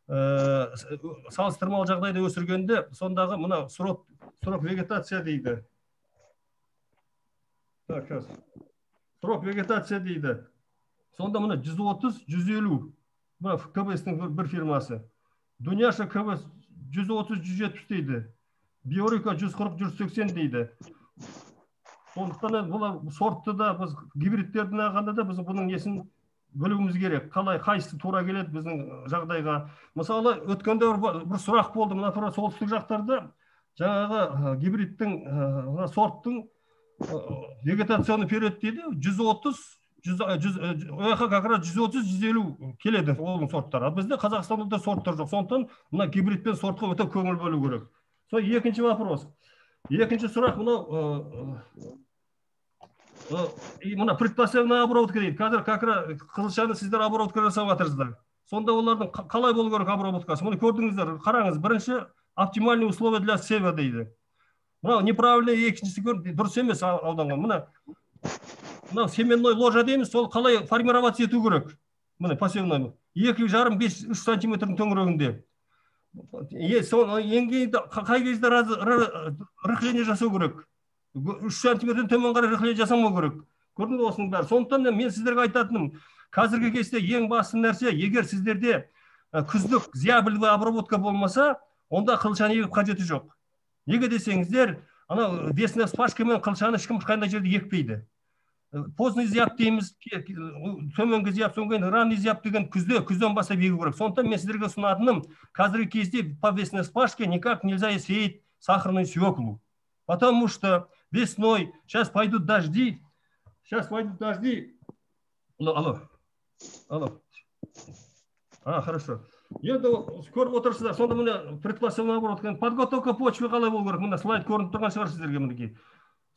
салыстырмалы жағдайда өсіргенде, сондағы мына срок вегетация дейді. Срок вегетация дейді. Сонда мына 130-150, мына КВС-тің бір фирмасы. Дуняша КВС 130-170 дейді. Биорика 140-180 дейді. Сондықтан бұл сортты да, біз гибридтердің ағанда да біз бұның несін білуіміз керек. Қалай, қайсысы тура келеді біздің жағдайға. Мысалы, өткенде бір сұрақ болды, мына тура солтүстік жақтарда жаңағы гибридтің, сорттың вегетационный период дейді, 130-150 келеді оның сорттары. Бізде Қазақстанда да сорттар жоқ. Сондықтан мына гибридпен сортқа өте көңіл бөлу керек. Сол екінші вопрос. Екінші сұрақ мына предпосевная обработка дейді. Қазір қызылшаны сіздер обработка жасап жатырсыздар. Сонда олардың қалай болу керек обработкасы? Мұны көрдіңіздер, қараңыз. Бірінші оптимальные условия для сева дейді. Мынау неправильно, екіншісі дұрыс емес ауданға. Мынау семенной ложа дейміз, сол қалай формироваться ету керек? Мына посевной 2,5-3 сантиметрдің төңірегінде. Ең кейін қай кезде рыхление жасау керек? 3 сантиметрден төмен қарай рыхление жасамау керек. Көрдіңіз осының бәрі. Сондықтан мен сіздерге айтатыным, қазіргі кезде ең басты нәрсе, егер сіздерде күздік зиябілді обработка болмаса, онда қылшаны егіп қажеті жоқ. Неге десеңіздер, ана весна спашкамен қылшаны ешкім қандай жерде екпейді. Поздный зияб дейміз, төменгі зияб, содан кейін ранний зияб деген күзден бастап егу керек. Сондықтан мен сіздерге ұсынатыным, қазіргі кезде по весне спашке никак нельзя сеять сахарную свеклу. Потому что весной, сейчас пойдут дожди. Алло. Хорошо. Енді көріп отырсыздар, сонда мына предпосевная обработка, подготовка почвы қалай болу керек? Мына слайд көрініп тұрған шығар сіздерге мінекей.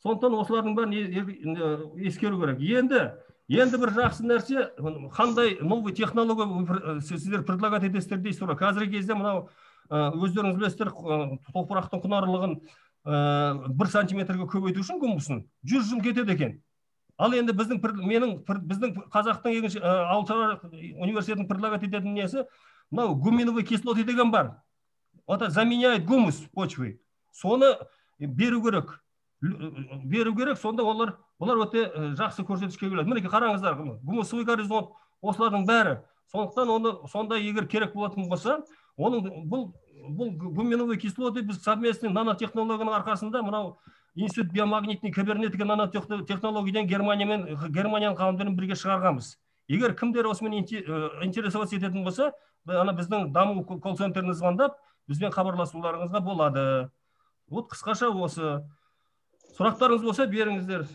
Сондықтан осылардың бәрін ескеру керек. Енді бір жақсы нәрсе, қандай новый технология сіздер предлагать етесіздер дейсіз. Қазіргі кезде мынау өздеріңіз білесіздер, топырақтың құнарлығын 1 сантиметрге көбейту үшін гумусын 100 жыл кетеді екен. Ал енді біздің қазақтың ауыл шаруашылық университетінің предлагать ететін несі, мынау гуминовый кислоты деген бар. Это заменяет гумус почвы. Соны беру керек, сонда олар өте жақсы көрсеткішке келеді. Мінекей қараңыздар, гумусовый горизонт, осылардың бәрі. Сондықтан сонда егер керек болатын болса, бұл гуминовый кислоты біз совместный нанотехнологияның арқасында мынау институт биомагнитный кибернетика нанотехнологиядан Германияның ғалымдарымен бірге шығарғанбыз. Егер кімдер осымен интересоваться ететін болса, біздің даму колл-центріне звондап, бізбен хабарласуларыңызға болады. Вот қысқаша осы. Сұрақтарыңыз болса беріңіздер.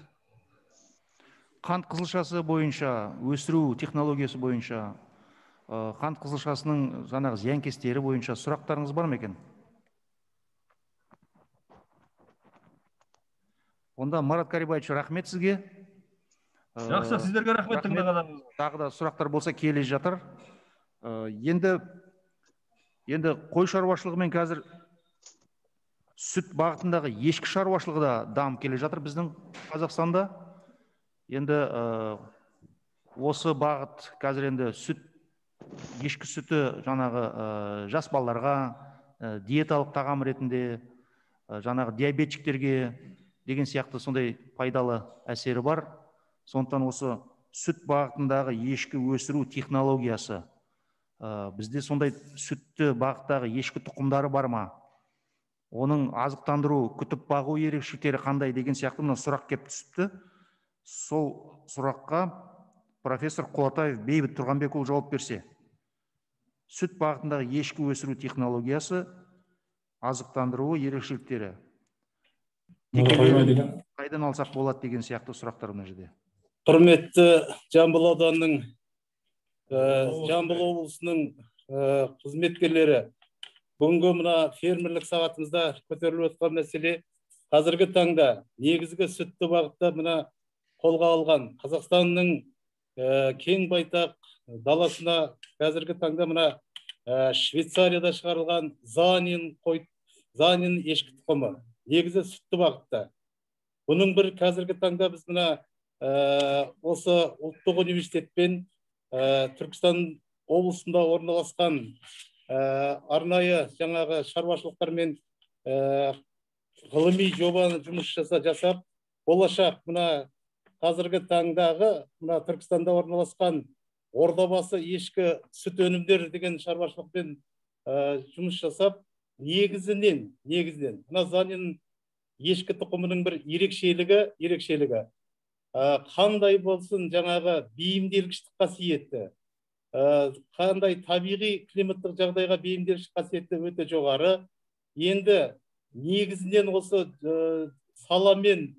Қант қызылшасы бойынша, өсіру технологиясы бойынша, қант қызылшасының жаңағы зиянкестері бойынша сұрақтарыңыз бар ма екен? Онда Марат Карибаевич, рахмет сізге. Жақсы, сіздерге рахмет тыңдағандарыңыз. Тағы да сұрақтар болса келе жатыр. Енді қой шаруашылығымен қазір сүт бағытындағы ешкі шаруашылығы да дамып келе жатыр біздің Қазақстанда. Енді осы бағыт қазір енді ешкі сүті жаңағы жас балаларға диеталық тағам ретінде, жаңағы диабетчиктерге деген сияқты сондай пайдалы әсері бар. Сондықтан осы сүт бағытындағы ешкі өсіру технологиясы, бізде сондай сүтті бағыттағы ешкі тұқымдары бар ма? Оның азықтандыру, күтіп бағу ерекшеліктері қандай деген сияқты мына сұрақ келіп түсіпті. Сол сұраққа профессор Құлатаев Бейбіт Тұрғанбекұлы жауап берсе. Сүт бағытындағы ешкі өсіру технологиясы, азықтандыруы ерекшеліктері қайдан алсақ болады деген сияқты сұрақтар мына жерде. Құрметті Жамбыл ауданының, Жамбыл облысының қызметкерлері, бүгінгі мына фермерлік сағатымызда көтеріліп отқан мәселе қазіргі таңда негізгі сүтті бағытта мына қолға алған Қазақстанның кең байтақ даласына қазіргі таңда мына Швейцарияда шығарылған Занин ешкі тұқымы негізі сүтті бағытта. Бұның бір қазіргі таңда біз мына осы ұлттық университетпен Түркістан облысында орналасқан арнайы жаңағы шаруашылықтармен ғылыми жобаны жұмыс жасап, болашақ мына қазіргі таңдағы мына Түркістанда орналасқан Ордабасы ешкі сүт өнімдері деген шаруашылықпен жұмыс жасап, негізінен мына Занин ешкі тұқымының бір ерекшелігі қандай болсын жаңағы бейімделгіштік қасиеті, қандай табиғи климаттық жағдайға бейімделгіш қасиеті өте жоғары. Енді негізінен осы саламен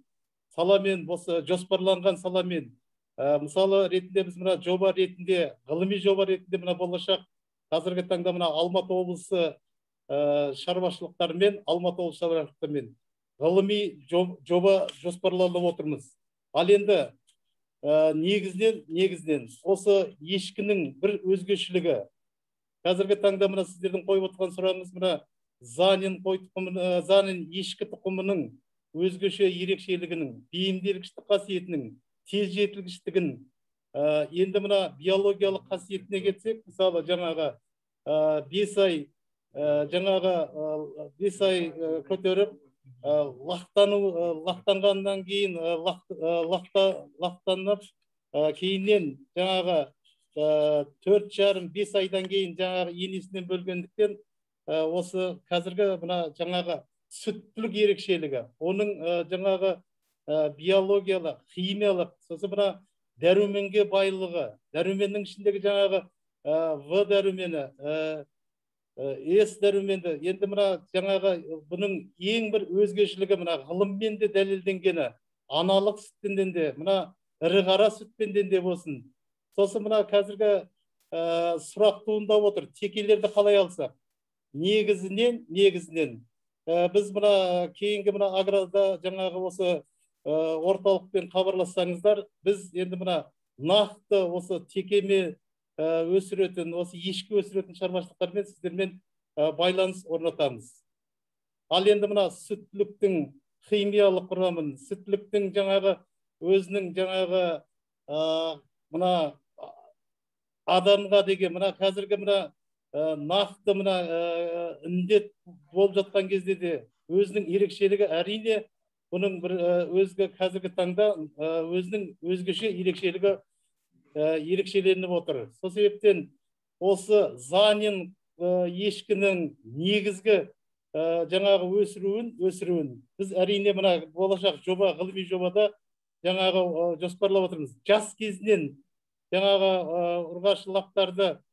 осы жоспарланған саламен мысалы ретінде біз мына жоба ретінде, ғылыми жоба ретінде мына болашақ қазіргі таңда мына Алматы облысы шаруашылықтарымен ғылыми жоба жоспарланып отырмыз. Ал енді негізінен осы ешкінің бір өзгешілігі. Қазіргі таңда мына сіздердің қойып отырған сұрағыңыз мына Занин ешкі тұқымының өзгеше ерекшелігінің, бейімделгіштік қасиетінің, тез жетілгіштігін, енді мына биологиялық қасиетіне кетсек, мысалы жаңағы 5 ай көтеріп, лақтанғаннан кейін лақтанып, кейіннен жаңағы 4,5-5 айдан кейін жаңағы енесінен бөлгендіктен осы қазіргі мына жаңағы сүттілік ерекшелігі, оның жаңағы биологиялық, химиялық, сосын мына дәруменге байлығы, дәруменнің ішіндегі жаңағы В дәрумені, С дәруменді, енді мына жаңағы бұның ең бір өзгешілігі мына ғылыммен де дәлелденгені, аналық сүттен де, мына ірі қара сүттен де болсын. Сосын мына қазіргі сұрақ туындап отыр, текелерді қалай алсақ? Негізінен біз мына кейінгі мына аграда жаңағы осы орталықпен хабарлассаңыздар, біз енді мына нақты осы текеме өсіретін, осы ешкі өсіретін шаруашылықтармен сіздермен байланыс орнатамыз. Ал енді мына сүттіліктің химиялық құрамын, сүттіліктің жаңағы өзінің жаңағы мына адамға деген мына қазіргі мына нақты мына індет болып жатқан кезде де өзінің ерекшелігі әрине бұның бір өзгі қазіргі таңда өзінің өзгеше ерекшеленіп отыр. Сол себептен осы Занин ешкінің негізгі жаңағы өсіруін біз әрине мына болашақ жоба, ғылыми жобада жаңағы жоспарлап отырмыз. Жас кезінен жаңағы ұрғашы лақтарды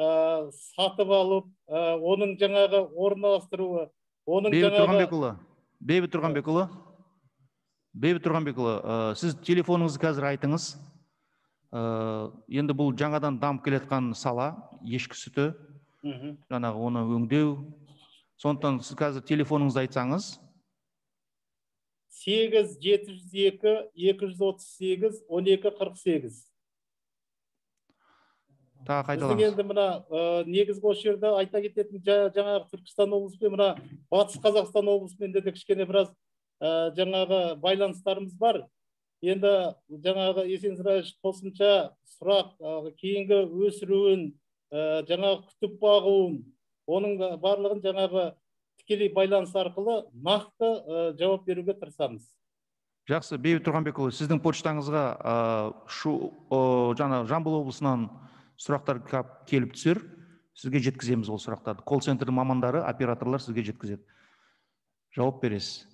сатып алып, оның жаңағы орналастыруы, оның жаңағы... Бейбіт Тұрғанбекұлы, сіз телефоныңызды қазір айтыңыз. Енді бұл жаңадан дамып келетқан сала, ешкі сүті, жаңағы оны өңдеу. Сондықтан сіз қазір телефоныңызды айтсаңыз. 8-238-238-12-48. Біздің енді мына негізгі осы жерде айта кететін жаңағы Түркістан облысымен, мына Батыс Қазақстан облысымен де кішкене біраз жаңағы байланыстарымыз бар. енді жаңағы Есенсіраевич қосымша сұрақ, кейінгі өсіруін, жаңағы күтіп бағуын, оның барлығын жаңағы тікелей байланыс арқылы нақты жауап беруге тырысамыз. Жақсы, Бейбіт Тұрғанбекұлы, сіздің почтаңызға жаңа Жамбыл облысынан сұрақтар келіп түсер, сізге жеткіземіз ол сұрақтарды. Колл-центрдің мамандары, операторлар сізге жеткізеді. Жауап бересіз.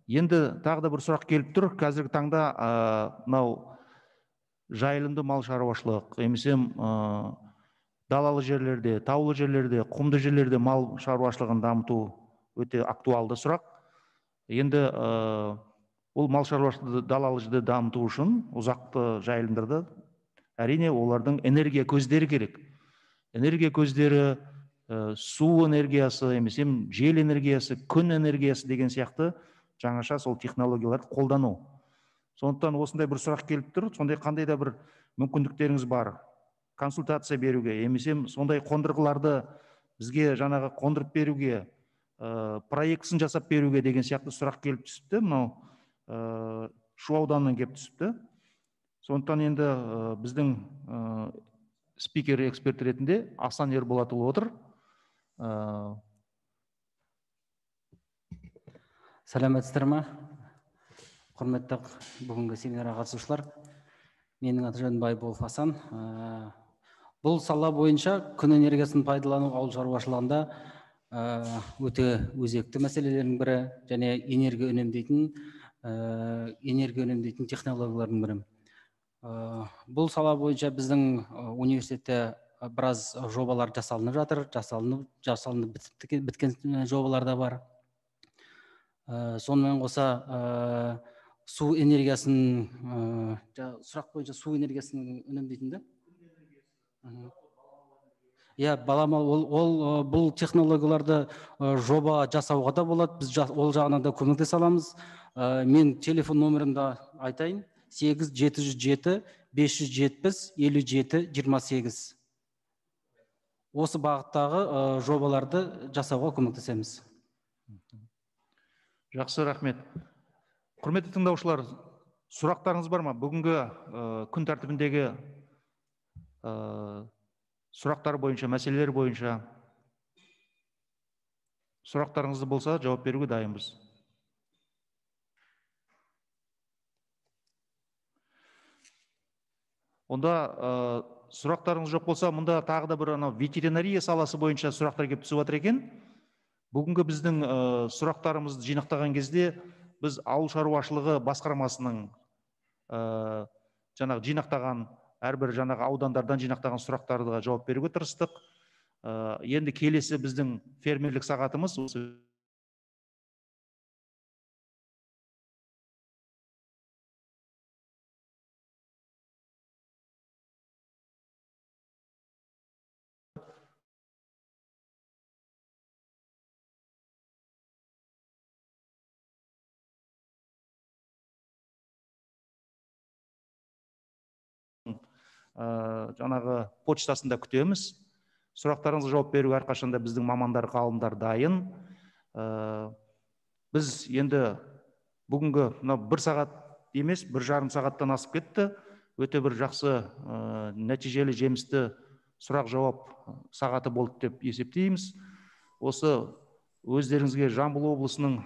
Енді тағы да бір сұрақ келіп тұр. Қазіргі таңда мынау жайылымды мал шаруашылық, емесем далалы жерлерде, таулы жерлерде, құмды жерлерде мал шаруашылығын дамыту өте актуалды сұрақ. Енді бұл мал шаруашылығы далалы жерде дамыту үшін ұзақты жайылымдарда әрине олардың энергия көздері керек. Энергия көздері, су энергиясы, емесем жел энергиясы, күн энергиясы деген сияқты жаңаша сол технологияларды қолдану. Сондықтан осындай бір сұрақ келіп тұр, сондай қандай да бір мүмкіндіктеріңіз бар консультация беруге, емесем сондай қондырғыларды бізге жаңағы қондырып беруге, проектісін жасап беруге деген сияқты сұрақ келіп түсіпті. Мынау Шу ауданынан келіп түсіпті. Сондықтан енді біздің спикер эксперт ретінде Асан Ерболатұлы отыр. Сәлеметсіздер ме? Құрметті бүгінгі семинарға қатысушылар. Менің аты жөнім Байболов Асан. Бұл сала бойынша күн энергиясын пайдалану ауыл шаруашылығында өте өзекті мәселелердің бірі және энергия үнемдейтін технологиялардың бірі. Бұл сала бойынша біздің университетте біраз жобалар жасалынып жатыр, жасалынып біткен жобалар да бар. Сонымен қоса су энергиясын, сұрақ бойынша су энергиясын үнемдейтін да? Баламалы, бұл технологияларды жоба жасауға да болады, біз ол жағынан да көмектесе аламыз. Мен телефон номерімді айтайын: 8-707-570-57-28. Осы бағыттағы жобаларды жасауға көмектесеміз. Жақсы, рахмет. Құрметті тыңдаушылар, сұрақтарыңыз бар ма? Бүгінгі күн тәртібіндегі сұрақтар бойынша, мәселелер бойынша сұрақтарыңызды болса, жауап беруге дайынбыз. Онда сұрақтарыңыз жоқ болса, мұнда тағы да бір ветеринария саласы бойынша сұрақтар келіп түсіп жатыр екен. Бүгінгі біздің сұрақтарымызды жинақтаған кезде біз ауыл шаруашылығы басқармасының жинақтаған әрбір аудандардан жинақтаған сұрақтарға жауап беруге тырыстық. Енді келесі біздің фермерлік сағатымыз осы жаңағы почтасында күтеміз. Сұрақтарыңызға жауап беруге әрқашанда біздің мамандар, ғалымдар дайын. Біз енді бүгінгі бір сағат емес, 1,5 сағаттан асып кетті. Өте бір жақсы, нәтижелі, жемісті сұрақ-жауап сағаты болды деп есептейміз. Осы өздеріңізге Жамбыл облысының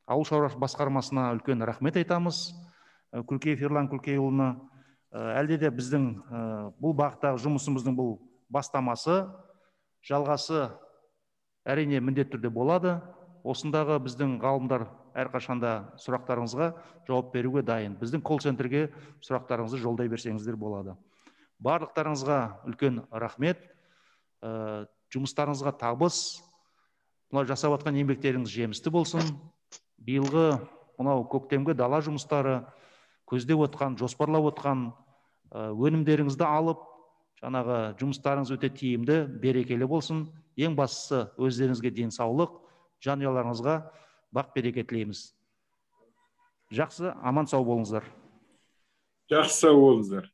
ауыл шаруашылығы басқармасына үлкен рахмет айтамыз. Күлкеев Ерлан Күлкейұлына. Әлде де біздің бұл бағыттағы жұмысымыздың бұл бастамасы, жалғасы әрине міндетті түрде болады. Осындағы біздің ғалымдар әрқашанда сұрақтарыңызға жауап беруге дайын. Біздің колл-центрге сұрақтарыңызды жолдай берсеңіздер болады. Барлықтарыңызға үлкен рахмет. Жұмыстарыңызға табыс. Мына жасап жатқан еңбектеріңіз жемісті болсын. Биылғы мынау көктемгі дала жұмыстары, көздеп отқан, жоспарлап отқан өнімдеріңізді алып, жаңағы жұмыстарыңыз өте тиімді, берекелі болсын. Ең бастысы өздеріңізге денсаулық, жанұяларыңызға бақ-береке тілейміз. Жақсы, аман сау болыңыздар. Жақсы сау болыңыздар.